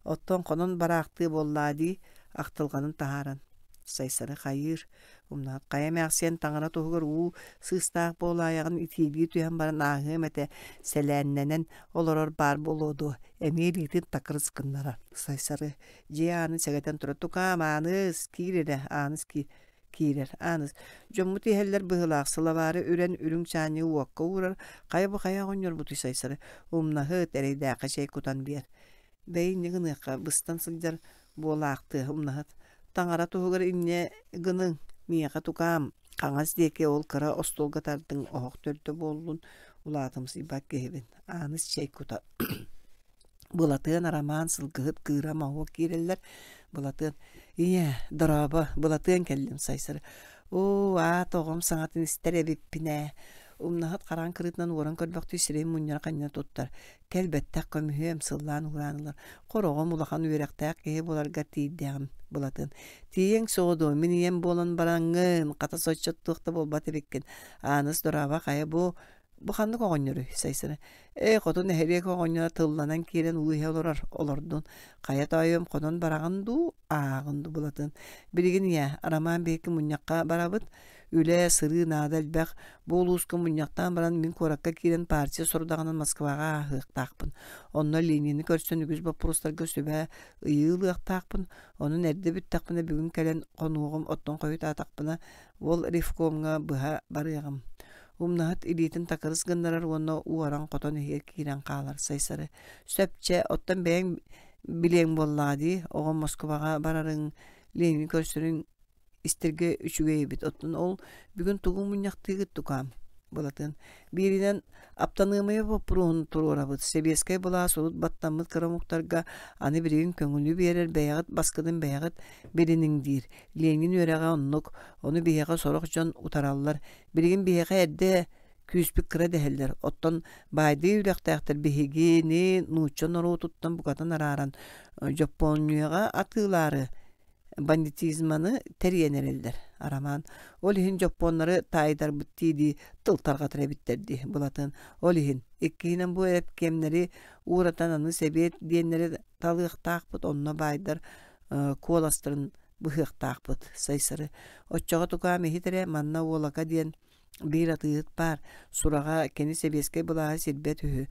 Оттон хонон бараахтыы буоллаа дии, ахтылҕанын таһааран. Сайсары хайыыр, умнаһыт хайа эмээхсиэн таҥара туһугар уу сыыстаах буолаайаҕын итиилии түһэн баран ааһыам этэ, сэлээннэнэн олорор баар буолуо дуо, эмиэ илиитин такырыс гыннарар. Сайсары дьиэ аанын сэгэтэн турар, тукаам, Ааныс, киир эрэ, Ааныс киир киирэр. Ааныс, дьоммут иһэллэр быһыылаах, сылабаары үрэн үрүҥ чаанньыгы уокка уурар, хайа бу хайа оҕонньорбутуй Сайсары, умнаһыт, эрэйдээххэ чэй кутан биэр. Бэйи инньэ гыныахха, быстан сылдьар буолаахтыа, умнаһыт. Таҥара туһугар инньэ гыныҥ, миэхэ тукаам, хаҥас диэки ол кыра остуолга тардыҥ, оһох төрдө буоллун, улаатымсыйбат киһибин. Ааныс чэй кута. Былатыан Арамаан сылгыһыт кыыра моһуок киирэллэр. Былатыан «Ийээ, дорообо, Былатыан кэллим Сайсары. Оо, аат оҕом саҥатын истэр эбиппин ээ» Умнаһыт хараҥ кырыытынан уоран көрбөхтүү сирэйин мунньара ханньана туттар. Кэлбэттэх көмүһүөм сыллаан уһураан ылар. Хороҕом улахан үөрэхтээх киһи буоларгар тиийдэҕим, Былатыан. Тиийиэҥ суоҕа дуо, мин ийэм буолан бараҥҥын, хата соччо туох да буолбат эбиккин. Ааныс дорообо, хайа бу Бу ханнык оҕонньоруй? Сайсары. Ээ, хоту нэһилиэк оҕонньоро тылланан киирэн уу иһэ олорор, олордун. Хайа тоойуом, хонон бараҕын дуу, ааҕын дуу Былатын. Билигин ийээ, Арамаан биһикки мунньахха барабыт. Үлэ, сырыы наада элбэх. Бу улууска мунньахтаан баран мин куоракка киирэн партия сорудаҕынан Москваҕа ааһыахтаахпын. Онно Ленини көрсөн үгүс боппуруостарга сүбэ ыйыы ылыахтаахпын. Онон эрдэ бүттэхпинэ бүгүн кэлэн хонуоҕум, оттон хойутаатахпына ол ревкомҥа быһа барыаҕым. Умнаһыт илиитин такырыс гыннарар уонна уоран хотон иһигэр киирэн хаалар Сайсары. Сөп чэ, оттон бэйэҥ билиэҥ буоллаҕа дии, оҕом Москваҕа барарыҥ, Ленини көрсөрүҥ истэргэ үчүгэй эбит. Оттон ол бүгүн тугу мунньахтыыгыт тукаам? Былатыан. Бииринэн, аптаныамыйа боппуруоһун туруорабыт. Сэбиэскэй былаас урут баттаммыт кыра омуктарга аны билигин көҥүлү биэрэр бэйэҕит баскытын бэйэҕит билиниҥ диир. Ленин үөрэҕэ оннук. Ону биһиэхэ сорох дьон утараллар. Билигин биһиэхэ эрдэ күүспүт кыра дэһэллэр. Оттон баайдыы үрэхтээхтэр биһигини нуучча норуотуттан букатын арааран Дьоппуонньуйаҕа атыылаары бандитизманы тэрийэн эрэллэр. Арамаан ол иһин дьоппуоннары таайдарбыт дии-дии тыл тарҕатар эбиттэр дии Былатын. Ол иһин иккиһинэн бу эрэпкиэмнэри ууратан аны сэбиэт диэннэри талыахтаахпыт, онно баайдар куоластарын быһыахтаахпыт Сайсары. Оччоҕо тукаам иһит эрэ манна Уолака диэн биир атыыһыт баар, сураҕа кини сэбиэскэй былааһы сирбэт үһү.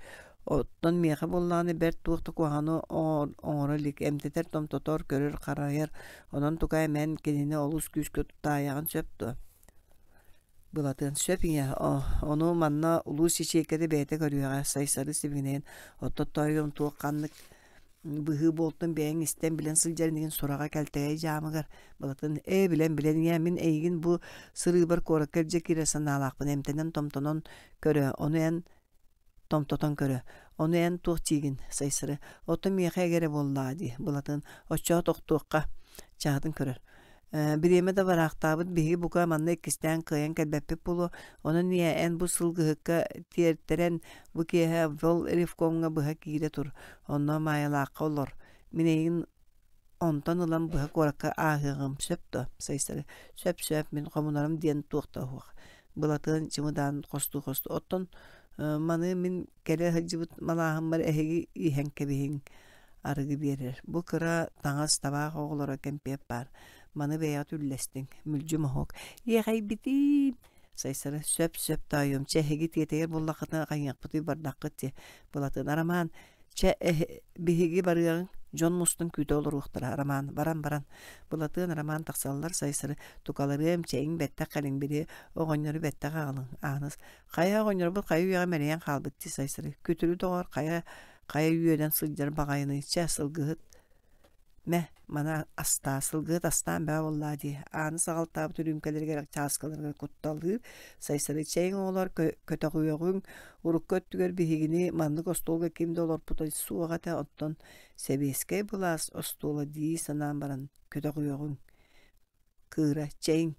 Оттон миэхэ буоллаҕына бэрт туох да куһаҕаны оҥоро илик, эмтэтэр, томтотор, көрөр-харайар. Онон тукаам эн кинини олус күүскэ тутаайаҕын сөп дуо? Былатыан сөп ийэ, ону манна улуус ячейката бэйэтэ көрүөҕэ, Сайсары сибигинэйэн, оттон тоойуом туох ханнык быһыы буолтун бэйэҥ истэн билэн сылдьар инигин сураҕа кэлтэгэй дьаамыгар Былатын ээ билэн билэн ийээ мин эйигин бу сырыыбар куоракка илдьэ киирэр санаалаахпын эмтэнэн томтонон көрө ону эн томтотон көрө ону эн туох диигин Сайсары оттон миэхэ эгэрэ буоллаҕа дии Былатын оччоҕо тохтуохха чаһытын көрөр. Бириэмэ да бараахтаабыт биһиги бука манна иккистээн кыайан кэлбэппит буолуо. Онон ийэ эн бу сылгыһыкка тиэртэрэн бу киэһэ вол ревкомҥа быһа киирэ тур. Онно Маайалаахха олор. Мин эйигин онтон ылан быһа куоракка ааһыаҕым сөп дуо? Сайсары сөп-сөп мин хомунарым диэн туох да уһуох. Былатыан чымыдаан хостуу-хостуу. Оттон маны мин кэлэ сылдьыбыт малааһыммар эһиги иһэн кэбиһиҥ арыгы биэрэр. Бу кыра таҥас табаах оҕолоро кэмпиэт баар. Маны бэйэҕит үллэстиҥ. Мүлдьү моһуок. Иэхэйбитиин! Сайсары сөп-сөп тоойуом, чэ эһиги тиэтэйэр буоллаххытына хайыахпытый бардаххыт дии. Былатыан Арамаан, чэ биһиги барыаҕыҥ, дьон мустан күүтэ олоруохтара Роман, баран-баран. Былатыан Роман тахсаллар Сайсары тукаларыам, чэйиҥ бэттэх кэлиҥ били оҕонньору бэттэх аҕалыҥ Ааныс хайа оҕонньорбут хайа үйэҕэ мэлийэн хаалбыт дии Сайсары күтүрү доҕор хайа хайа үөнэн сылдьар баҕайыный чэ сылгыһыт Мэ, маны астаа, сылгыһыт астаан бөҕө буоллаа дии, ааны саҕалтаабыт үрүүмкэлэригэр, чааскыларыгар кутталыыр, Сайсары чэйиҥ оҕолор көтөҕүөҕүҥ, урукку өттүгэр биһигини маннык остуолга ким да олорпута суох этэ, оттон сэбиэскэй былаас остуола дии санаан баран көтөҕүөҕүҥ Кыыра, чэйиҥ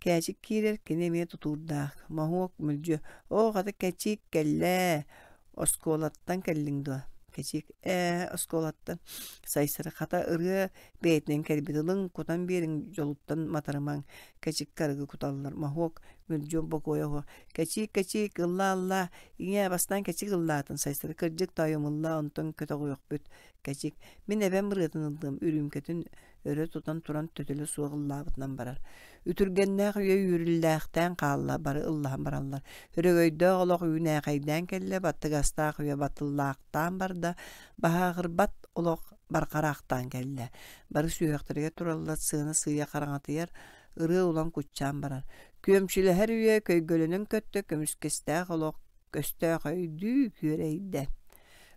Кээчик киирэр, кини эмиэ тутуурдаах, моһуок мүлдьү: «Оо, хата Кэчиик кэллээ, оскуолаттан кэллиҥ дуо?» Кэчиик: «Ээ, оскуолаттан». Сайсары: «Хата ырыа бэйэтинэн кэлбит, ылыҥ, кутан биэриҥ, дьолуттан матарымаҥ». Кэчиккэ арыгы куталлар, моһуок мүлдьү бокуойа уһуо: «Кэчиик, Кэчиик, ыллаа-ыллаа, ийээ, бастаан Кэчик ыллаатын». Сайсары: «Кырдьык, тоойуом, ыллаа, онтон көтөҕүөхпүт». Кэчик: «Мин эбэм ырыатын ыллыам, үрүүмкэтин өрө тутан туран төтөлө суох ыллаабытынан барар. Үтүргэннээх үйэ үүрүллээхтээн хаалла, бары ыллаһан бараллар. Өрөгөйдөөх олох үүнээхэйдээн кэллэ, баттыгастаах үйэ батыллаахтаан барда, баһааҕырбат олох барҕараахтаан кэллэ. Бары сүһүөхтэригэр тураллар, сыана сыыйа хараҥатыйар, ырыа улам куччаан барар. Күөмчүлэһэр үйэ көйгөлөнөн көттө, көмүскэстээх олох көстөөх өйдүү күөрэйдэ.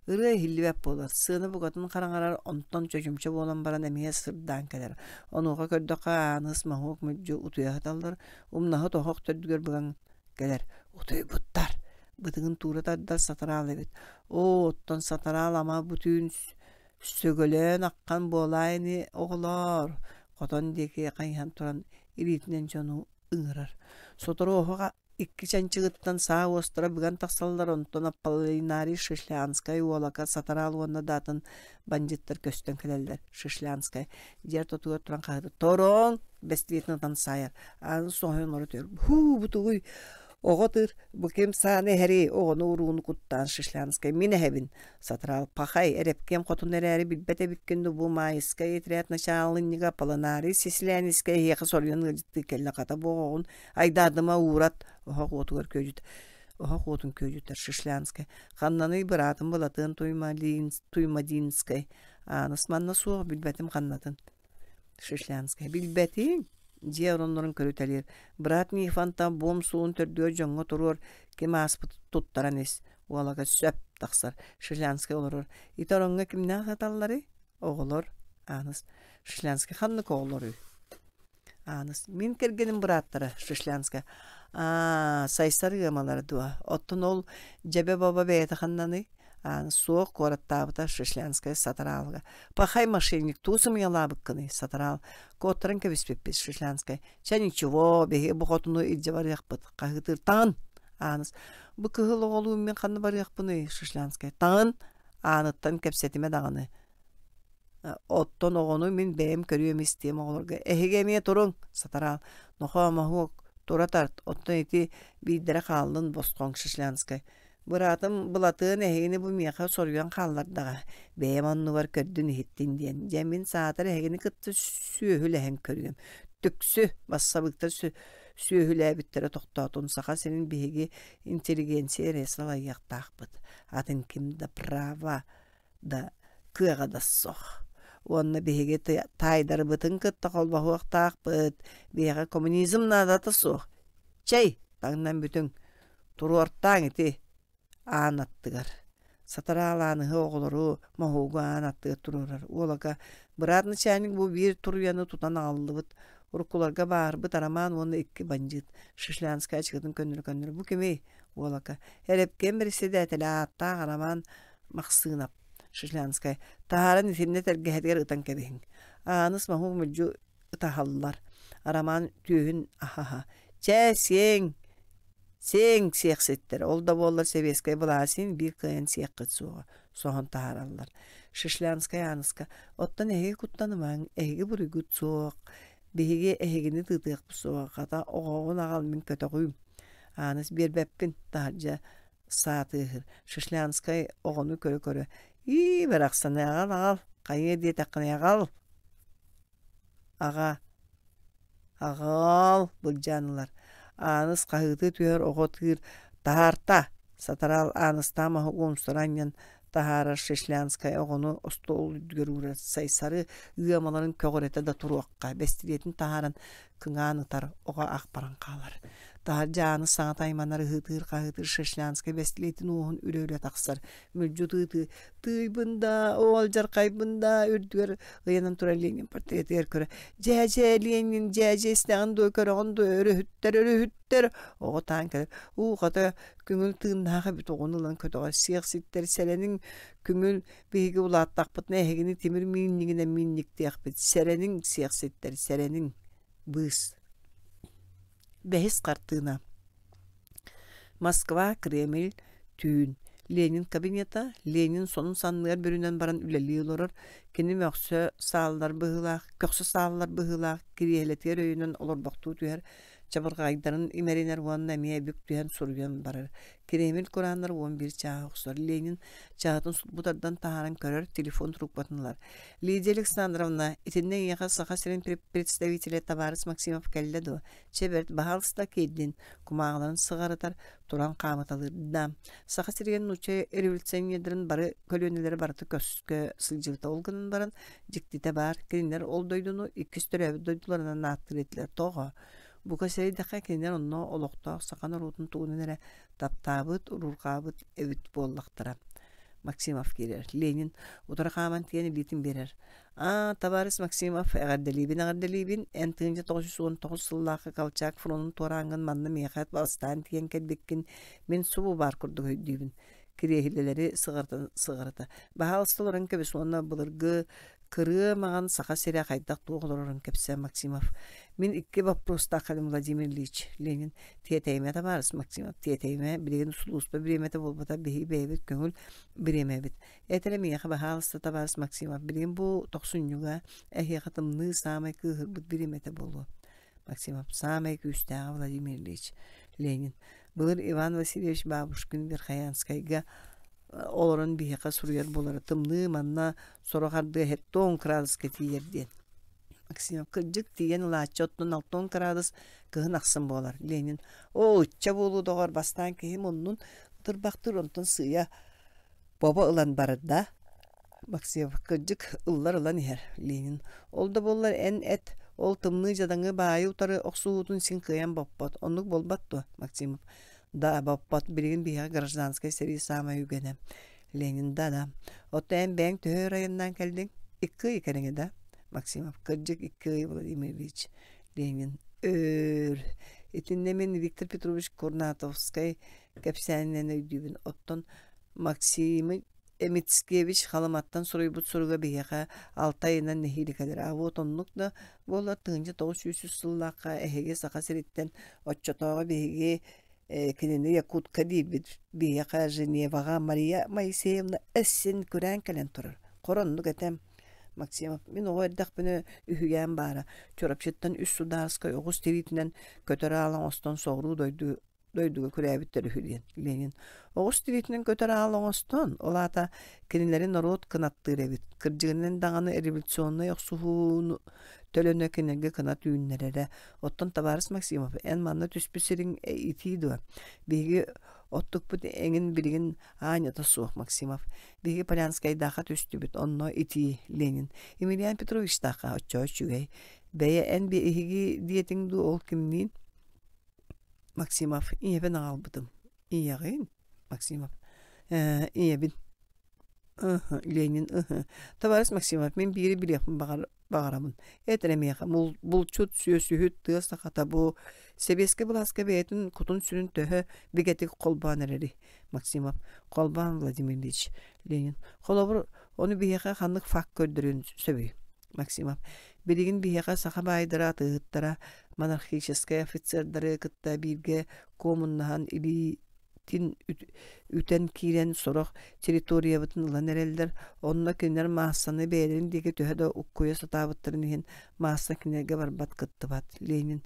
Ырыа иһиллибэт буолар, сыана букатын хараҥарар, онтон чочумча буолан баран эмиэ сырдаан кэлэр. Онуоха көрдөххө Ааныс, Моһуок мүлдьү утуйа сыталлар, умнаһыт оһох төрдүгэр быган кэлэр. Утуйбуттар! Бытыгын туура тардар сатараал эбит. Оо, оттон сатараал ама бу түүн сөгөлөөн аххан буолаа ини, оҕолоор! Хотон диэки хайыһан туран илиитинэн дьону ыҥырар. Сотору оһох Икки чанчыгыттан саа уостара быган тахсаллар, онтон Аполлинарий Шишлянскай, Уолака, Сатараал уонна да атын бандьыыттар көстөн кэлэллэр. Шишлянскай дьиэ ортотугар туран хаһыытар: «Тороҥ!» бэстилиэтин ытан саайар. Ааны соһуйан олоро түһэр: «Һуу, бу тугуй? Оҕо тыыр, бу ким сааны эһэрий? Оҕону-урууну куттаан Шишлянскай мин эһэбин!» Сатараал пахай, эрэпкиэм хотун эрээри билбэт эбиккин дуу, бу Маайыскай отряд начаалынньыга Аполлинарий Сислянискай эһиэхэ соруйан ыалдьыттыы кэллэ, хата бу оҕоҕун Айдаардыма уурат, оһох уотугар күөдьүт оһох уотун күөдьүтэр Шишлянскай. Ханнаный быраатым Былатыан Туймадинскай. Ааныс манна суох, билбэтим ханнатын. Шишлянскай. Билбэтиҥ? Дьиэ ороннорун көрүтэлиир. Брат Нифонтов буом суолун төрдүгэр дьоҥҥо туруор, ким ааспыт туттаран ис. Уолага сөп тахсар. Шишлянскай олорор. Ити ороҥҥо кимнээх сыталларый? Оҕолор. Ааныс. Шишлянскай ханнык оҕолоруй? Ааныс, мин кэргэним бырааттара Шишлянская. Аа, Сайсар ыамалара дуо? Оттон ол дьэбэ-баба бэйэтэ ханнаный? Ааныс, суох, куораттаабыта Шишлянская Сатараалга. Пахай мошенник, туу сымыйалаабыккыный, Сатараал. Куоттаран кэбиспиппит Шишлянская. Чэ, ничего, биһиги бу хотуну илдьэ барыахпыт. Хаһыытыыр таҥын! Ааныс, бу кыһыл оҕолуун мин ханна барыахпыный? Шишлянская. Таҥын! Ааныттан кэпсэтимэ даҕаны. Оттон оҕону мин бэйэм көрүөм-истиэм оҕолорго эһиги эмиэ туруҥ, сатараал, нохоо моһуок, тура тарт, оттон ити биирдэрэ хааллын босхоҥ Шишлянскай. Быраатым Былатыан эһигини бу миэхэ соруйан хааллардаҕа, бэйэм оннубар көрдүн-иһиттин диэн. Дьэ мин саатар эһигини кытта сүөһүлэһэн көрүөм. Түксү, бассабыыктар сүөһүлээбиттэрэ тохтоотун, Саха сирин биһиги интеллигенция эрэ салайыахтаахпыт, атын ким да права да кыаҕа да суох. Уонна биһиги таайдарбытын кытта холбоһуохтаахпыт. Биһиэхэ коммунизм наадата суох. Чэй, таҥнан бүтүҥ. Туруортааҥ ити аан аттыгар. Сатараал ааныһы оҕолору моһуогу аан аттыгар туруорар. Уолага быраат начальник бу биир туруйаны тутан аҕаллыбыт. Уруккуларга баарбыт Арамаан уонна икки бандьыыт. Шишлянскай ачыкытын көннөрө-көннөрө бу кимий? Уолака. Эрэпкиэм бэрэссэдээтэлэ ааттаах Арамаан Махсыынап, Шишлянскай, таһааран итиннэ тэлгэһэтигэр ытан кэбиһиҥ. Ааныс моһуок мүлдьү ытаһаллар. Арамаан түөһүн аһаһа: «Чээ, сиэҥ, сиэҥ сиэхситтэр, ол да буоллар сэбиэскэй былааһы син биир кыайан сиэххит суоҕа», соһон таһаараллар. Шишлянскай Ааныска: «Оттон эһиги куттанымаҥ, эһиги буруйгут суох, биһиги эһигини тыытыахпыт суоҕа, хата оҕоҕун аҕал мин көтөҕүүм». Ааныс биэрбэппин, таһырдьа саа тыаһыыр. Шишлянскай оҕону көрө-көрө: «Ии, барахсаны аҕал, аҕал, хайыа диэтэххинэ аҕал!» Аҕа, аҕал былдьаан ылар. Ааныс хаһыытыы түһэр оҕо тыыр «Таһаарта!» Сатараал Ааныстаах маһы уомсара анньан таһаарар Шишлянскай оҕону остуол үрдүгэр уурар Сайсары ыамаларын көҕүрэтэ да туруохха бэстилиэтин таһааран кыҥаан ытар оҕо ах баран хаалар. Таһырдьа Ааныс саҥата айманар ыһыытыыр-хаһыытыыр Шишлянскай бэстилиэтин уоһун үрэ-үрэ тахсар. Мүлдьү тыытыы «Тыыйбын да, оол дьархайбын да» үрдүгэр ыйанан турар Ленин портретыгар көрө «Дьээдьэ Ленин, дьээдьэ истэҕин дуо, көрөҕүн дуо, өрүһүттэр, өрүһүттэр!» Оҕо таан кэлэр «Уу, хата, көҥүл тыыннаах эбит оҕону ылан көтөҕөр сиэх ситтэр сэрэниҥ, көҥүл биһиги улааттахпытына эһигини тимир миинньигинэн миинньиктиэхпит, сэрэниҥ, сиэх ситтэр, сэрэниҥ!» Быыс. Бэһис хартыына. Москва, Кремль, түүн. Ленин кабинета, Ленин сонун санныгар бүрүнэн баран үлэлии олорор, кини мөхсө сааллар быһыылаах, көхсө сааллар быһыылаах кириэһилэтигэр өйөнөн олорбохтуу түһэр, чабырҕайдарын имэринэр уонна эмиэ бүк түһэн суруйан барар. Кремль курааннар 11 чааһы охсор. Ленин чаһытын сулбу тардан таһааран көрөр, телефон трубкатын ылар. Лидия Александровна, итиннэ эйиэхэ Саха сирин представителэ табаарыс Максимов кэллэ дуо? Чэ бэрт, баһаалыста киирдин, кумааҕыларын сыҕарытар, туран хаамыталыыр. Да, Саха сиригэр нуучча революционердарын бары көлүөнэлэрэ барыта көскө сылдьыбыта. Ол гынан баран, дьиктитэ баар, кинилэр ол дойдуну иккис төрөөбүт дойдуларынан ааттыыр этилэр. Тоҕо? Бука сэрэйдэххэ, кинилэр онно олохтоох саха норуотун тугунан эрэ таптаабыт, уруурҕаабыт эбит буоллахтара. Максимов киирэр. Ленин утары хааман тиийэн илиитин биэрэр. «Аа, табаарыс Максимов, эҕэрдэлиибин, эҕэрдэлиибин. Эн 1919 сыллаахха Колчак фронун туорааҥҥын манна миэхэ бастаан тиийэн кэлбиккин мин субу баар курдук өйдүүбүн. Кириэһилэлэри сыҕарытан сыҕарыта. Баһаалыста олорон кэбис уонна былыргы Кырыа маҕан Саха сирэ хайдах туох олорорун кэпсээ Максимов. Мин икки боппуруостаах кэлим Владимир Ильич Ленин тиэтэйимэ табаарыс Максимов тиэтэйимэ билигин сулууспа бириэмэтэ буолбата биһиги бэйэбит көҥүл бириэмэбит. Эт эрэ миэхэ баһаалыста табаарыс Максимов билигин бу тохсунньуга эһиэхэ тымныы саамай кыыһырбыт бириэмэтэ буолуо. Максимов саамай күүстээҕэ Владимир Ильич Ленин. Былыр Иван Васильевич Бабушкин Верхоянскайга олорон биһиэхэ суруйар буолара тымныы манна сорох ардыга хеттон кыраадыска тиийэр диэн. Максимов кырдьык тиийэн ылааччы оттон алтон кыраадыс кыһын ахсын буолар. Ленин оо ычча буолуу доҕор бастаан киһи муннун тырбахтыыр онтон сыыйа бобо ылан барар да Максимов кырдьык ыллар ылан иһэр Ленин ол да буоллар эн эт ол тымныы дьадаҥы баайы утары охсуһуутун син кыайан боппот оннук буолбат дуо Максимов Да, боппот билигин биһиэхэ гражданскай сэрии саамай үгэнэ. Ленин да да. Оттон эн бэйэҥ төһө өр айаннаан кэллиҥ? Икки ый кэриҥэ да? Максимов. Кырдьык, икки ый, Владимир Ильич. Ленин. Өр. Итиннэ мин Виктор Петрович Курнатовскай кэпсээнинэн өйдүүбүн. Оттон Максимы Мицкевич Халыматтан суруйбут суруга биһиэхэ алта ыйынан нэһиилэ кэлэр. А вот оннук да буоллар 1903 сыллаахха эһиги Саха сириттэн оччотооҕу биһиги кинини Якутка диирбит биһиэхэ Женеваҕа Мария Моисеевна эссин күрээн кэлэн турар. Хор оннук этэм. Максимов, мин оҕо эрдэхпинэ үһүйээн баара. Чурапчыттан үс судаарыскай оҕус тириитинэн көтөр аал оҥостон соҕуруу дойду дойдуга күрээбиттэр үһү диэн Ленин оҕус тириитинэн көтөр аал оҥостон, ол аата кинилэри норуот кынаттыыр эбит. Кырдьыгынан даҕаны революционнай охсуһууну төлөнө кинилэргэ кынат үүннэрэрэ. Оттон табаарыс Максимов, эн манна түспүт сириҥ итии дуо? Биһиги оттукпут эҥин билигин аанньата суох, Максимов. Биһиги Полянскайдаахха түстүбүт, онно итии, Ленин. Емельян Петровичтаахха оччоо үчүгэй. Бэйэ эн биһиги диэтиҥ дуу, ол кимниин? Максимов ийэбин аҕалбытым. Ийэҕин? Максимов ээ ийэбин. Ыһы, Ленин ыһы. Товарищ Максимов, мин биири билиэхпин баҕарабын. Эт эрэ миэхэ, булчут, сүөсүһүт, тыа сахата бу сэбиэскэй былааска бэйэтин кутун-сүрүн төһө бигэтик холбоон эрэрий? Максимов. Холбоон Владимир Ильич. Ленин. Холобур, ону биһиэхэ ханнык факт көрдөрүөн сөбүй? Максимов. Билигин биһиэхэ саха баайдара, атыыһыттара, монархическай офицердары кытта бииргэ куомуннаһан илиитин үтэн киирэн сорох территориябытын ылан эрэллэр. Онно кинилэр маассаны бэйэлэрин диэки төһө да уккуйа сатаабыттарын иһин маасса кинилэргэ барбат кыттыбат. Ленин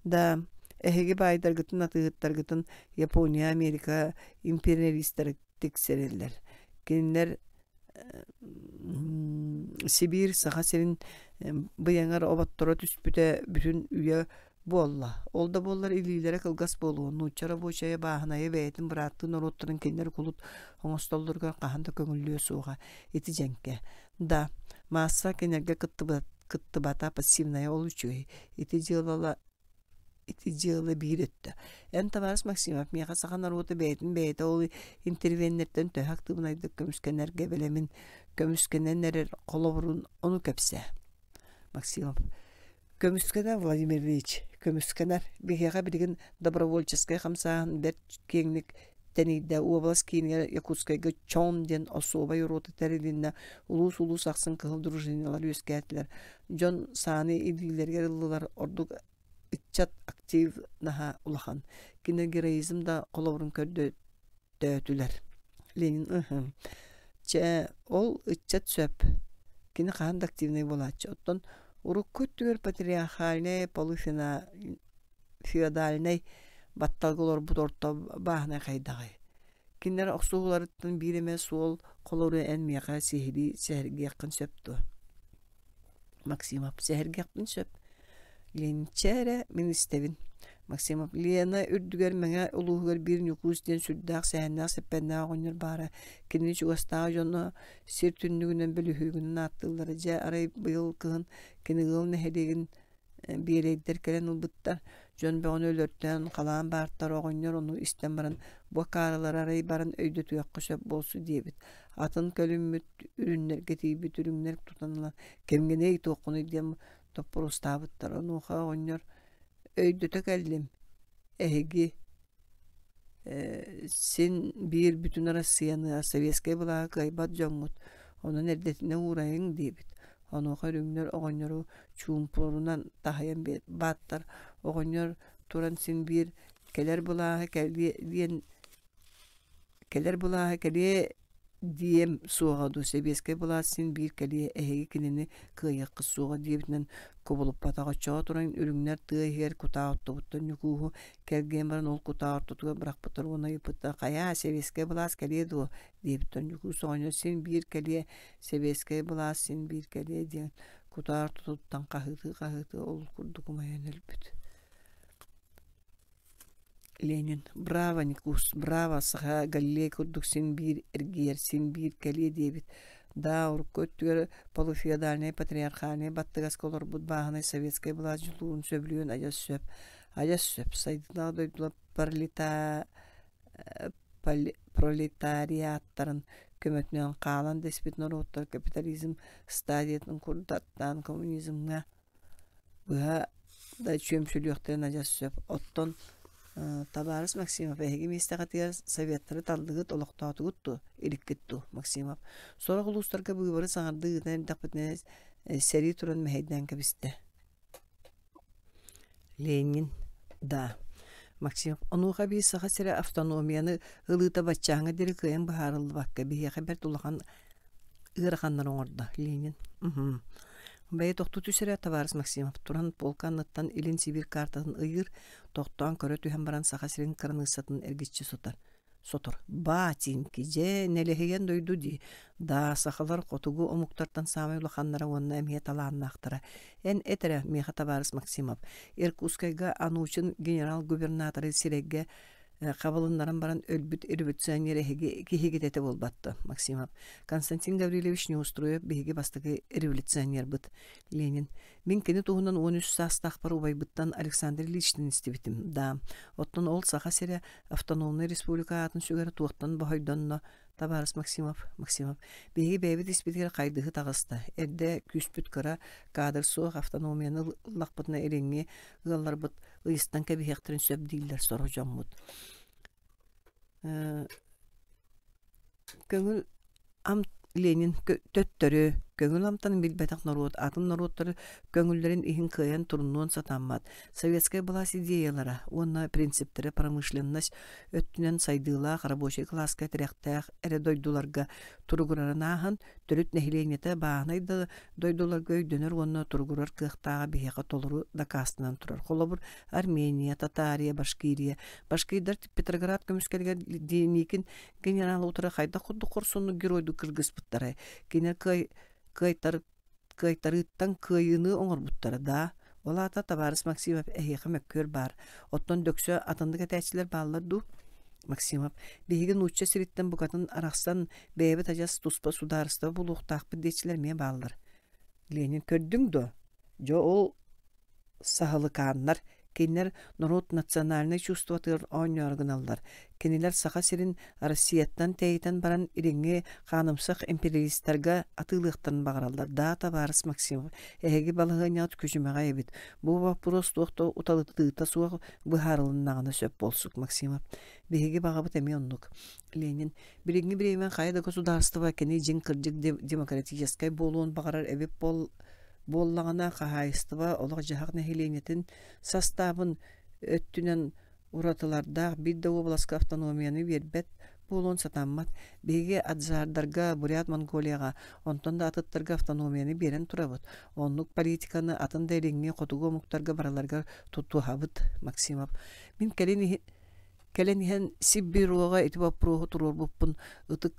Да, эһиги баайдаргытын, атыыһыттаргытын Япония, Америка империалистара тиксэрэллэр. Кинилэр Сибиир Саха сирин быйаҥар оботторо түспүтэ бүтүн үйэ буолла. Ол да буоллар илиилэрэ кылгас буолуо. Нуучча рабочайа бааһынайа бэйэтин бырааттыы норуоттарын кинилэр кулут оҥостоллоругар хаһан да көҥүллүө суоҕа. Ити дьэҥкэ. Да, маасса кинилэргэ кыттыбата пассивная ол үчүгэй. Ити дьыалала Ити дьыала биир өттө. Эн, табаарыс Максимов, миэхэ саха норуота бэйэтин бэйэтэ ол интервеннэртэн төһө актыыбынайдык көмүскэнэргэ бэлэмин, көмүскэнэн эрэр холобурун ону кэпсээ. Максимов. Көмүскэнэр Владимир Ильич, көмүскэнэр. Биһиэхэ билигин добровольческай хамсааһын бэрт киэҥник тэнийдэ. Уобалас киинигэр Якутскайга ЧОН диэн особай рота тэрилиннэ. Улуус-улуус ахсын кыһыл дружиналар үөскээтилэр. Дьон сааны илиилэригэр ыллылар, ордук ыччат активнаһа улахан. Кини героизм да холобурун көрдөтөөтүлэр. Ленин ыһым. Чэ, ол ыччат сөп. Кини хаһан да активнай буолааччы. Оттон урукку өттүгэр патриархальнай, полуфеодальнай батталга олорбут орто бааһынай хайдаҕый? Кинилэр охсуһууларыттан биир эмэ суол холобуру эн миэхэ сиһилии сэһэргиэххин сөп дуо? Максимов сэһэргэхпин сөп. Ленчэ эрэ мин истэбин. Максимов Лена үрдүгэр Мэҥэ улууһугар биир Ньукуус диэн сүрдээх сэһэннээх-сэппэннээх оҕонньор баара. Кинини чугастааҕы дьоно сир түннүгүнэн бөлүһүөгүнэн ааттыыллара. Дьэ, арай быйыл кыһын кини ыал нэһилиэгин биэрэйдэр кэлэн ылбыттар. Дьон бөҕөнү өлөртөөн, халаан баартар оҕонньор ону истэн баран, бу акаарылары арай баран өйдөтүөххэ сөп буолсу диэбит. Атын көлүммүт үрүннэргэ тиийбит үрүҥнэр тутан ылан кэмҥиний туоххунуй диэн доппуруостаабыттар. Онуоха оҕонньор өйдөтө кэллим, эһиги син биир бүтүн Арассыыйаны советскай былааһы кыайбат дьоҥҥут, онон эрдэтинэ уурайыҥ диэбит. Онуоха үрүҥнэр оҕонньору чуумпурунан таһыйан бааттар. Оҕонньор туран син биир кэлэр былааһы кэлиэ диэн кэлэр былааһы кэлиэ диэм суоҕа дуу, сэбиэскэй былаас син биир кэлиэ, эһиги кинини кыайыаххыт суоҕа диэбитинэн кубулуппатах. Оччоҕо туран үрүҥнэр тыа иһигэр кутаа оттубуттар Ньукууһу кэлгийэн баран ол кутаа ортотугар бырахпыттар уонна ыйыппыттар «Хайаа, сэбиэскэй былаас кэлиэ дуо?» диэбиттэр. Ньукуус оҕонньор син биир кэлиэ, сэбиэскэй былаас син биир кэлиэ диэн кутаа ортотуттан хаһыытыы-хаһыытыы ол курдук умайан өлбүт. Ленин «Браво, Никус, браво, саха Галилей курдук син биир эргийэр, син биир кэлиэ» диэбит. Да, урукку өттүгэр полуфеодальнай патриархальнай баттыгаска олорбут бааһынай советскай былаас дьулуурун сөбүлүөн адьас сөп. Адьас сөп. Сайдыылаах дойдулар пролетариаттарын көмөтүнэн хаалан да испит норуоттар капитализм стадиятын курдаттаан коммунизмҥа быһа да чүөмсүлүөхтэрин адьас сөп. Оттон табаарыс Максимов, эһиги миэстэҕитигэр советтары таллыгыт, олохтоотугут дуо, иликкит дуу, Максимов? Сорох улуустарга быыбары саҥардыы ыытан эрдэхпитинэ сэрии туран мэһэйдээн кэбистэ. Ленин, да. Максимов, онуоха эбии Саха сирэ автономияны ылыыта баччааҥҥа диэри кыайан быһаарыллыбакка, биһиэхэ бэрт улахан ыараханнары оҥордо Ленин. Уһун. Бэйэ тохтуу түс эрэ, табаарыс Максимов туран полка анныттан Илин Сибиир картатын ыйыыр, тохтоон көрө түһэн баран Саха сирин кыраныыссатын эргиччи сотор. Сотор. Батинки, дьэ, нэлэһийэн дойду дии. Да, сахалар хотугу омуктартан саамай улаханнара уонна эмиэ талааннаахтара. Эн эт эрэ, миэхэ табаарыс Максимов, Иркутскайга Анучин генерал-губернаторы сирэйгэ хабылыннаран баран өлбүт революционер эһиги киһигит этэ буолбатта Максимов. Константин Гаврильевич Неустроев биһиги бастакы революционербыт. Ленин. Мин кини туһунан 13 саастаахпар убайбыттан Александр Ильичтэн истибитим. Да, оттон ол Саха сирэ автономнай республика аатын сүгэрэ туохтан боһойдонно табаарыс Максимов, Максимов, биһиги бэйэбит испитигэр хайдыһы таҕыста. Эрдэ күүспүт кыра, кадр суох автономияны ыллахпытына илиҥҥи ыалларбыт ыйыстан кэбиһиэхтэрин сөп дииллэр сорох дьоммут. Көҥүл ам Ленин төттөрү. Көҥүл амтанын билбэтэх норуот атын норуоттар көҥүллэрин иһин кыайан турунуон сатаммат. Советскай былаас идеялара уонна принциптэрэ промышленность өттүнэн сайдыылаах рабочай кылааска тирэхтээх эрэ дойдуларга туругурарын ааһан, төрүт нэһилиэнньэтэ бааһынай да дойдуларга өйдөнөр уонна туругурар кыахтааҕа биһиэхэ толору дакаастанан турар. Холобур, Армения, Татария, Башкирия. Башкирдар Петроград көмүскэлигэр Деникин генерал утары хайдах курдук хорсуннук геройдуу кыргыспыттарай? Кинилэр кыай кыайтар кыайтарыыттан кыайыыны оҥорбуттара даа? Ол аата, табаарыс Максимов, эһиэхэ мөккүөр баар. Оттон дөксө атыннык этээччилэр бааллар дуу? Максимов, биһиги нуучча сириттэн букатын арахсан, бэйэбит адьас туспа судаарыстыба булуохтаахпыт диэччилэр эмиэ бааллар. Ленин, көрдүҥ дуо? Дьэ ол саһылыкааннар, кинилэр норуот национальнай чувствотыгар оонньоору гыналлар. Кинилэр Саха сирин Россияттан тэйитэн баран илиҥҥи хаанымсах империалистарга атыылыахтарын баҕараллар. Да, табаарыс Максимов, эһиги балаһыанньаҕыт күчүмэҕэй эбит. Бу боппуруос туох да уталытыыта суох быһаарылыннаҕына сөп буолсук, Максимов. Биһиги баҕабыт эмиэ оннук. Ленин, билиҥҥи бириэмэ хайа да государство кини дьиҥ кырдьык демократическай буолуон баҕарар эбит буол буоллаҕына, хаһаайыстыба олох-дьаһах нэһилиэнньэтин састаабын өттүнэн уратылардаах биир да уобаласка автономияны биэрбэт буолуон сатаммат. Биһиги аджардарга, Бурят Монголияҕа, онтон да атыттарга автономияны биэрэн турабыт. Оннук политиканы атын да илиҥҥи хотугу омуктарга барыларыгар тутуһабыт, Максимов. Мин кэлин кэлэн иһэн Сиббюроҕа ити боппуруоһу туруорбуппун ытык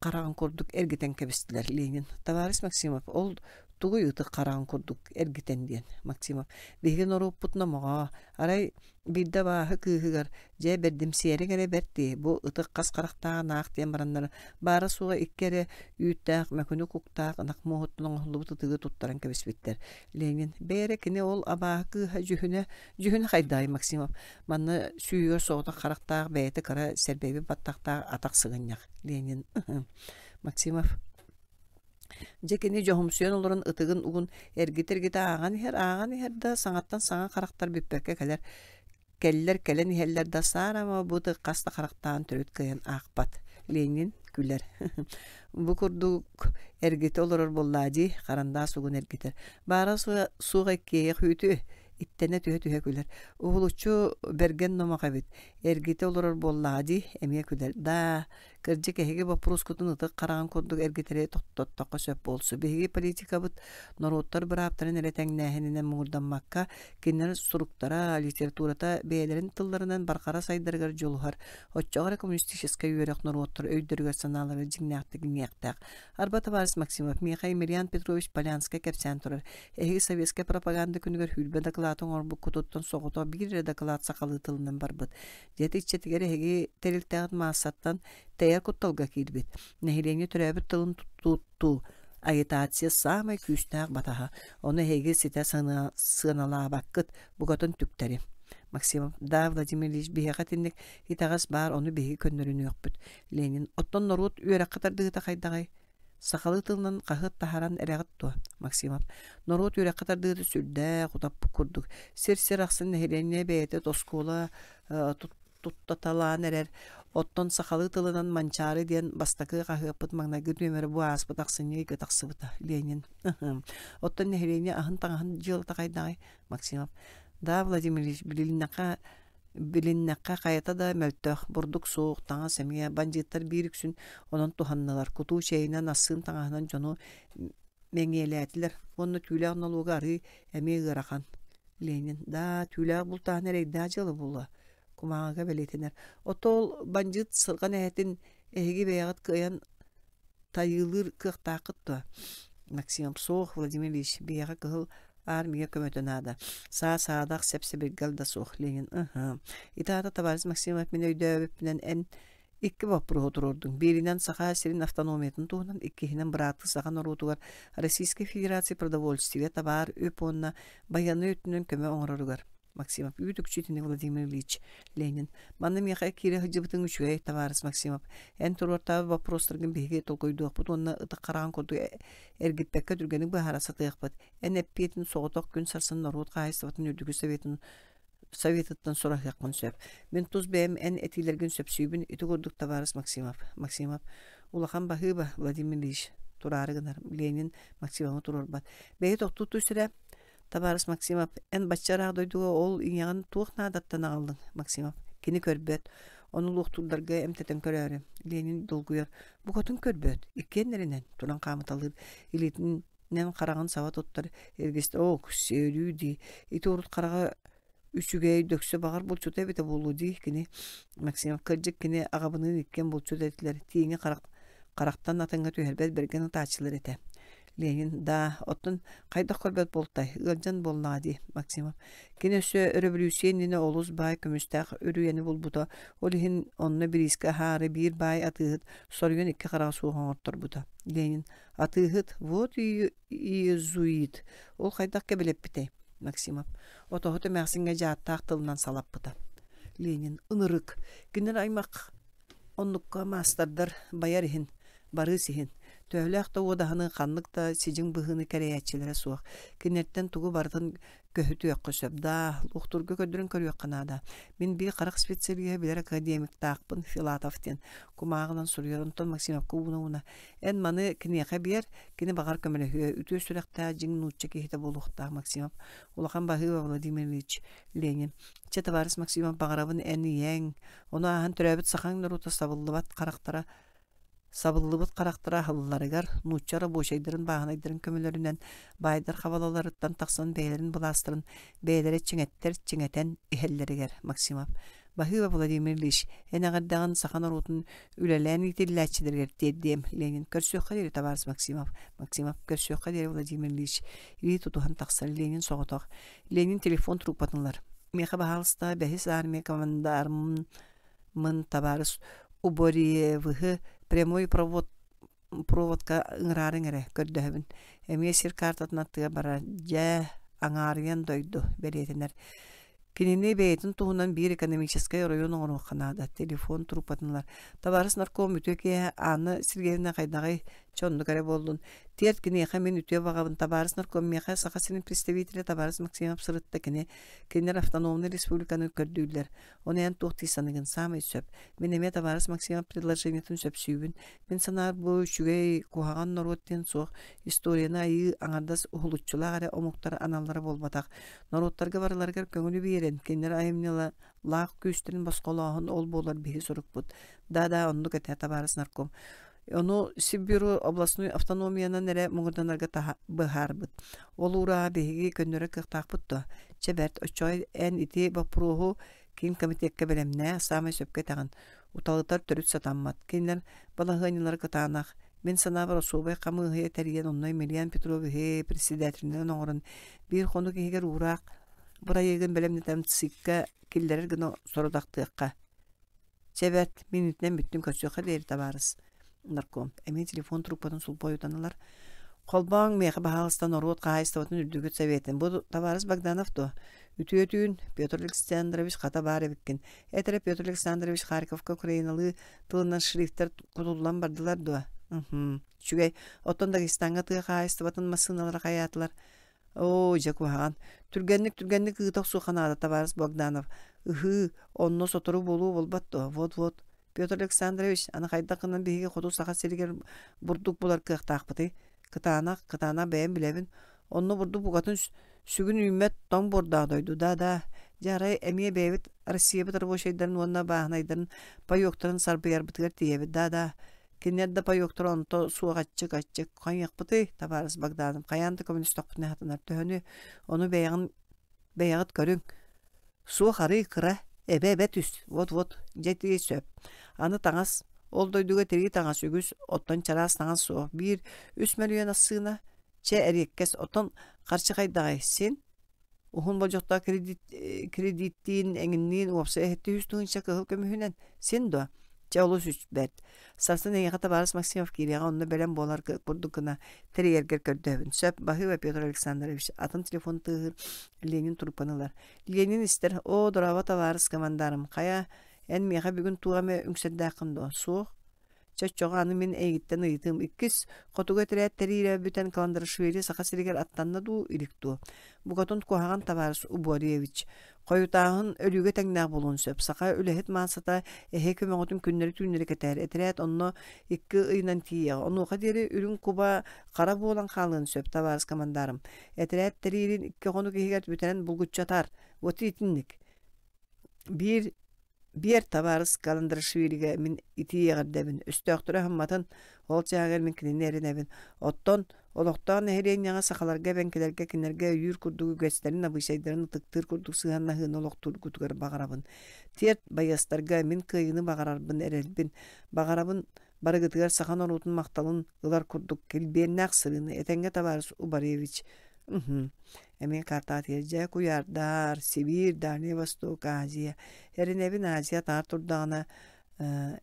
хараҕын курдук эргитэн кэбистилэр Ленин. Товарищ Максимов, ол тугуй ытык хараҕын курдук эргитэн диэн Максимов. Биһиги норуоппут номоҕо. Арай биирдэ абааһы кыыһыгар дьэ бэрдимсийэриҥ эрэ бэрт дии, бу ытык хас харахтааҕын аах диэн бараннар баара-суоҕа икки эрэ үүттээх мөкүнү куктаах ынах муоһуттан оҥоһуллубут ытыгы туттаран кэбиспиттэр. Ленин, бэйэрэ кини ол абааһы кыыһа дьүһүнэ, дьүһүнэ хайдаҕый Максимов? Манна сүүһүгэр соҕотох харахтаах бэйэтэ кыра сэрбэйбит баттахтаах атах сыгынньах Ленин Максимов Дьэ кини дьоһумсуйан олорон ытыгын угун эргитэ-эргитэ ааҕан иһэр, ааҕан иһэр да саҥаттан саҥа харахтар бүппэккэ кэлэр кэллэр кэлэн иһэллэр да саарама бу ытык хас да харахтаан төрүт кыайан аахпат. Ленин күлэр. Бу курдук эргитэ олорор буоллаа дии, харандаас угун эргитэр. Баара суох иккиэйэх үүтү иттэнэ түһэ-түһэ күлэр. Уһулуччу бэргэн номох эбит. Эргитэ олорор буоллаҕа дии, эмиэ күлэр. Даа, кырдьык эһиги боппуруоскутун ытык хараҕын курдук эргитэри тохтоттоххо сөп буолсу. Биһиги политикабыт норуоттар бырааптарын эрэ тэҥнээһининэн муҥурдаммакка, кинилэр суруктара, литературата бэйэлэрин тылларынан барҕара сайдарыгар дьулуһар. Оччоҕо эрэ коммунистическай үөрэх норуоттар өйдөрүгэр-санааларыгар дьиҥнээхтик иҥиэхтээх. Арба табаарыс Максимов, миэхэ Емельян Петрович Полянскай кэпсээн турар. Эһиги советскай пропаганда күнүгэр сүүрбэ дакылааты оҥорбуккутуттан соҕотох биир эрэ дакылаат сахалыы тылынан барбыт. Дьэ иччэтигэр эһиги тэрилтэҕит маассаттан тэйэр кутталга киирбит. Нэһилиэнньэ төрөөбүт тылын туттуу агитация саамай күүстээх батаһа. Ону эһиги ситэ сыаналаабаккыт, букатын түктэри. Максимов, да, Владимир Ильич, биһиэхэ итинник итэҕэс баар, ону биһиги көннөрүнүөхпүт. Ленин, оттон норуот үөрэххэ тардыһыыта хайдаҕый? Сахалыы тылынан хаһыат таһааран эрэҕит дуо, Максимов? Норуот үөрэххэ тардыыта сүрдээх утаппыт курдук. Сир-сир ахсын нэһилиэнньэ бэйэтэ оскуола туттаталаан эрэр. Оттон сахалыы тылынан Манчаары диэн бастакы хаһыаппыт маҥнайгы нүөмэрэ бу ааспыт ахсынньы ыйга тахсыбыта. Ленин. Оттон нэһилиэнньэ аһын-таҥаһын дьыалата хайдаҕый? Максимов. Да, Владимир Ильич, билиннэххэ Билиннэххэ хайата да мөлтөх, бурдук суох, таҥас эмиэ, бандьыыттар биир үксүн онон туһаннылар, кутуу чэйинэн, ассыын таҥаһынан дьону мэҥиэлээтилэр уонна түүлээх нолуога арыы эмиэ ыарахан. Ленин: «Даа, түүлээх бултааһын эрэйдээх дьыала буолуо» кумааҕыга бэлиэтэнэр. Оттон ол бандьыыт сырҕан эһэтин эһиги бэйэҕит кыайан тайыылыыр кыахтааххыт дуо? Максим суох, Владимир Ильич, биһиэхэ кыһыл армия көмөтө наада. Саа-саадах, сэп-сэбиргэл да суох, Ленин. Ыһы. Ити аата, товарищ Максимов, мин өйдөөбүппүнэн эн икки боппуруоһу туруордуҥ. Бииринэн Саха сирин автономиятын туһунан, иккиһинэн бырааттыы саха норуотугар Российскай Федерация продовольствие, табаар, үп уонна байыаннай өттүнэн көмө оҥороругар. Максимов үүт-үкчү итини Владимир Ильич Ленин. Манна миэхэ киирэ сылдьыбытыҥ үчүгэй, табаарыс Максимов. Эн туруортаабыт боппуруостаргын биһиги толкуйдуохпут уонна ытык хараҕын курдук эргиппэккэ түргэнник быһаара сатыахпыт. Эн эппиэтин соҕотох күн сарсын норуот хаһаайыстыбатын үрдүкү советын советыттан сураһыаххын сөп. Мин тус бэйэм эн этиилэргин сөпсүүбүн, ити курдук табаарыс Максимов. Максимов. Улахан баһыыба, Владимир Ильич. Тураары гынар. Ленин Максимовы туруорбат. Бэйи тохтуу түс эрэ. Табаарыс Максимов, эн бачча ыраах дойдуга ол ийэҕин туох наадаттан аҕаллыҥ? Максимов. Кини көрбөт. Ону луохтуурдарга эмтэтэн көрөөрү. Ленин долгуйар. Букатын көрбөт. Иккиэннэринэн туран хаамыталыыр. Илиитинэн хараҕын саба туттар. Эргистэ оо, сөрүү дии. Ити урут хараҕа үчүгэй дөксө баҕар булчута эбитэ буолуо дии кини Максимов кырдьык кини аҕабыныын иккиэн булчут этилэр тииҥи харах харахтан атыҥҥа түһэрбэт бэргэн ытааччылар этэ Ленин да оттон хайдах көрбөт буолтай ыалдьан буоллаҕа дии Максимов кини өссө өрөбөлүүссүйэ иннинэ олус баай көмүстээх үрүйэни булбута ол иһин онно бириискэ аһаары биир баай атыыһыт соруйан икки хараҕа суох оҥорторбута Ленин атыыһыт вот иезуит ол хайдах кэбилэппитэй Максимов отоһут эмээхсиҥҥэ дьааттаах тылынан салаппыта Ленин ынырык кинилэр аймах оннукка маастардар байар иһин барыыс иһин төһөлөөх да уодаһыны ханнык да сидьиҥ быһыыны кэрэйээччилэрэ суох кинилэртэн тугу барытын көһүтүөххэ сөп даа луохтуурга көрдөрөн көрүөххэ наада мин биир харах специалиһа билэр академиктаахпын Филатов диэн кумааҕынан суруйар онтон Максимовка ууна-ууна Эн маны киниэхэ биэр, кини баҕар көмөлөһүө, үтүө сүрэхтээх дьиҥ нуучча киһитэ буолуохтаах Максимов. Улахан баһыыба Владимир Ильич Ленин. Чэ, табаарыс Максимов, баҕарабын эн ийэҥ, ону ааһан төрөөбүт сахаҥ норуота сабыллыбат харахтара сабыллыбыт харахтара аһылларыгар нуучча рабочайдарын бааһынайдарын көмөлөрүнэн баайдар хабалаларыттан тахсан бэйэлэрин былаастарын бэйэлэрэ чиҥэттэр чиҥэтэн иһэллэригэр Максимов Баһыыба Владимир Ильич, эн эҕэрдэҕин саха норуотун үлэлээн иитиллээччилэригэр тиэрдиэм. Ленин, көрсүөххэ диэри, табаарыс Максимов. Максимов, көрсүөххэ диэри, Владимир Ильич. Илии тутуһан тахсар. Ленин соҕотох. Ленин телефон трубкатын ылар. Миэхэ, баһаалыста, бэһис армия командармын табаарыс Уборевыһы прямой провод проводка ыҥыраарыҥ эрэ, көрдөһөбүн. Эмиэ сир картатын аттыгар барар. Дьэ, аҥаарыйан дойду, бэлиэтэнэр. Кинини бэйэтин туһунан биир экономическай оройуон оҥоруохха наада. Телефон трубкатын ылар. Табаарыс нарком үтүө киэһэ Анна Сергеевна хайдаҕый? Чэ, оннук эрэ буоллун. Тиэрт киниэхэ мин үтүө баҕабын. Табаарыс нарком миэхэ Саха сирин представителэ табаарыс Максимов сырытта кини. Кинилэр автономнай республиканы көрдүүллэр. Ону эн туох дии саныгын? Саамай сөп. Мин эмиэ табаарыс Максимов предложениетын сөпсүүбүн. Мин санаабар бу үчүгэй, куһаҕан норуот диэн суох, историяны айыы аҥардас уһулуччулаах эрэ омуктар аналлара буолбатах. Норуоттарга барыларыгар көҥүлү биэрэн, кинилэр айымньылаах күүстэрин босхолооһун ол буолар биһи сорукпут. Да-да, оннук этэ, табаарыс нарком. Ону Сиббюро областной автономиянан эрэ муҥурданарга быһаарбыт. Ол уурааҕы биһиги көннөрөр кыахтаахпыт дуо? Чэ бэрт, оччоҕо эн ити боппуруоһу Киин комитекка бэлэмнээ, саамай сөпкө этэҕин. Уталытар төрүт сатаммат. Кинилэр балаһыанньалара кытаанах. Мин санаабар особай хамыыһыйа тэрийэн онно Емельян Петровиһы председателинэн оҥорон биир хонук иһигэр уураах бырайыагын бэлэмнэтэн ЦИК-кэ киллэрэр гына сорудахтыахха. Чэ бэрт, мин итинэн бүттүм көрсүөххэ диэри табаарыс нарком. Эмиэ телефон трубкатын сулбу ойутан ылар. Холбооҥ миэхэ баһаалыста норуот хаһаайыстыбатын үрдүкүт советын. Бу табаарыс Богданов дуо? Үтүө түүн, Петр Александрович хата баар эбиккин. Эт эрэ Петр Александрович Харьковка украиналыы тылынан шрифтэр кутуллан бардылар дуо? Уһум. Үчүгэй. Оттон Дагестаҥҥа тыа хаһаайыстыбатын массыыналара хайаатылар? Оо, дьэ куһаҕан. Түргэнник түргэнник ыыта охсуохха наада, табаарыс Богданов. Ыһыы, онно сотору буолуо буолбат дуо? Вот-вот. Петр Александрович, аны хайдах гынан биһиги хоту Саха сиригэр бурдук булар кыахтаахпытый? Кытаанах, кытаанах бэйэм билэбин. Онно бурдук букатын сүгүн үүммэт тоҥ буордаах дойду. Да-да. Дьэ, арай эмиэ бэйэбит Россиябыт рабочайдарын уонна бааһынайдарын паёктарын сарбыйарбытыгар тиийэбит. Да-да. Кинилэр да паёктара онто суох аччык-аччык. Хайыахпытый, табаарыс Богданов, хайаан да көмөлөстөхпүнэ сатанар. Төһөнү, ону бэйэҕин бэйэҕит көрүҥ. Суох арыый кыра, эбэ-эбэ түс, вот-вот, дьэ ити сөп. Аны таҥас, ол дойдуга тирии таҥас үгүс, оттон чараас таҥас суох. Биир үс мөлүйүөн ассыына, чэ эриэккэс, оттон харчы хайдаҕай, син? Уһун болдьохтоох кредит, кредиттиин эҥинниин уопсай эһэтти үс тыһыынча кыһыл көмүһүнэн син дуо? Чэ олус бэрт. Сарсын эйиэхэ табаарыс Максимов киириэҕэ онно бэлэм буолар курдук гына тэрийэргэр көрдөһөбүн. Сөп, баһыыба Петр Александрович. Атын телефон тыаһыыр Ленин трубканы ылар. Ленин истэр, оо, дорообо табаарыс командарым, хайа, эн миэхэ бүгүн туох эмэ үҥсэрдээххин дуо? Суох. Чэ, оччоҕо аны мин эйигиттэн ыйытыым. Иккис хотугу этэрээт тэриирэ бүтэн Каландарашвили Саха сиригэр аттанна дуу, илик дуо? Букатын куһаҕан табаарыс Уборевич. Хойутааһын өлүүгэ тэҥнээх буолуон сөп. Саха үлэһит маассата эһэ көмөҕүтүн күннэри-түүннэри кэтээр. Этэрээт онно икки ыйынан тиийиэҕэ. Онуоха диэри үрүҥ куба хара буолан хаалыан сөп, табаарыс командарым. Этэрээт тэриирин икки хонук иһигэр бүтэрэн булгуччу атаар. Вот итинник. Биир Биэр табаарыс Каландрашвилигэ мин итии эҕэрдэбин, өстөөхтөрү аһымматын, ол чааһыгар мин кинини эрэнэбин. Оттон олохтоох нэһилиэнньэҕэ сахаларга, эбэҥкилэргэ кинилэргэ өйүүр курдук үгэстэрин, абыычайдарын ытыктыыр курдук сыһыаннаһыыны олохтуургутугар баҕарабын. Тиэрт байыастарга мин кыайыыны баҕарарбын эрэлбин. Баҕарабын барыгытыгар саха норуотун махталын ылар курдук килбиэннээх сырыыны этэҥҥэ табаарыс Убаревич Уһун. Эмиэ картаатыйар дьэ куйаардар, Сибиир, Дальний Восток, Азия. Эрэнэбин Азия атаҕар турдаҕына э,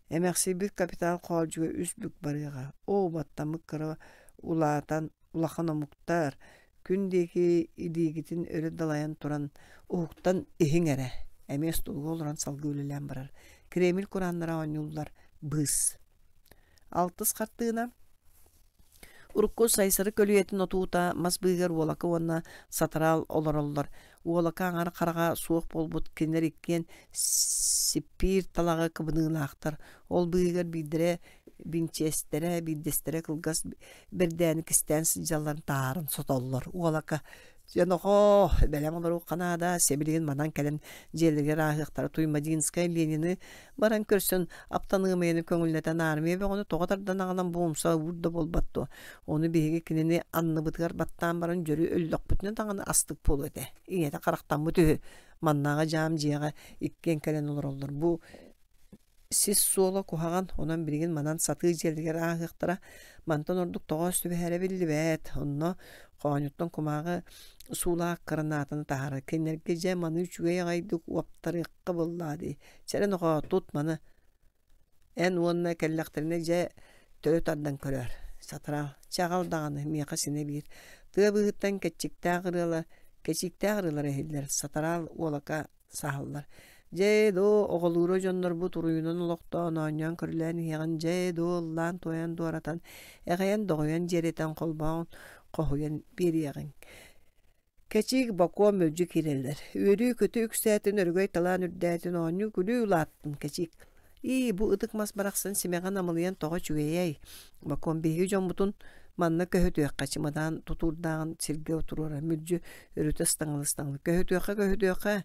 эмэхсийбит капитал хоолдьуга үс бүк барыаҕа. Оо, баттаммыт кыра улаатан улахан омуктар күн диэки илиигитин өрө далайан туран уһуктан иһиҥ эрэ. Эмиэ остуолга олорон салгыы үлэлээн барар. Кремль курааннара оонньууллар. Быыс. Алтыс хартыына Урукку Сайсары көлүйэтин отуута мас быыһыгар Уолака уонна Сатараал олороллор. Уолака аҥар хараҕа суох буолбут кинилэр иккиэн сиппиир талаҕы кыбыныылаахтар. Ол быыһыгар биирдэрэ бинчиэстэрэ, биирдэстэрэ кылгас бэрдээни кистээн сылдьалларын таһааран сотоллор. Уолака Дьэ, нохоо, бэлэм олоруохха наада, сибилигин манан кэлэн дьиэлэригэр ааһыахтара Туймадинскай Ленини баран көрсөн, аптаныамыйаны көҥүллэтэн армия бөҕөнү тоҕо тардан аҕалан бу умса уур да буолбат дуо? Ону биһиги кинини анныбытыгар баттаан баран дьөрү өллөхпүтүнэ даҕаны астык буолуо этэ. Ийэтэ харахтаммыт үһү. Маннааҕы дьаам дьиэҕэ иккиэн кэлэн олороллор. Бу Сис суола куһаҕан, онон билигин манан сатыы дьиэлэригэр ааһыахтара, мантан ордук тоҕоос түбэһэрэ биллибэт, онно хоонньуттан кумааҕы суулаах кыранаатаны таһаарар. Кинилэргэ дьэ маны үчүгэй аҕайдык уоптарыахха буоллаа дии. Чэрэ нохоо, тут маны эн уонна кэллэхтэринэ дьэ төлө тардан көрөөр. Сатараал, чэ аҕал даҕаны, миэхэ синэ биир. Тыа быыһыттан кэччиктээх ырыала, кэчииктээх ырыалара иһиллэр. Сатараал уолака саһаллар. Дьэ, доо, оҕолуура дьоннорбут уруйунан олохтоон, оонньоон-көрүлээн иһиэҕин, дьэ, доо, ыллаан-туойан дуоратан, эҕэйэн-доҕуйан дьиэрэтэн холбоон, хоһуйан биэриэҕиҥ. Кэчиик бокуо мөлдьү киирэллэр. Үөрүү-көтүү үксээтин, өрөгөй талаан үрдээтин, оонньуу-күлүү улааттын кэчиик. Ии, бу ытык мас барахсан симэҕин амылыйан тоҕо үчүгэйэй? Бокуом биһиги дьоммутун манна көһүтүөххэ чымадаан тутуурдааҕын сиргэ туруора мүлдьү өрүтэ ыстаҥалыы-ыстаҥалыы көһүтүөххэ көһүтүөххэ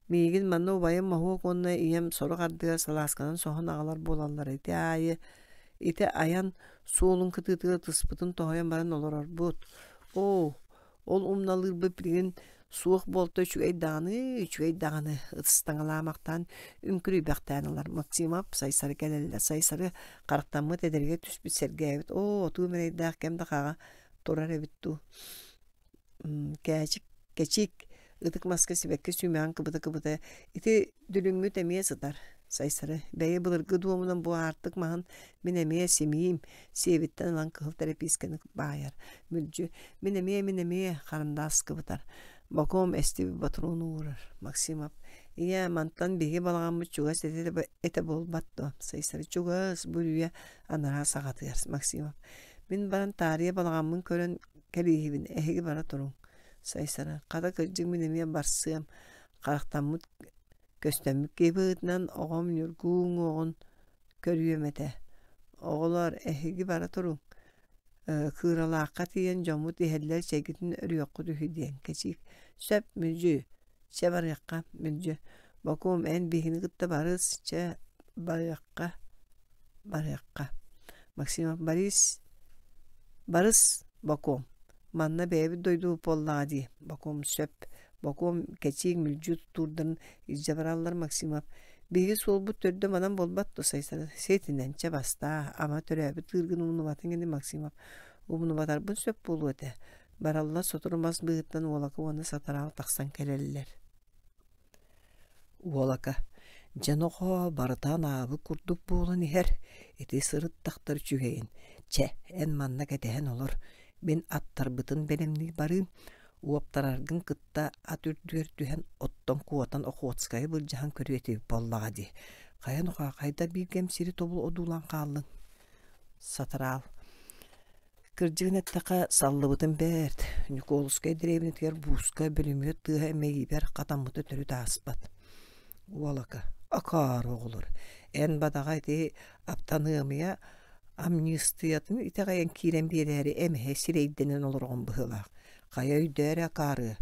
миигин манна убайым Моһуок уонна ийэм сорох ардыгар салаасканан соһон аҕалар буолаллар ити аайы ити айан суолун кытыытыгар ытыспытын тоһуйан баран олорорбут оо Ол умналыырбыт билигин суох буолта үчүгэй даҕаны, үчүгэй даҕаны ытыстаҥалаамахтаан үҥкүрүйбэхтээн ылар. Максимов Сайсары кэлэллэр. Сайсары харахтаммыт эдэригэр түспүт сэргээбит. Оо, отуу мэрэйдээх кэм да хаҕа турар эбит дуу. Кээчик, кэчик ытык маска сибэкки сүүмэҕин кыбыта-кыбыта ити дүлүҥҥүт эмиэ сытар. Сайсары бэйэ былыргы дуомунан бу аартык маһын мин эмиэ симиим, сиэбиттэн ылан кыһыл тэрэпиискэни баайар. Мүлдьү, мин эмиэ, мин эмиэ, харандаас кыбытар. Бокуом эстибит ботуруону уурар. Максимов, ийээ, мантан биһиги балаҕаммыт чугас этэ, этэ буолбат дуо? Сайсары чугас, бу үрүйэ анараа саҕатыгар. Максимов, мин баран таарыйа балаҕаммын көрөн кэлииһибин, эһиги бара туруҥ. Сайсары, хата кырдьык мин эмиэ барсыам, харахтаммыт көстөммүт киһи быһыытынан оҕом Ньургуу уҥуоҕун көрүөм этэ. Оҕолоор, эһиги бара туруҥ, Кыыралаахха тиийэн дьоммут иһэллэр чэйгитин өрүөххүт үһү диэн кэчиик. Сөп, мүлдьү, чэ барыахха, мүлдьү. Бокуом, эн биһигини кытта барыс, чэ барыахха, барыахха. Максимов Борис, барыс, Бокуом. Манна бэйэбит дойдубут буоллаҕа дии, Бокуом сөп. Бокуом кэчиик мүлдьү тутуурдарын илдьэ бараллар Максимов. Биһиги суолбут төрдө манан буолбат дуо Сайсары? Сиэтинэн чэ бастаа, ама төрөөбүт ыыргын умнубатыҥ ини Максимов. Умнубатарбын сөп буолуо этэ. Бараллар сотору мас быыһыттан Уолака уонна Сатараал тахсан кэлэллэр. Уолака дьэ нохоо барыта анаабыт курдук буолан иһэр, ити сырыттахтар үчүгэйин, чэ эн манна кэтэһэн олор, мин аттарбытын бэлэмнии барыым, уоптараргын кытта ат үрдүгэр түһэн оттон куотан Охотскайы былдьаһан көрүө этибит буоллаҕа дии. Хайа нухаа хайда биир кэм сири тобул одуулаан хааллыҥ? Сатараал. Кырдьыгын эттэххэ, саллыбытым бэрт. Ньукуолускай дэриэбинэтигэр бууска бүлүмүөт тыаһа мэйиибэр хатаммыта төрүт ааспат. Уолака, акаары оҕолор, эн бадаҕа ити аптаныамыйа амньыыстыйатын итэҕэйэн киирэн биэрээри эмэһэ сирэйдэнэн олороҕун быһыылаах. Хайа өйдөө эрэ акаарыа.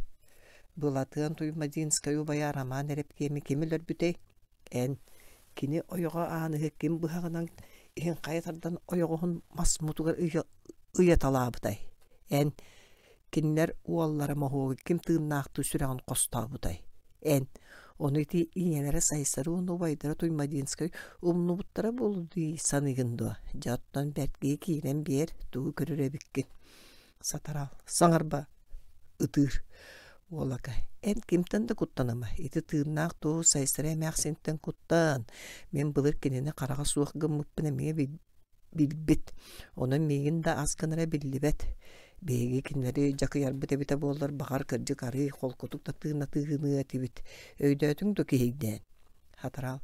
Былатыан Туймадинскай убайа Роман Эрэпкиэми ким өлөрбүтэй? Эн, кини ойоҕо Ааныһы ким быһаҕынан иһин хайа тардан ойоҕоһун мас мутугар ыйаталаабытай? Эн, кинилэр уоллара моһуогу ким тыыннаахтыы сүрэҕин хостообутай? Эн, ону ити ийэлэрэ Сайсары уонна убайдара Туймадинскай умнубуттара буолуо дии саныыгын дуо? Дьэ оттон бэрт киһи киирэн биэр, тугу көрөр эбиккин Сатараал, саҥарба, ытыыр. Уолака, эн кимтэн да куттаныма, ити тыыннаах туоһу Сайсара эмээхсинтэн куттан, мин былыр кинини хараҕа суох гыммыппын эмиэ билбит, онон миигин да ас гынара биллибэт. Биһиги кинилэри дьакыйарбыт эбитэ буоллар, баҕар кырдьык арыый холкутук да тыынатыыгыныа этибит. Өйдөөтүҥ дуо киһийдээн? Хатараал,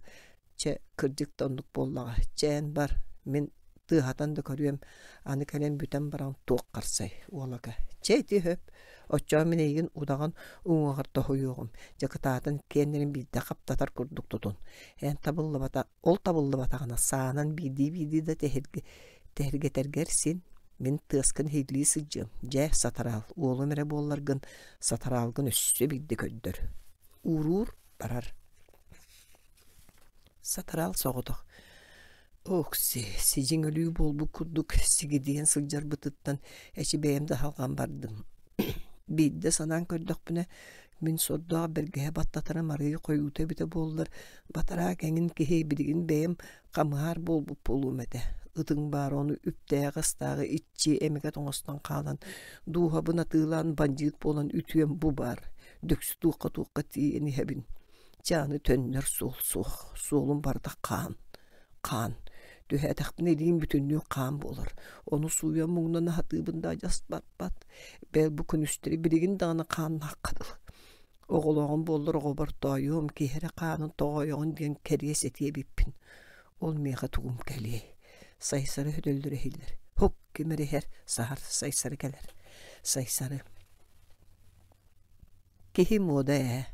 Чэ, кырдьык да оннук буоллаҕа, чээн бар, мин тыаһатан да көрүөм, аны кэлэн бүтэн баран туох харсай, уолака. Чэ ити сөп, оччоҕо мин эйигин удаҕан уҥуоҕар тоһуйуоҕум, дьэ кытаатан иккиэннэрин биирдэ хаптатар курдук тутун. Эн табыллыбата, ол табыллыбатаҕына саанан биирдии-биирдии да тэһиргэтэргэр син, мин тыаскын иһиллии сылдьыам, дьэ, сатараал, уолум эрэ буолларгын, сатараалгын өссө биирдэ көрдөр. Ууруур барар. Сатараал соҕотох Окси, сидьиҥ өлүү буолбут курдук сигидийэн сылдьарбытыттан эчи бэйэм да аһылҕан бардым. Биирдэ санаан көрдөхпүнэ, мин сордоох бэргэһэ баттатарым арыый хойуута эбитэ буоллар, батараак эҥин киһи билигин бэйэм хамыһаар буолбут буолуом этэ. Ытыҥ баар ону үптээҕи-астааҕы иччи эмэгэт оҥостон хаалан, дууһабын атыылаан бандьыыт буолан үтүөм бу баар, дөксү туохха-туохха тиийэн иһэбин. Чэ аны төннөр суол суох, суолум барыта хаан, хаан. Түһээтэхпинэ илиим бүтүннүү хаан буолар. Ону сууйан муҥнана сатыыбын да адьас барбат. Бэл бу күнүстэри билигин даҕаны хааннаахха дылы. Оҕолооҕум буоллар оҕобор тоойуом, киһи эрэ хаанын тоҕойоҕун диэн кэриэс этиэ эбиппин. Ол миэхэ тугум кэлиэй. Сайсары хөдөллөрө иһиллэр. Һук ким эрэ иһэр, саһар, Сайсары кэлэр. Сайсары. Киһи муода ээ,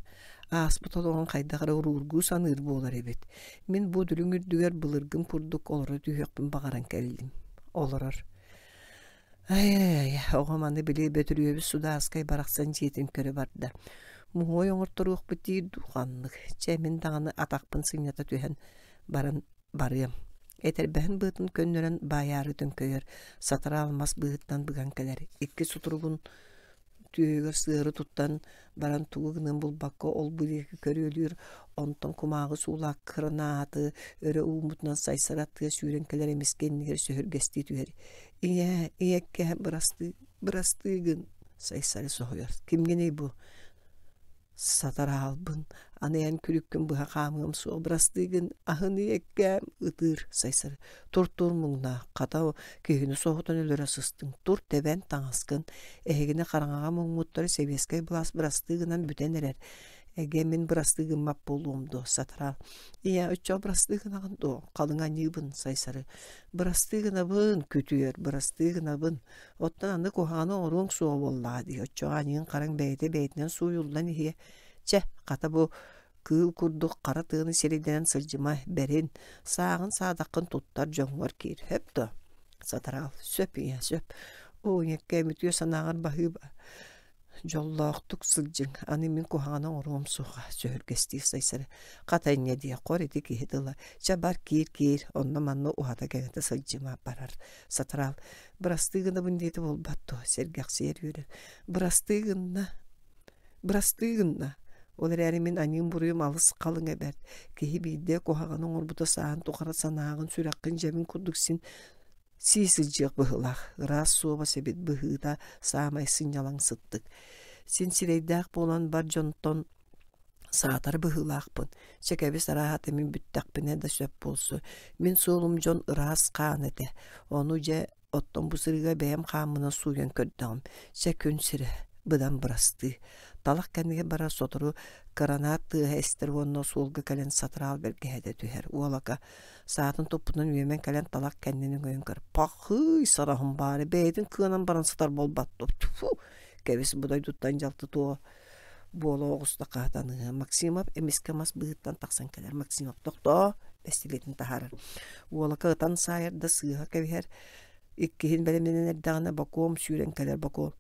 ааспыт олоҕун хайдах эрэ уруургуу саныыр буолар эбит. Мин бу дүлүҥ үрдүгэр былыргым курдук олоро түһүөхпүн баҕаран кэллим. Олорор. Ай-ай, оҕом аны били Бөтүрүөбүс судаарскай барахсан дьиэтин көрө барда. Муһуой оҥорторуохпут диир дуу ханнык. Чэ, мин даҕаны атахпын сынньата түһэн баран барыам. Этэрбэһин быатын көннөрөн баайаары төҥкөйөр, сатараал мас быыһыттан быган кэлэр. Икки сутуругун түөһүгэр сыары туттан баран тугу гыныан булбакка ол-бу диэки көрүөлүүр, онтон кумааҕы суулаах кыранааты өрө ууммутунан сайсара тыа сүүрэн кэлэр эмискэ иннигэр сөһүргэстии түһэр. «Ийээ, ийэккэ бырастыы, бырастыы гын!» Сайсары соһуйар. «Кимҥиний бу?» Сатараалбын, аны эн күлүккүн быһа хаамыам суох бырастыы гын, аһын ийэккээм ытыыр Сайсары. Тур-тур муҥнаах, хата киһини соһутан өлөрө сыстыҥ, тур тэбэн таҥаскын, эһигини хараҥаҕа муҥмуттары сэбиэскэй былаас бырастыы гынан бүтэн эрэр. Эгэ мин бырастыы гыммат буолуом дуо, сатараал. Ийээ, оччоҕо бырастыы гынаҕын дуо, халыҥ аньыыбын, Сайсары. Бырастыы гынабын, күтүөр, бырастыы гынабын. Оттон аны куһаҕаны оҥоруоҥ суоҕа буоллаҕа дии, оччоҕо аньыыҥ-хараҥ бэйэтэ бэйэтинэн сууйуллан иһиэ. Чэ, хата бу кыыл курдук хара тыаны сирэйдэнэн сылдьыма, бэрин, сааҕын саадаххын туттар дьоҥҥор киир, сөп дуо? Сатараал, сөп ийэ, сөп. Оо, ийэккээм үтүө санааҕар баһыыба. Дьоллоохтук сылдьыҥ, аны мин куһаҕаны оҥоруом суоҕа, сөһүргэстиир Сайсары. Хата инньэ диэх, хор ити киһи тыла. Чэ бар киир-киир, онно-манна уһата-кэҥэтэ сылдьыма, барар. Сатараал, бырастыы гынабын диэтэ буолбат дуо, сэргэхсийэр үөрэр. Бырастыы гынна, бырастыы гынна. Ол эрээри мин аньыым-буруйум алыс халыҥа бэрт. Киһи биирдэ куһаҕаны оҥорбута сааһын тухары санааҕын, сүрэххин дьэбин курдук син сии сылдьыах быһыылаах, ыраас суобас эбит быһыыта саамай сынньалаҥ сыттык. Син сирэйдээх буолан бар дьонтон саатар быһыылаахпын. Чэ кэбис арааһата мин бүттэхпинэ да сөп буолсу. Мин суолум дьон ыраас хаан этэ. Ону дьэ оттон бу сырыыга бэйэм хааммынан сууйан көрдөҕүм. Чэ күн сирэ быдан бырастыы. Талах кэннигэр барар сотору кыранаат тыаһа эстэр уонна суолга кэлэн сатыраал бэргэһэтэ түһэр. Уолака саатын туппутунан үөмэн кэлэн талах кэннин өҥөйөн көр. Пахыый, сараһым баары бэйэтин кыанан баран сытар буолбат дуо? Тьфу! Кэбис бу дойдуттан дьалты туо буола оҕуста хаһытаныһа. Максимов эмискэ мас быыһыттан тахсан кэлэр. Максимов тохтоо, бэстилиэтин таһаарар. Уолака ытан саайар да сыыһа кэбиһэр. Иккиһин бэлэмнэнэн эрдэҕинэ Бокуом сүүрэн кэлэр Бокуом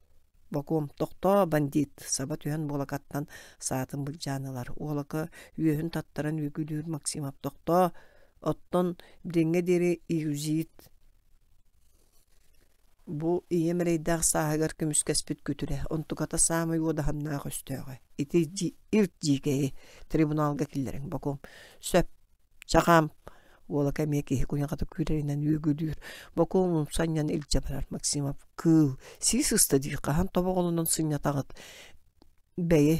Бокуом тохтоо, бандит! Саба түһэн буолакаттан саатын былдьаан ылар. Уолака үөһүн таттаран үөгүлүүр Максимов тохтоо, оттон билиҥҥэ диэри июзит бу ийэм эрэйдээх сааһыгар көмүскэспит күтүрэ, онтуката саамай уодаһыннаах өстөөҕө. Ити ирт дьиикэйи трибуналга киллэриҥ, Бокуом. Сөп, Чахаам уола эмиэ киһи куйаҕата күүрэринэн үөгүлүүр, бокуон умса анньан илдьэ барар Максимов кыыл сии сыста дии хаһан тобоҕолонон сынньатаҕыт бэйи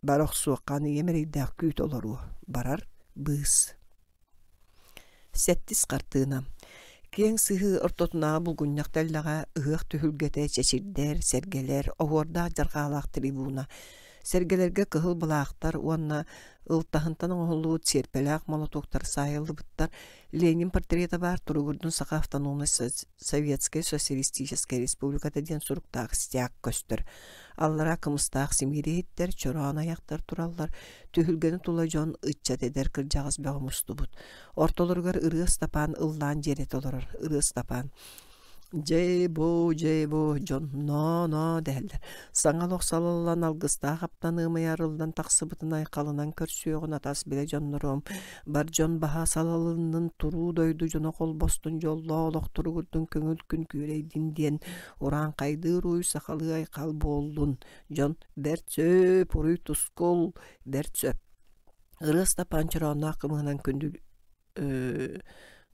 бара охсуохха аны ийэм эрэйдээх күүтэ олоруо барар быыс Сэттис хартыына Киэҥ сыһыы ортотунааҕы булгунньах тэллэҕэ ыһыах түһүлгэтэ чэчирдэр, сэргэлэр, оһуордаах дьарҕаалаах трибуна Сэргэлэргэ кыһыл былаахтар уонна ылтаһынтан оҥоһуллубут сиэрпэлээх молотуоктар саайыллыбыттар. Ленин портрета баар туругурдун Саха автономнай Советскай Социалистическай Республиката диэн суруктаах стяг көстөр. Аллараа кымыстаах симиир иһиттэр, чороон айахтар тураллар. Түһүлгэни тула дьон, ыччат эдэр кырдьаҕас бөҕө мустубут. Ортолоругар Ырыа Ыстапаан ыллаан дьиэрэтэ олорор. Ырыа Ыстапаан Дьээ-боо, дьээ-боо, дьон ноо-ноо дэһэллэр. Саҥа олох салаллан алгыстаах аптаныамай арыллан тахсыбытын айхалынан көрсүөҕүн атас билэ дьонноруом, бар дьон баһа салалыннын, туруу дойду дьоно холбостун, дьоллоох олох туругурдун, көҥүл күн күөрэйдин диэн урааҥхайдыыр уй сахалыы айхал буоллун. Дьон бэрт сөп, уруй тускул, бэрт сөп. Ырыа Ыстапаан чороонноох кымыһынан күндү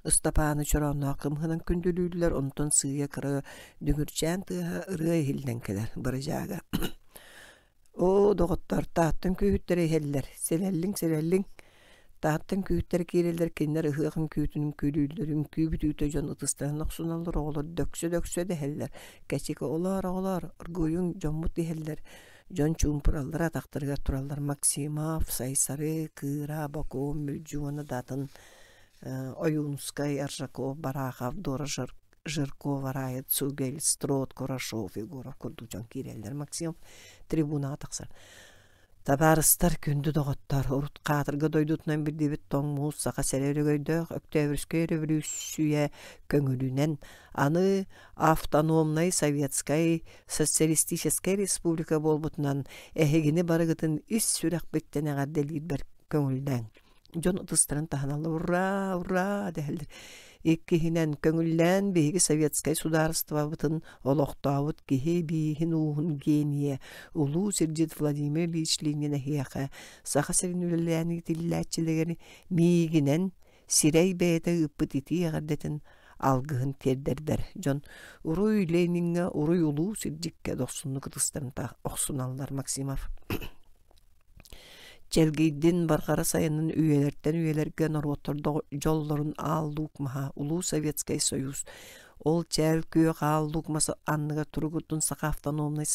Ыстапааны чороонноох кымыһынан күндүлүүллэр, онтон сыыйа кыра дүҥүрчээн тыаһа ырыа иһиллэн кэлэр бырыдьаага. Оо, доҕоттор, Тааттан күүһүттэрэ иһэллэр, сэлэллиҥ, сэлэллиҥ. Тааттан күүһүттэрэ киирэллэр, кинилэр ыһыах үҥкүүтүн үҥкүүлүүллэр, үҥкүү бүтүүтэ дьон ытыстарын охсуналлар, оҕолор дөксө-дөксө дэһэллэр. Кэчик оҕолоор, оҕолоор, оргуйуҥ, дьоммут иһэллэр. Дьон чуумпураллар, атахтарыгар тураллар Максимов, Сайсары, Кыыра, Бокуон, Мүлдьү уонна да атын Ойуунускай, Аржаков, Барахов, Дора Жиркова, Рая Цугель, Строд, Курашов, Егоров курдук дьон киирэллэр. Максимов трибунаҕа тахсар. Табаарыстар, күндү доҕоттор, урут хаатырга дойдутунан биллибит тоҥ муус саха сирэ өрөгөйдөөх Өктөөбүрүскэй өрөбөлүүссүйэ көҥүлүнэн аны автономнай советскай социалистическай республика буолбутунан эһигини барыгытын ис сүрэхпиттэн эҕэрдэлиирбэр көҥүллээҥ. Дьон ытыстарын таһыналлар «Ура! Ура!» дэһэллэр. Иккиһинэн, көҥүллээн биһиги советскай судаарыстыбабытын олохтообут киһи бииһин ууһун генийэ, улуу сирдьит Владимир Ильич Ленин эһиэхэ Саха сирин үлэлээн иитиллээччилэригэр миигинэн сирэй бэйэтэ ыыппыт итии эҕэрдэтин алгыһын тиэрдэрбэр дьон уруй Лениҥҥэ, уруй улуу сирдьиккэ дохсуннук ытыстарын охсуналлар Максимов Чэлгийдин барҕара сайынын үйэлэртэн үйэлэргэ норуоттар дьоллорун аал луук маһа Улуу Советскай Союз ол чээл күөх аал луук мас анныгар туругурдун Саха автономнай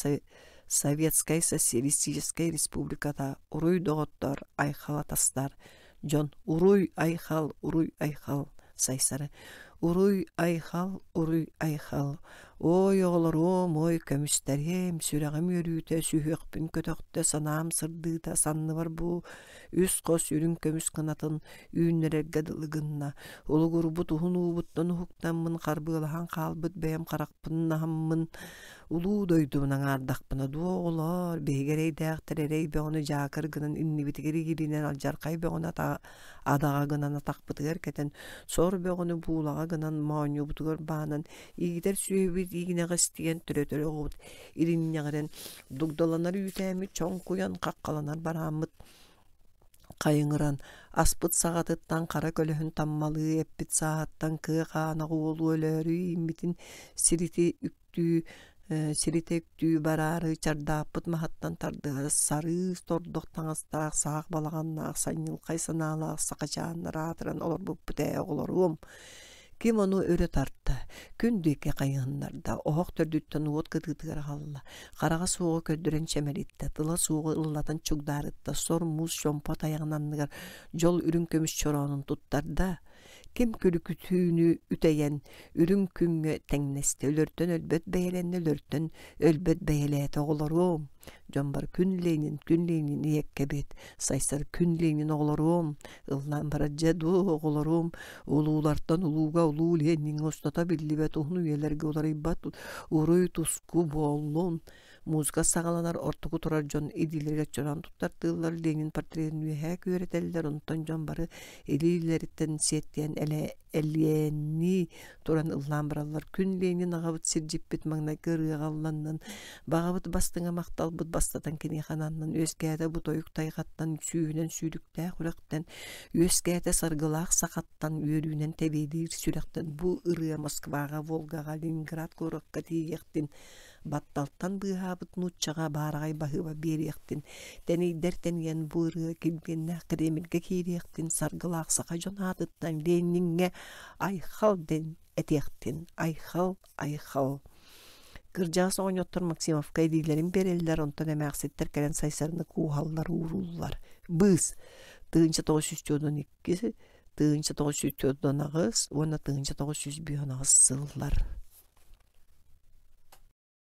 Советскай Социалистическай Республиката уруй доҕоттор айхал атастар Дьон уруй-айхал, уруй-айхал Сайсары уруй-айхал, уруй-айхал Ой, оҕолоруом, ой, көмүстэриэм, сүрэҕим үөрүүтэ, сүһүөхпүн көтөхтө, санаам сырдыыта, санныбар бу үс хос үрүҥ көмүс кынатын үүннэрэргэ дылы гынна. Улугурбут уһун уубуттан уһуктаммын, харбыалаһан хаалбыт бэйэм харахпын аһаммын, Улуу дойдубун аҥаардахпына дуо, оҕолоор, биһиги эрэйдээхтэр эрэй бөҕөнү дьаакыр гынан иннибитигэр игиринэн алдьархай бөҕөнү адаҕа гынан атахпытыгар кэтэн, сор бөҕөнү буулаҕа гынан моонньубутугар баанан, иитэр сүөһүбүт иигинэҕэстийэн төрөтөр оҕобут иринньэҕирэн, дугдаланар үүтээммит чоҥкуйан хаххаланар барааммыт Хайыҥыран, аспыт саҕатыттан хара көлөһүн таммалыы эппит сааһыттан кыа хаана уолу өлөөрү ииммитин сирити үктүү сиритэ үктүү бараары чардааппыт маһыттан тардыһар сарыы тордох таҥастаах саах балаҕаннаах санньылхай санаалаах сахачааннар аатыран олорбуппут ээ оҕолоруом. Ким ону өрө тарта, күн диэки хайыһыннарда, оһох төрдүттэн уот кытыытыгар аҕалла, хараҕа суоҕу көрдөрөн чэмэлиттэ, тыла суоҕу ыллатан чугдаарытта, сор муус чомпо тайаҕын анныгар дьол үрүҥ көмүс чороонун туттарда. Ким күлүкүтүүнү үтэйэн, үрүҥ күҥҥэ тэҥнэстэ, өлөртөн өлбөт бэйэлэннэ, өлөртөн өлбөт бэйэлээтэ оҕолоруом. Дьон бар күн Ленин, күн Ленин ийэккэбит, Сайсар күн Ленин оҕолоруом, ыллаан барар дьэ дуу оҕолоруом, улуулартан улууга улуу Лениҥҥэ устата биллибэт уһун үйэлэргэ уларыйбат уруй туску буоллун. Музыка саҕаланар ортоку турар дьон илиилэригэр чороон туттартыыллар, Ленин портретын үөһээ күөрэтэллэр, онтон дьон бары илиилэриттэн сиэттиэн элиэннии туран ыллаан бараллар. Күн Ленин аҕабыт сирдьиппит маҥнайгы ырыаҕа ылланнын, баҕабыт бастыҥа махталбыт бастатан киниэхэ ананнын, үөскээтэ бу тойук тайҕаттан, сүүһүнэн сүүрүктээх үрэхтэн, үөскээтэ саргылаах сахаттан, үөрүүнэн тэбиэлиир сүрэхтэн бу ырыа Москваҕа, Волгаҕа, Ленинград куоракка тиийиэхтин, батталтан быыһаабыт нууччаҕа баараҕай баһыыба биэриэхтин, тэнийдэр тэнийэн бу ырыа килбиэннээх Кремльгэ киириэхтин, саргылаах саха дьон аатыттан Лениҥҥэ айхал диэн этиэхтин, айхал, айхал. Кырдьаҕас оҕонньоттор Максимовка илиилэрин биэрэллэр, онтон эмээхситтэр кэлэн Сайсарыны кууһаллар, уурууллар. Быыс 1942, 1948 уонна 1958 сыллар.